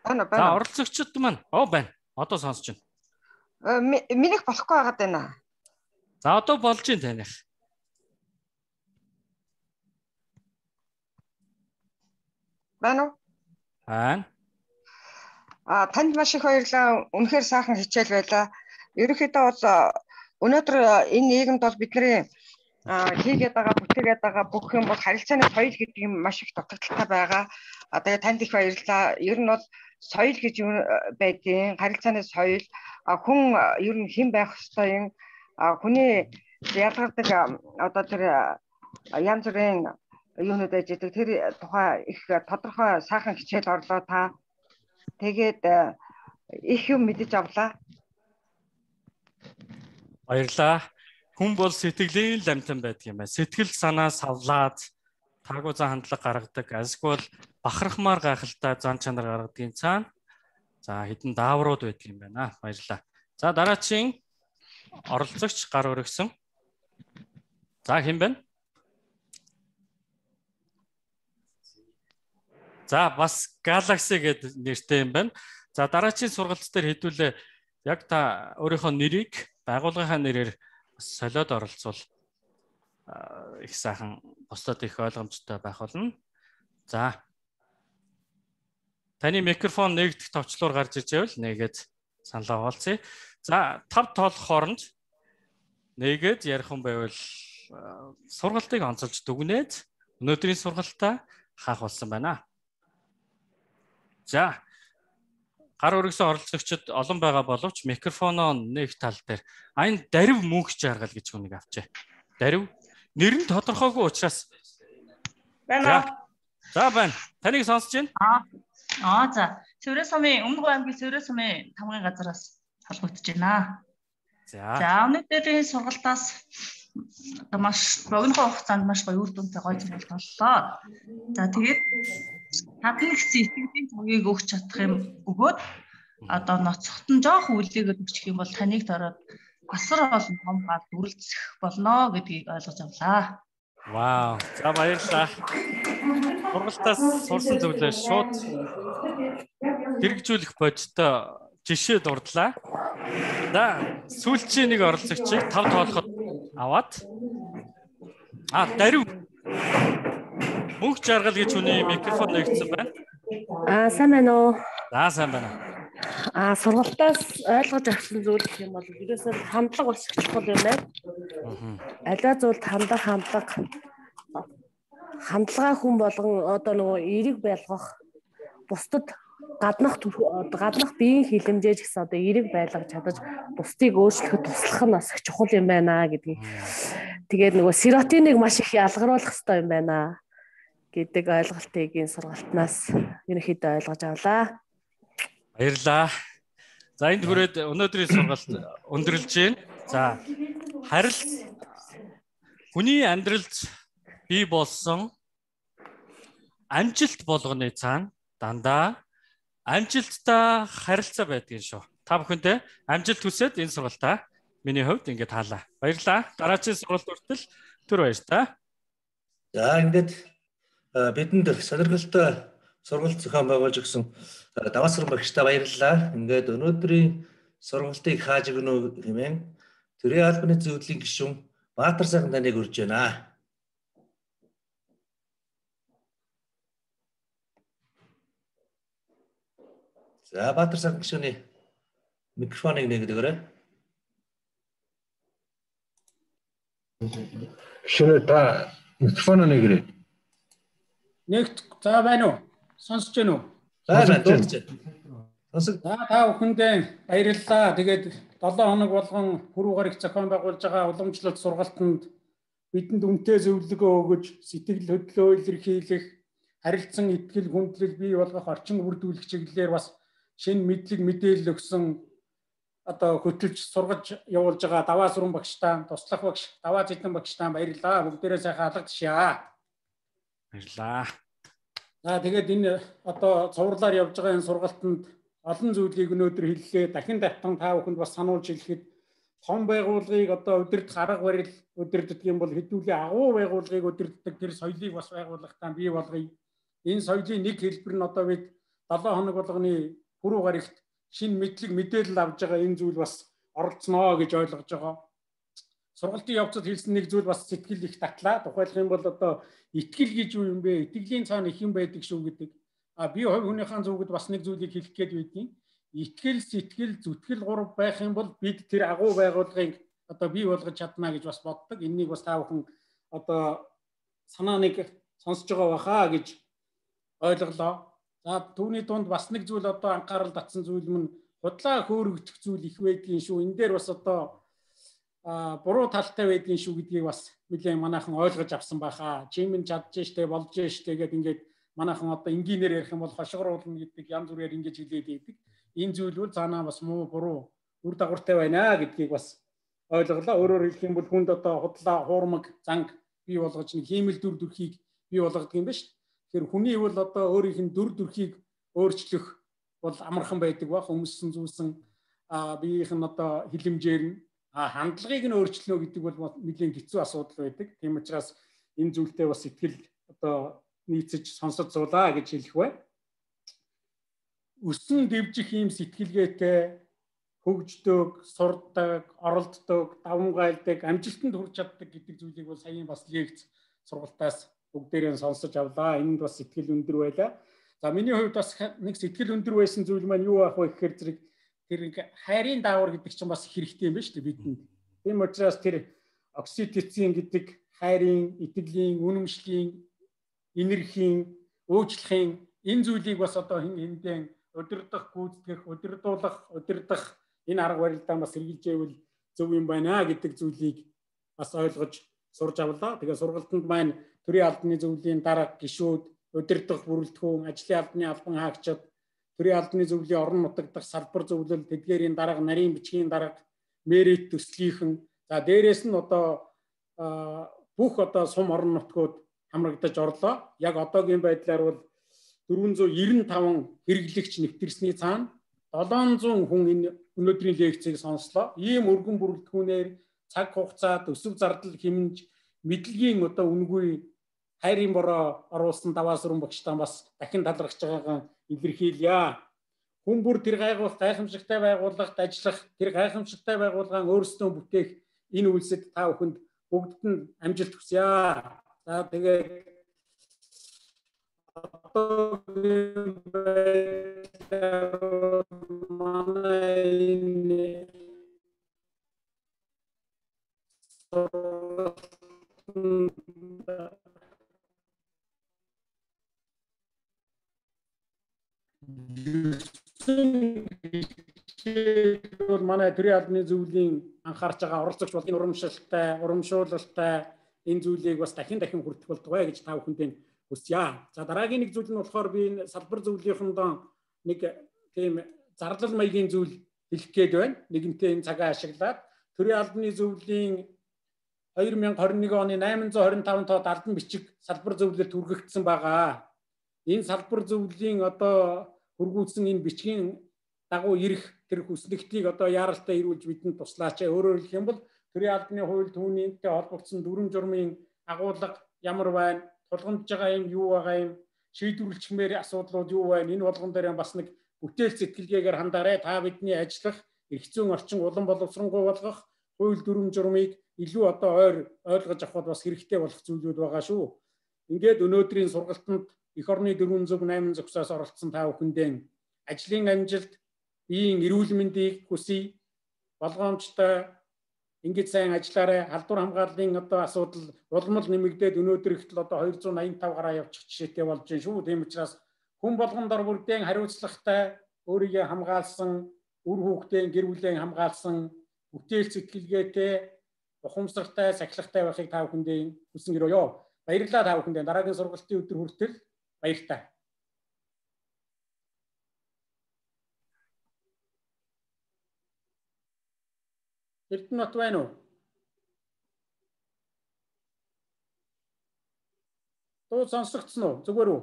За, оролцогчд маань байна. Одоо сонсож байна. Минийх болохгүй байгаад байна. За, одоо болж байна таних. Байна уу? Байна. Танд маш их баярлалаа. Үнэхээр сайхан хичээл байлаа. Ерөнхийдөө бол өнөөдөр энэ нийгэмд бол бидний хийгээд байгаа, бүтээгээд байгаа бүх юм бол харилцааны соёл гэдэг юм маш их дутагдaltaй байгаа. Тэгээд танд их баярлалаа. Ер нь бол соёл гэж юу байдیں۔ Харилцааны соёл хүн ер нь хэн байх ёстой юм. Хүний ялгардаг одоо тэр янз бүрийн юунууд байж байгаа. Тэр тухай их тодорхой сайхан хичээл орлоо та. Тэгээд их юм мэдэж авлаа. Баярлалаа. Хүн бол сэтгэлийн ламтан байдаг юм байна. Сэтгэл санаа савлаад таагүй зан хандлага гаргадаг. Асгүй бахархмаар гайхалтай зан чанар гаргадгийн цаана за хэдэн дааврууд байдаг юм байна. Баярлалаа. За дараагийн оролцогч гар өргөсөн. За хэн бэ? За бас Galaxy гэдэг нэртэй юм байна. За дараагийн сургалт дээр хэдүүлээ яг та өөрийнхөө нэрийг байгууллагынхаа нэрээр солиод оролцвол их сайхан бусдад их ойлгомжтой байх болно. За. Таны микрофон нэгдэх товчлуур гарч иж байвал нэгээд саналаа оолцъя. За, 5 тоолох хооронд нэгээд ярих юм байвал сургалтыг онцолж дүгнээд өнөөдрийн сургалтаа хаах болсон байна. За. Гар өргөсөн оролцогчид олон байгаа боловч микрофоноо нэг тал дээр энэ дарив мөнх жаргал гэж хүнийг авчээ. Дарив нэр нь тодорхойгүй учраас байна. За байна. Таныг сонсож байна? За. Цэврэ сумын Өмнөг аймгийн Цэврэ сумын тамгын газараас холбогдож байна. За өнөөдрийн сургалтаас маш богино хугацаанд маш гоё үр дүнтэй гоё сургалт боллоо. За тэгээд татны сэтгэлийн төвийг өгч чадах юм өгөөд одоо ноцхотон жоох үлдээгээд өгчих юм бол таныг дороод асар олон том гал дүрлцэх болно гэдгийг ойлгож авлаа. Вау. За баярлалаа. Сургалтаас сурсан зүйлээ шууд хэрэгжүүлэх бодтой жишээ дурдлаа. За сүүлчийн нэг оролцогчийг 5 тоолоход аваад дарив мөнх жаргал гэж хүний микрофон нэгдсэн байна. Сайн байна уу? За сайн байна. Сургалтаас ойлгож авсан зүйл гэх юм бол ерөөсөө хандлага бас их чухал юм байна. Аливаа зүйлд хандлагаа хүн болгон одоо нөгөө эерэг байлгах бусдад гаднах биеийн хилэмжээж гэсэн одоо эерэг байлгаж чадаж бусдыг өөрчлөхөд туслах нь бас их чухал юм байна гэдгийг. Тэгээд нөгөө серотиныг маш их ялгаруулах хэрэгтэй юм байна гэдэг ойлголтыг энэ сургалтнаас ерөнхийдөө ойлгож авлаа. Баярлалаа. За энд хүрээд өнөөдрийн сургалт өндөрлж байна. За хүний амьдралд бий болсон амжилт болгоны цаана дандаа амжилттай харилцаа байдгийн шүү. Та бүхэндээ амжилт хүсээд энэ сургалтаа миний хувьд ингээд хаалаа. Баярлалаа. Дараагийн сургалт хүртэл түр баяр та. За ингээд бидэнд сонирхолтой сургалт зохион байгуулж өгсөн Даваасрын багштай баярлалаа. Ингээд өнөөдрийн сургалтыг хааж өгнө хэмээн Төрийн албаны зөвлөлийн гишүүн Баатар сайхан таныг урьж байна. За Баатар сайхан гишүүний микрофоныг нэгэд өгөөрэй. Гишүүнээ та микрофоноо нэгэрэй. Нэгт за байна уу? Сонсож байна уу? За дуулж байна. Та бүхэндээ баярлалаа. Тэгээд 7 хоног болгон хөрөв гарагт зохион байгуулж байгаа уламжлалт сургалтанд бидэнд үнэтэй зөвлөгөө өгөж, сэтгэл хөдлөлөө илэрхийлэх, харилцан итгэл хүндлэл бий болгох орчин бүрдүүлэх чиглэлээр бас шинэ мэдлэг мэдээлэл өгсөн одоо хөтөлж сургаж явуулж байгаа даваа сүрэн багштаа, туслах багш, даваа зэдэн багштаа баярлалаа. Бүгдээрээ сайхан алгадчихъя. Баярлалаа. За тэгээд энэ одоо цувралаар явж байгаа энэ сургалтанд олон зүйлийг өнөөдөр хэллээ. Дахин татан та бүхэнд бас сануулж хэлэхэд том байгууллагыг одоо удирдах арга барил удирддаг юм бол хэдүүлээ агуу байгууллагыг удирддаг тэр соёлыг бас байгууллагатаа бий болгоё. Энэ соёлын нэг хэлбэр нь одоо бид 7 хоног болгоны пүрэв гарагт шинэ мэдлэг мэдээлэл авж байгаа энэ зүйл бас оролцсноо гэж ойлгож байгаа. Сургалтын явцад хэлсэн нэг зүйл бас сэтгэл их татлаа. Тухайлх юм бол одоо итгэл гэж юу юм бэ? Итгэлийн цаана их юм байдаг шүү гэдэг. Би хувь хүнийхэн зүгт бас нэг зүйлийг хэлэх гээд байдгийн. Итгэл, сэтгэл, зүтгэл гурав байх юм бол бид тэр агуу байгууллагыг одоо бий болгож чадна гэж бас боддог. Энэнийг бас та бүхэн одоо санааныг сонсож байгаа баха гэж ойлголоо. За түүний дунд бас нэг зүйл одоо анхаарал татсан зүйл нь худлаа хөөрөгдөх зүйл их байдгийн шүү. Энэ дээр бас одоо буруу талтай байдгийн шүү гэдгийг бас нэлээд манайхан ойлгож авсан байхаа. Чимэн чадж штэ болж штэ гэдэг ингээд манайхан одоо энгийнээр ярих юм бол хошгоруулна гэдэг янз бүрээр ингэж хэлээд байдаг. Энэ зүйл бол цаанаа бас муу буруу үр дагавартай байна гэдгийг бас ойлголоо. Өөрөөр хэлэх юм бол хүнд одоо худлаа хуурмаг занг бий болгож нэг хиймэл дүр төрхийг бий болгодог юм ба шүү. Тэгэхээр хүний бол одоо өөрийнх нь дүр төрхийг өөрчлөх бол амархан байдаг ба хүмүүссэн зүйлсэн биеийнх нь одоо хилэмжээр нь хандлагыг нь өөрчлөнө гэдэг бол нэлийн хэцүү асуудал байдаг. Тийм учраас энэ зүйлтэй бас сэтгэл одоо нийцэж сонсож суулаа гэж хэлэх бай. Өсөн дэвжих ийм сэтгэлгээтэй хөгждөг, сурдаг, оролддог, давмгайлдаг, амжилтанд хүрч чаддаг гэдэг зүйлийг бол саяхан бас лекц сургалтаас бүгдээрээ сонсож авлаа. Энд бас сэтгэл өндөр байлаа. За миний хувьд бас нэг сэтгэл өндөр байсан зүйл маань юу ах вэ гэхээр зэрэг тэр хайрын даавар гэдэг чинь бас хэрэгтэй юм байна шүү дээ бидэнд. Тийм учраас тэр окситоцин гэдэг хайрын, итгэлийн, үнэмшлийн, энергийн, өөчлөхийн энэ зүйлийг бас одоо хэндэн удирдах, гүйцэтгэх, удирдуулах, удирдах энэ арга барилдаа бас хэрэгжилж байвал зөв юм байна гэдэг зүйлийг бас ойлгож сурж авлаа. Тэгээ сургалтанд маань төрийн албаны зөвлөлийн дарга гишүүд, удирдах бүрэлдэхүүн, ажлын албаны албан хаагчид, төрийн албаны зөвлөлийн орон нутагдах салбар зөвлөл, тэдгээрийн дарга, нарийн бичгийн дарга, мэрит төслийнхэн, за дээрээс нь одоо бүх одоо сум орон нутгууд хамрагдаж орлоо. Яг одоогийн байдлаар бол 495 хэрэглэгч нэвтэрсний цаана 700 хүн энэ өнөөдрийн лекцийг сонслоо. Ийм өргөн бүрэлдэхүүнээр цаг хугацаа, төсөв зардал хэмнэж мэдлэгийн одоо үнгүй хайрын бороо оруулсан даваа сүрэн багштаа бас дахин талархаж байгаагаа илэрхийлье. Хүн бүр тэр гайхамшигтай байгууллагт ажиллах, тэр гайхамшигтай байгууллагын өөрсдөө бүтээх энэ үйлсэд та бүхэнд бүгдд нь амжилт хүсье. За тэгээд манай бол манай төрийн албаны зөвлөлийн анхаарч байгаа оролцогч болгын урамшуулалтай энэ зүйлийг бас дахин хүртэх болтугай гэж та бүхэндээ хүсье. За дараагийн нэг зүйл нь болохоор би энэ салбар зөвлөлийнхөндөө нэг тийм зарлал маягийн зүйл хэлэх гээд байна. Нэгэнтээ энэ цагаа ашиглаад төрийн албаны зөвлөлийн 2021 оны 825 тоод албан бичиг салбар зөвлөлд хүргэгдсэн байгаа. Энэ салбар зөвлөлийн одоо хүргүүлсэн энэ бичгийн дагуу ирэх тэр хүслэгтийг одоо яаралтай ирүүлж бидэнд туслаач. Өөрөөр хэлэх юм бол төрийн албаны хууль түүнийтэй холбогдсон дүрм журмын агуулга ямар байна, тулгамдж байгаа юм юу байгаа юм, шийдвэрлэхмээр асуудлууд юу байна, энэ болгон дээр бас нэг бүтээл сэтгэлгээгээр хандаарай. Та бидний ажиллах эрх зүйн орчин улам боловсронгуй болгох хууль дүрм журмыг илүү одоо ойр ойлгож авахд бас хэрэгтэй болох зүйлүүд байгаа шүү. Ингээд өнөөдрийн сургалтанд эх орны 408 зохисоос оролцсон та бүхэндээ ажлын амжилт, биеийн эрүүл мэндийг хүсье. Болгоомжтой ингэж сайн ажиллаарай. Халдвар хамгааллын одоо асуудал улмал нэмэгдээд өнөөдөр ихтэл одоо 285 гараа явчих жишээтэй болж байна шүү. Тийм учраас хүн болгон дор бүрдэн хариуцлагатай, өөрийгөө хамгаалсан, үр хүүхдийн гэр бүлийн хамгаалсан, бүтээл сэтгэлгээтэй, ухамсартай, сахилгатай байхыг та бүхэндээ хүсэн гэрөөё. Баярлалаа та бүхэндээ. Дараагийн сургалтын өдөр хүртэл Баяртай. Эрдэнэт байна уу? Туу сонсогдсон уу? Зүгээр үү?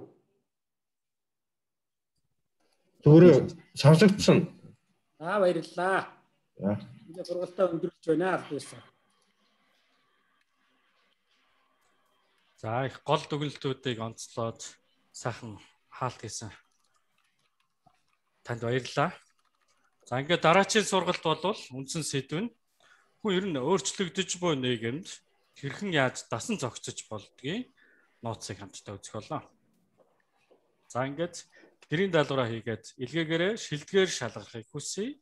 Зүгээр сонсогдсон. Баярлалаа. За. Сургалтаа өндөрлөж байна аль байсан. За их гол дүгнэлтүүдийг онцлоод сайхан хаалт хийсэн. Танд баярлалаа. За ингээд дараагийн сургалт бол үндсэн сэдв нь хүн ер нь өөрчлөгдөж буй нийгэмд хэрхэн яаж дасан зохицож болдгийг нууцыг хамтдаа үзэх боллоо. За ингээд гэрийн даалгавраа хийгээд илгээгээрээ шилдгээр шалгахыг хүсье.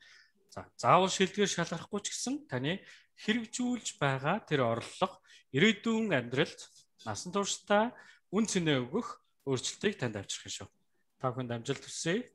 За заавал шилдгээр шалгахгүй ч гэсэн таны хэрэгжүүлж байгаа тэр орлого ирээдүйн амьдралд насан туршдаа үн цэнэ өгөх өөрчлөлтийг танд авчрах шүү. Та бүхэнд амжилт хүсье.